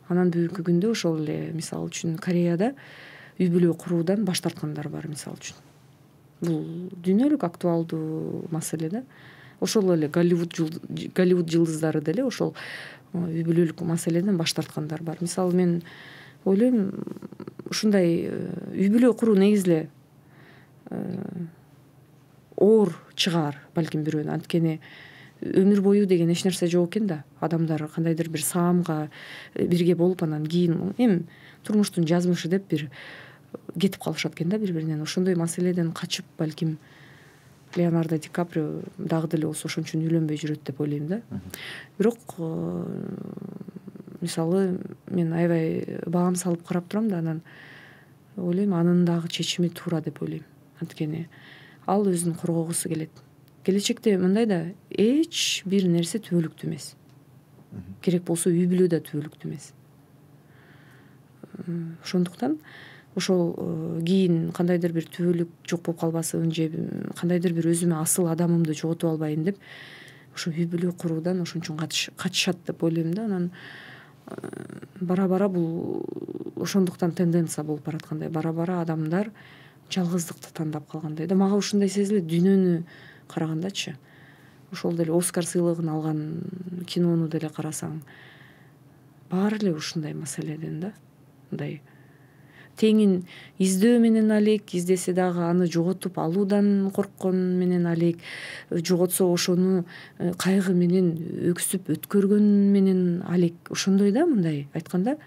анан бүгүнкү күндө ошол эле мисалы үчүн Кореяда үй бүлө куруудан баш тарткандар бар, мисалы үчүн. Бул дүйнөлүк актуалдуу маселе да. Ошол эле Голливуд Голливуд жылдыздары деле ошол үй бүлөлүк маселеден баш тарткандар бар. Мисалы мен ойлойм, ушундай үй бүлө куруу негизи эле оор чыгаар балким бирөөнү. Анткени өмүр бою деген эч нерсе жок экен да. Адамдар кандайдыр бир саамга бирге болуп анан кийин эми турмуштун жазмышы деп бир кетип калышат экен да бири биринен. Ошондой маселеден качып балким Леонардо Ди Каприо дагы деле болсо ошон үчүн үйлөнбөй жүрөт деп ойлойм да. Бирок мисалы мен аябай баам салып карап турам да, анан ойлойм анын дагы чечими туура деп ойлойм. Анткени ал өзүн коргогусу келет. Келечекте мындай да, эч бир нерсе түбөлүктүү эмес. Керек болсо үй бүлө да түбөлүктүү эмес. Ошондуктан ошол кийин кандайдыр бир түбөлүк жок болуп калбасын же кандайдыр бир өзүмө асыл адамымды жоготуп албайын деп ошо үй бүлө куруудан ошон үчүн качышат деп ойлойм да. Анан бара бара бул ошондуктан тенденция болуп бараткандай, бара бара адамдар жалгыздыкты тандап калгандай да. Мага ушундай сезилет дүйнөнү карагандачы. Ошол деле Оскар сыйлыгын алган кинону деле карасаң, баары эле ушундай маселеден да. Мындай теңин издөө менен алек, издесе дагы аны жоготуп алуудан корккон менен алек, жоготсо ошону кайгы менен өксүп өткөргөн менен алек. Ошондой да, мындай айтканда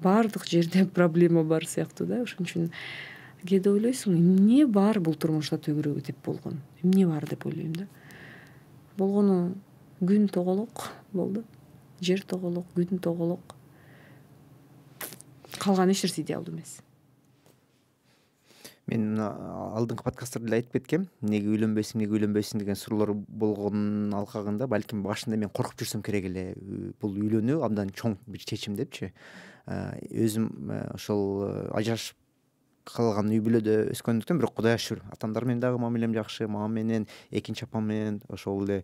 баардык жерде проблема бар сыяктуу да. Ошон үчүн кээде ойлойсуң, эмне бар бул турмушта төгүрөгү теп болгон, эмне бар деп ойлойм да. Болгону күн тоголок болду, жер тоголок, күн тоголок, калган эч нерсе идеалдуу эмес. Мен алдыңкы подкасттарда эле айтып кеткем, эмнеге үйлөнбөйсүң, эмнеге үйлөнбөйсүң деген суроолор болгонун алкагында балким башында мен коркуп жүрсөм керек эле. Бул үйлөнүү абдан чоң бир чечим депчи. Өзүм ошол ажырашып калган үй бүлөдө өскөндүктөн, бирок Кудайга шүгүр, атамдар менен дагы мамилем жакшы, мамам менен, экинчи апам менен, ошол эле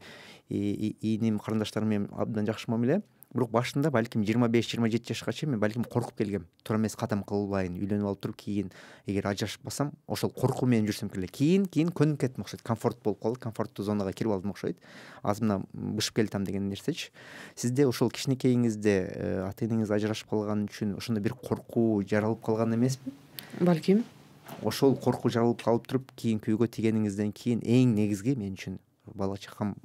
ийним, карындаштарым менен абдан жакшы мамиле. Бирок башында балким жыйырма беш жыйырма жети жашка чейин мен балким коркуп келгем. Туура эмес кадам кылбайын, үйлөнүп алып туруп кийин эгер ажырашып калсам, ошол коркуу менен жүрсөм керек. Кийин кийин көнүп кеттим окшойт, комфорт болуп калды, комфорттуу зонага кирип алдым окшойт. Азыр мына бышып келатам деген нерсечи. Сизде ошол кичинекейиңизде ата энеңиз ажырашып калган үчүн ошондой бир коркуу жаралып калган эмеспи? Балким. Ошол коркуу жаралып калып туруп кийинки үйгө тийгениңизден кийин эң негизги мен үчүн бала чакам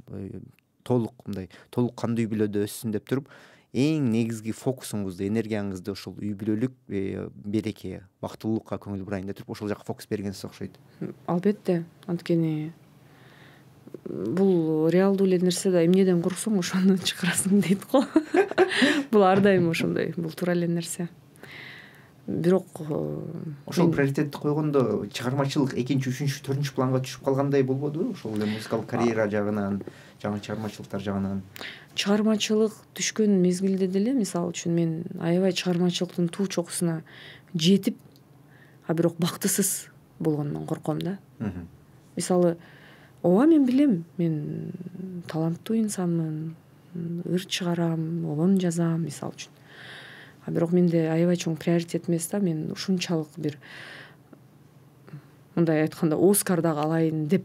толук мындай толук кандуу үй бүлөдө өссүн деп туруп, эң негизги фокусуңузду, энергияңызды ошол үй бүлөлүк береке, бактылуулукка көңүл бурайын деп туруп ошол жака фокус бергенсиз окшойт. Албетте, анткени бул реалдуу эле нерсе да, эмнеден корксоң ошону чыгарасың дейт го. Бул ар дайым ошондой, бул туура эле нерсе. Бирок ошол приоритетти койгондо чыгармачылык экинчи, үчүнчү, төртүнчү планга түшүп калгандай болбодубу? Ошол эле музыкалык карьера жагынан, жаңы чыгармачылыктар жагынан. Чыгармачылык түшкөн мезгилде деле, мисалы үчүн, мен аябай чыгармачылыктын туу чокусуна жетип, а бирок бактысыз болгондон корком да. Мисалы, ооба мен билем, мен таланттуу инсанмын, ыр чыгарам, обон жазам, мисалы үчүн. А бирок менде аябай чоң приоритет эмес да, мен ушунчалык бир мындай айтканда Оскар дагы алайын деп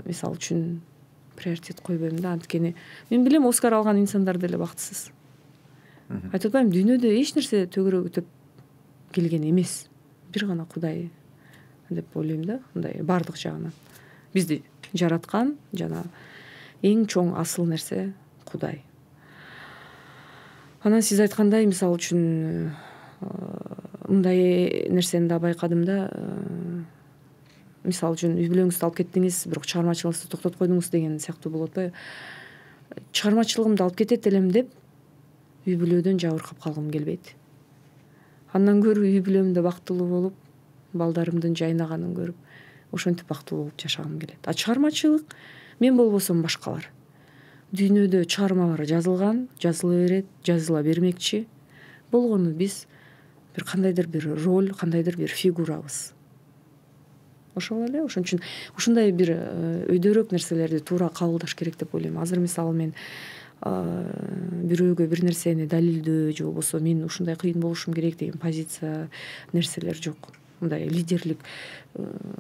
мисалы үчүн приоритет койбойм да. Анткени мен билем, Оскар алган инсандар деле бактысыз. Айтып атпайм, дүйнөдө эч нерсе төгүрөгү төп келген эмес. Бир гана Кудай деп ойлойм да, мындай бардык жагынан. Бизди жараткан жана эң чоң асыл нерсе Кудай. Анан сиз айткандай, мисалы үчүн мындай нерсени да байкадым да. Мисалы үчүн үй бүлөңүздү алып кеттиңиз, бирок чыгармачылыгыңызды токтотуп койдуңуз деген сыяктуу болуп атпайбы? Чыгармачылыгымды алып кетет элем деп үй бүлөдөн жабыркап калгым келбейт. Андан көрө үй бүлөмдө бактылуу болуп, балдарымдын жайнаганын көрүп, ошентип бактылуу болуп жашагым келет. А чыгармачылык мен болбосом башкалар. Дүйнөдө чыгармалар жазылган, жазыла берет, жазыла бермекчи. Болгону биз бир кандайдыр бир роль, кандайдыр бир фигурабыз. Ошол эле, ошон үчүн ушундай бир өйдөрөөк нерселерди туура кабылдаш керек деп ойлойм. Азыр мисалы мен бирөөгө бир нерсени далилдөө же болбосо мен ушундай кыйын болушум керек деген позиция нерселер жок. Мындай лидерлик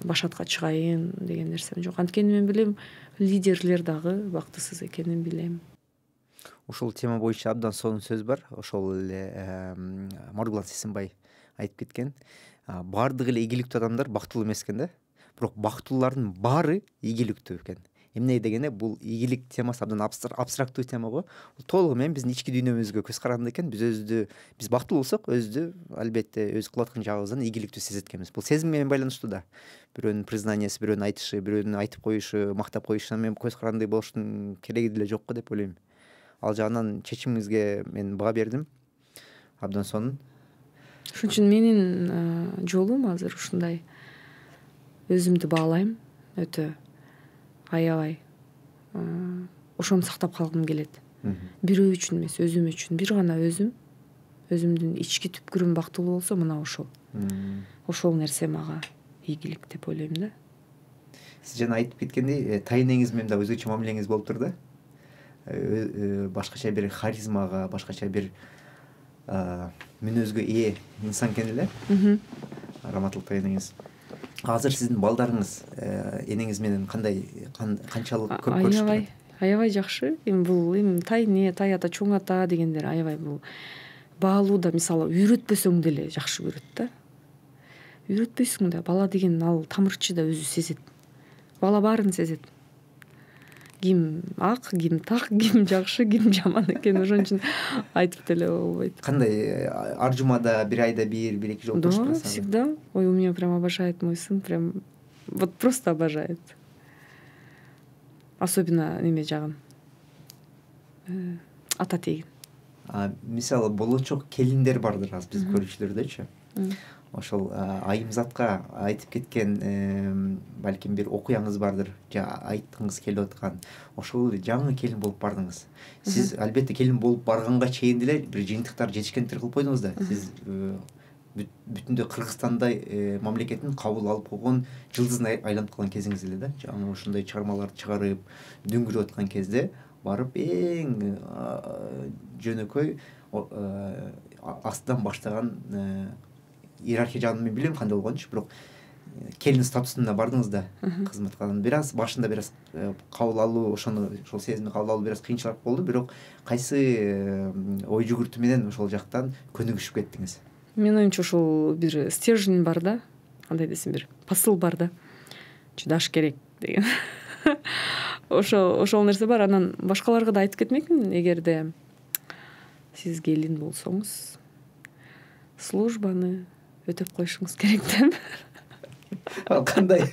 башатка чыгайын деген нерсем жок. Анткени мен билем, лидерлер дагы бактысыз экенин билем. Ошол тема боюнча абдан сонун сөз бар. Ошол эле Маргулан Сисенбай айтып кеткен. Баардык эле ийгиликтүү адамдар бактылуу эмес экен да. Бирок бактылуулардын баары ийгиликтүү экен. эмне дегенде бул ийгилик темасы абдан абстрактуу тема го. Бул толугу менен биздин ички дүйнөбүзгө көз караганда экен. Биз өзүбүздү биз бактылуу болсок өзүбүздү албетте өз кылып аткан жагыбыздан ийгиликтүү сезет экенбиз. Бул сезим менен байланыштуу да. Бирөөнүн признаниясы, бирөөнүн айтышы, бирөөнүн айтып коюшу, мактап коюшуна мен көз карагандай болуштун кереги деле жок го деп ойлойм. Ал жагынан чечимиңизге мен баа бердим. Абдан сонун. Ошон үчүн менин жолум азыр ушундай. Өзүмдү баалайм өтө аябай. Ошону сактап калгым келет. Бирөө үчүн эмес, өзүм үчүн. Бир гана өзүм, өзүмдүн ички түпкүрүм бактылуу болсо, мына ошол. Ошол нерсе мага ийгилик деп ойлойм да. Сиз жана айтып кеткендей, тайнеңиз менен да өзгөчө мамилеңиз болуптур да. Башкача бир харизмага, башкача бир мүнөзгө ээ инсан экен эле. Раматылык тайнеңиз. Азыр сиздин балдарыңыз энеңиз менен кандай, канчалык көп көрүшүп турат? Аябай, аябай жакшы. Эми бул эми тайне, тай ата, чоң ата дегендер аябай бул баалууда мисалы үйрөтпөсөң деле жакшы көрөт да. Үйрөтпөйсүң да, бала деген ал тамырчы да өзү сезет. Бала баарын сезет. Ким ак, ким так, ким жакшы, ким жаман экен. Ошон үчүн айтып деле болбойт. Кандай ар жумада бир айда бир, бир эки жолу көрүшүп турасызбы? Да, всегда. Ой, у меня прям обожает мой сын, прям вот просто обожает. Особенно неме жагын. Ата тегин. А мисалы болочок келиндер бардыр азыр биздин көрүүчүлөрдөчү. Ошол айымзатка айтып кеткен балким бир окуяңыз бардыр, же айткыңыз келип аткан. Ошол эле жаңы келин болуп бардыңыз. Сиз албетте келин болуп барганга чейин деле бир жыйынтыктар, жетишкендиктер кылып койдуңуз да. Сиз бүтүндөй Кыргызстандай мамлекеттин кабыл алып койгон жылдызына айланып калган кезиңиз эле да. Жаңы ушундай чыгармаларды чыгарып, дүңгүрүп аткан кезде барып эң жөнөкөй астынан баштаган иерархия жагын мен билбейм кандай болгончу, бирок келин статусуна бардыңыз да кызматка. Бир аз башында бир аз кабыл алуу, ошону ошол сезимди кабыл алуу бир аз кыйынчылык болду, бирок кайсы ой жүгүртүү менен ошол жактан көнүгүшүп кеттиңиз? Менин оюмча ошол бир стержень бар да, кандай десем, бир посыл бар да. Чыдаш керек деген. Ошол ошол нерсе бар. Анан башкаларга да айтып кетмекмин, эгерде сиз келин болсоңуз, службаны өтөп коюшуңуз керек деп. Ал кандай?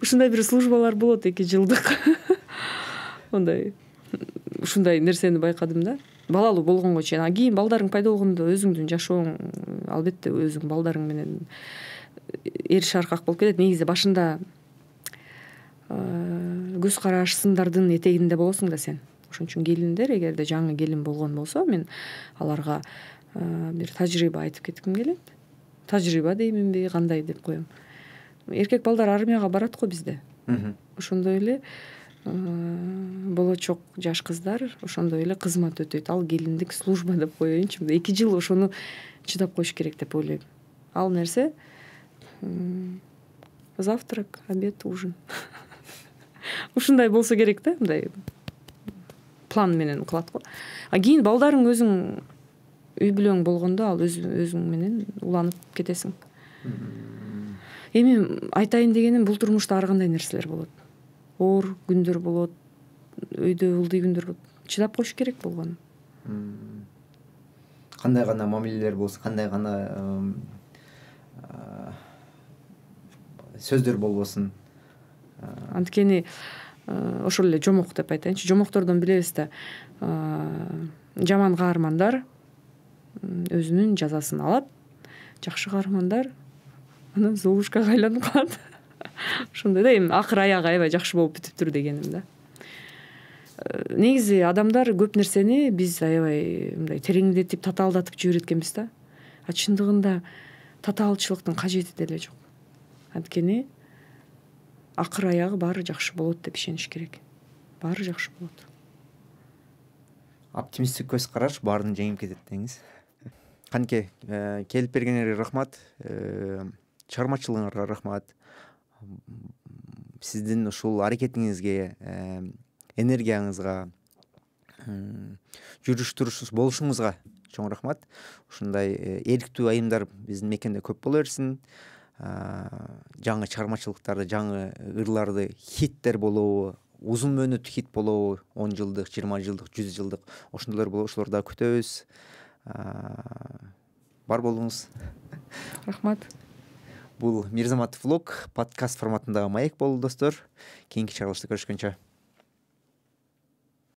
Ушундай бир службалар болот, эки жылдык. Ондай ушундай нерсени байкадым да. Балалуу болгонго чейин, а кийин балдарың пайда болгондо өзүңдүн жашооң албетте өзүң балдарың менен эриш аркак болуп кетет. Негизи башында көз караш, сындардын этегинде болосуң да сен. Ошон үчүн келиндер, эгерде жаңы келин болгон болсо, мен аларга бир тажрыйба айтып кетким келет. Тажрыйба дейминби, кандай деп коем. Эркек балдар армияга барат го бизде. Ошондой эле болочок жаш кыздар ошондой эле кызмат өтөйт. Ал келиндик служба деп коеюнчу. эки жыл ошону чыдап коюш керек деп ойлойм. Ал нерсе завтрак, обед, ужин. Ушундай болсо керек да, мындай план менен кылат го. А кийин балдарың өзүң үй бүлөң болгондо ал өзүң менен уланып кетесиң. Эми айтайын дегеним, бул турмушта ар кандай нерселер болот. Оор күндөр болот, өйдө ылдый күндөр болот. Чыдап коюш керек болгону. Кандай гана мамилелер болсо, кандай гана сөздөр болбосун. Анткени ошол эле жомок деп айтайынчы. Жомоктордон билебиз да, жаман каармандар өзүнүн жазасын алат, жакшы каармандар анан золушкага айланып калат. Ошондой да, эми акыр аягы аябай жакшы болуп бүтүптүр дегеним да. Негизи адамдар көп нерсени биз аябай мындай тереңдетип, татаалдатып жиберет экенбиз да. А чындыгында татаалчылыктын кажети деле жок. Анткени акыр аягы баары жакшы болот деп ишениш керек. Баары жакшы болот. Оптимисттик көз караш баарын жеңип кетет деңиз. Канке, келип бергениңерге рахмат. Чыгармачылыгыңарга рахмат. Сиздин ушул аракетиңизге, энергияңызга, жүрүш туруш болушуңузга чоң рахмат. Ушундай эрктүү айымдар биздин мекенде көп боло берсин. жаңы чыгармачылыктарды, жаңы ырларды, хиттер болобу, узун мөөнөттүү хит болобу, он жылдык, жыйырма жылдык, жүз жылдык ошондойлор болобу, ошолорду дагы күтөбүз. Бар болуңуз. Рахмат. Бул Мирзаматов влог подкаст форматындагы маек болду достор. Кийинки чыгарылышта көрүшкөнчө.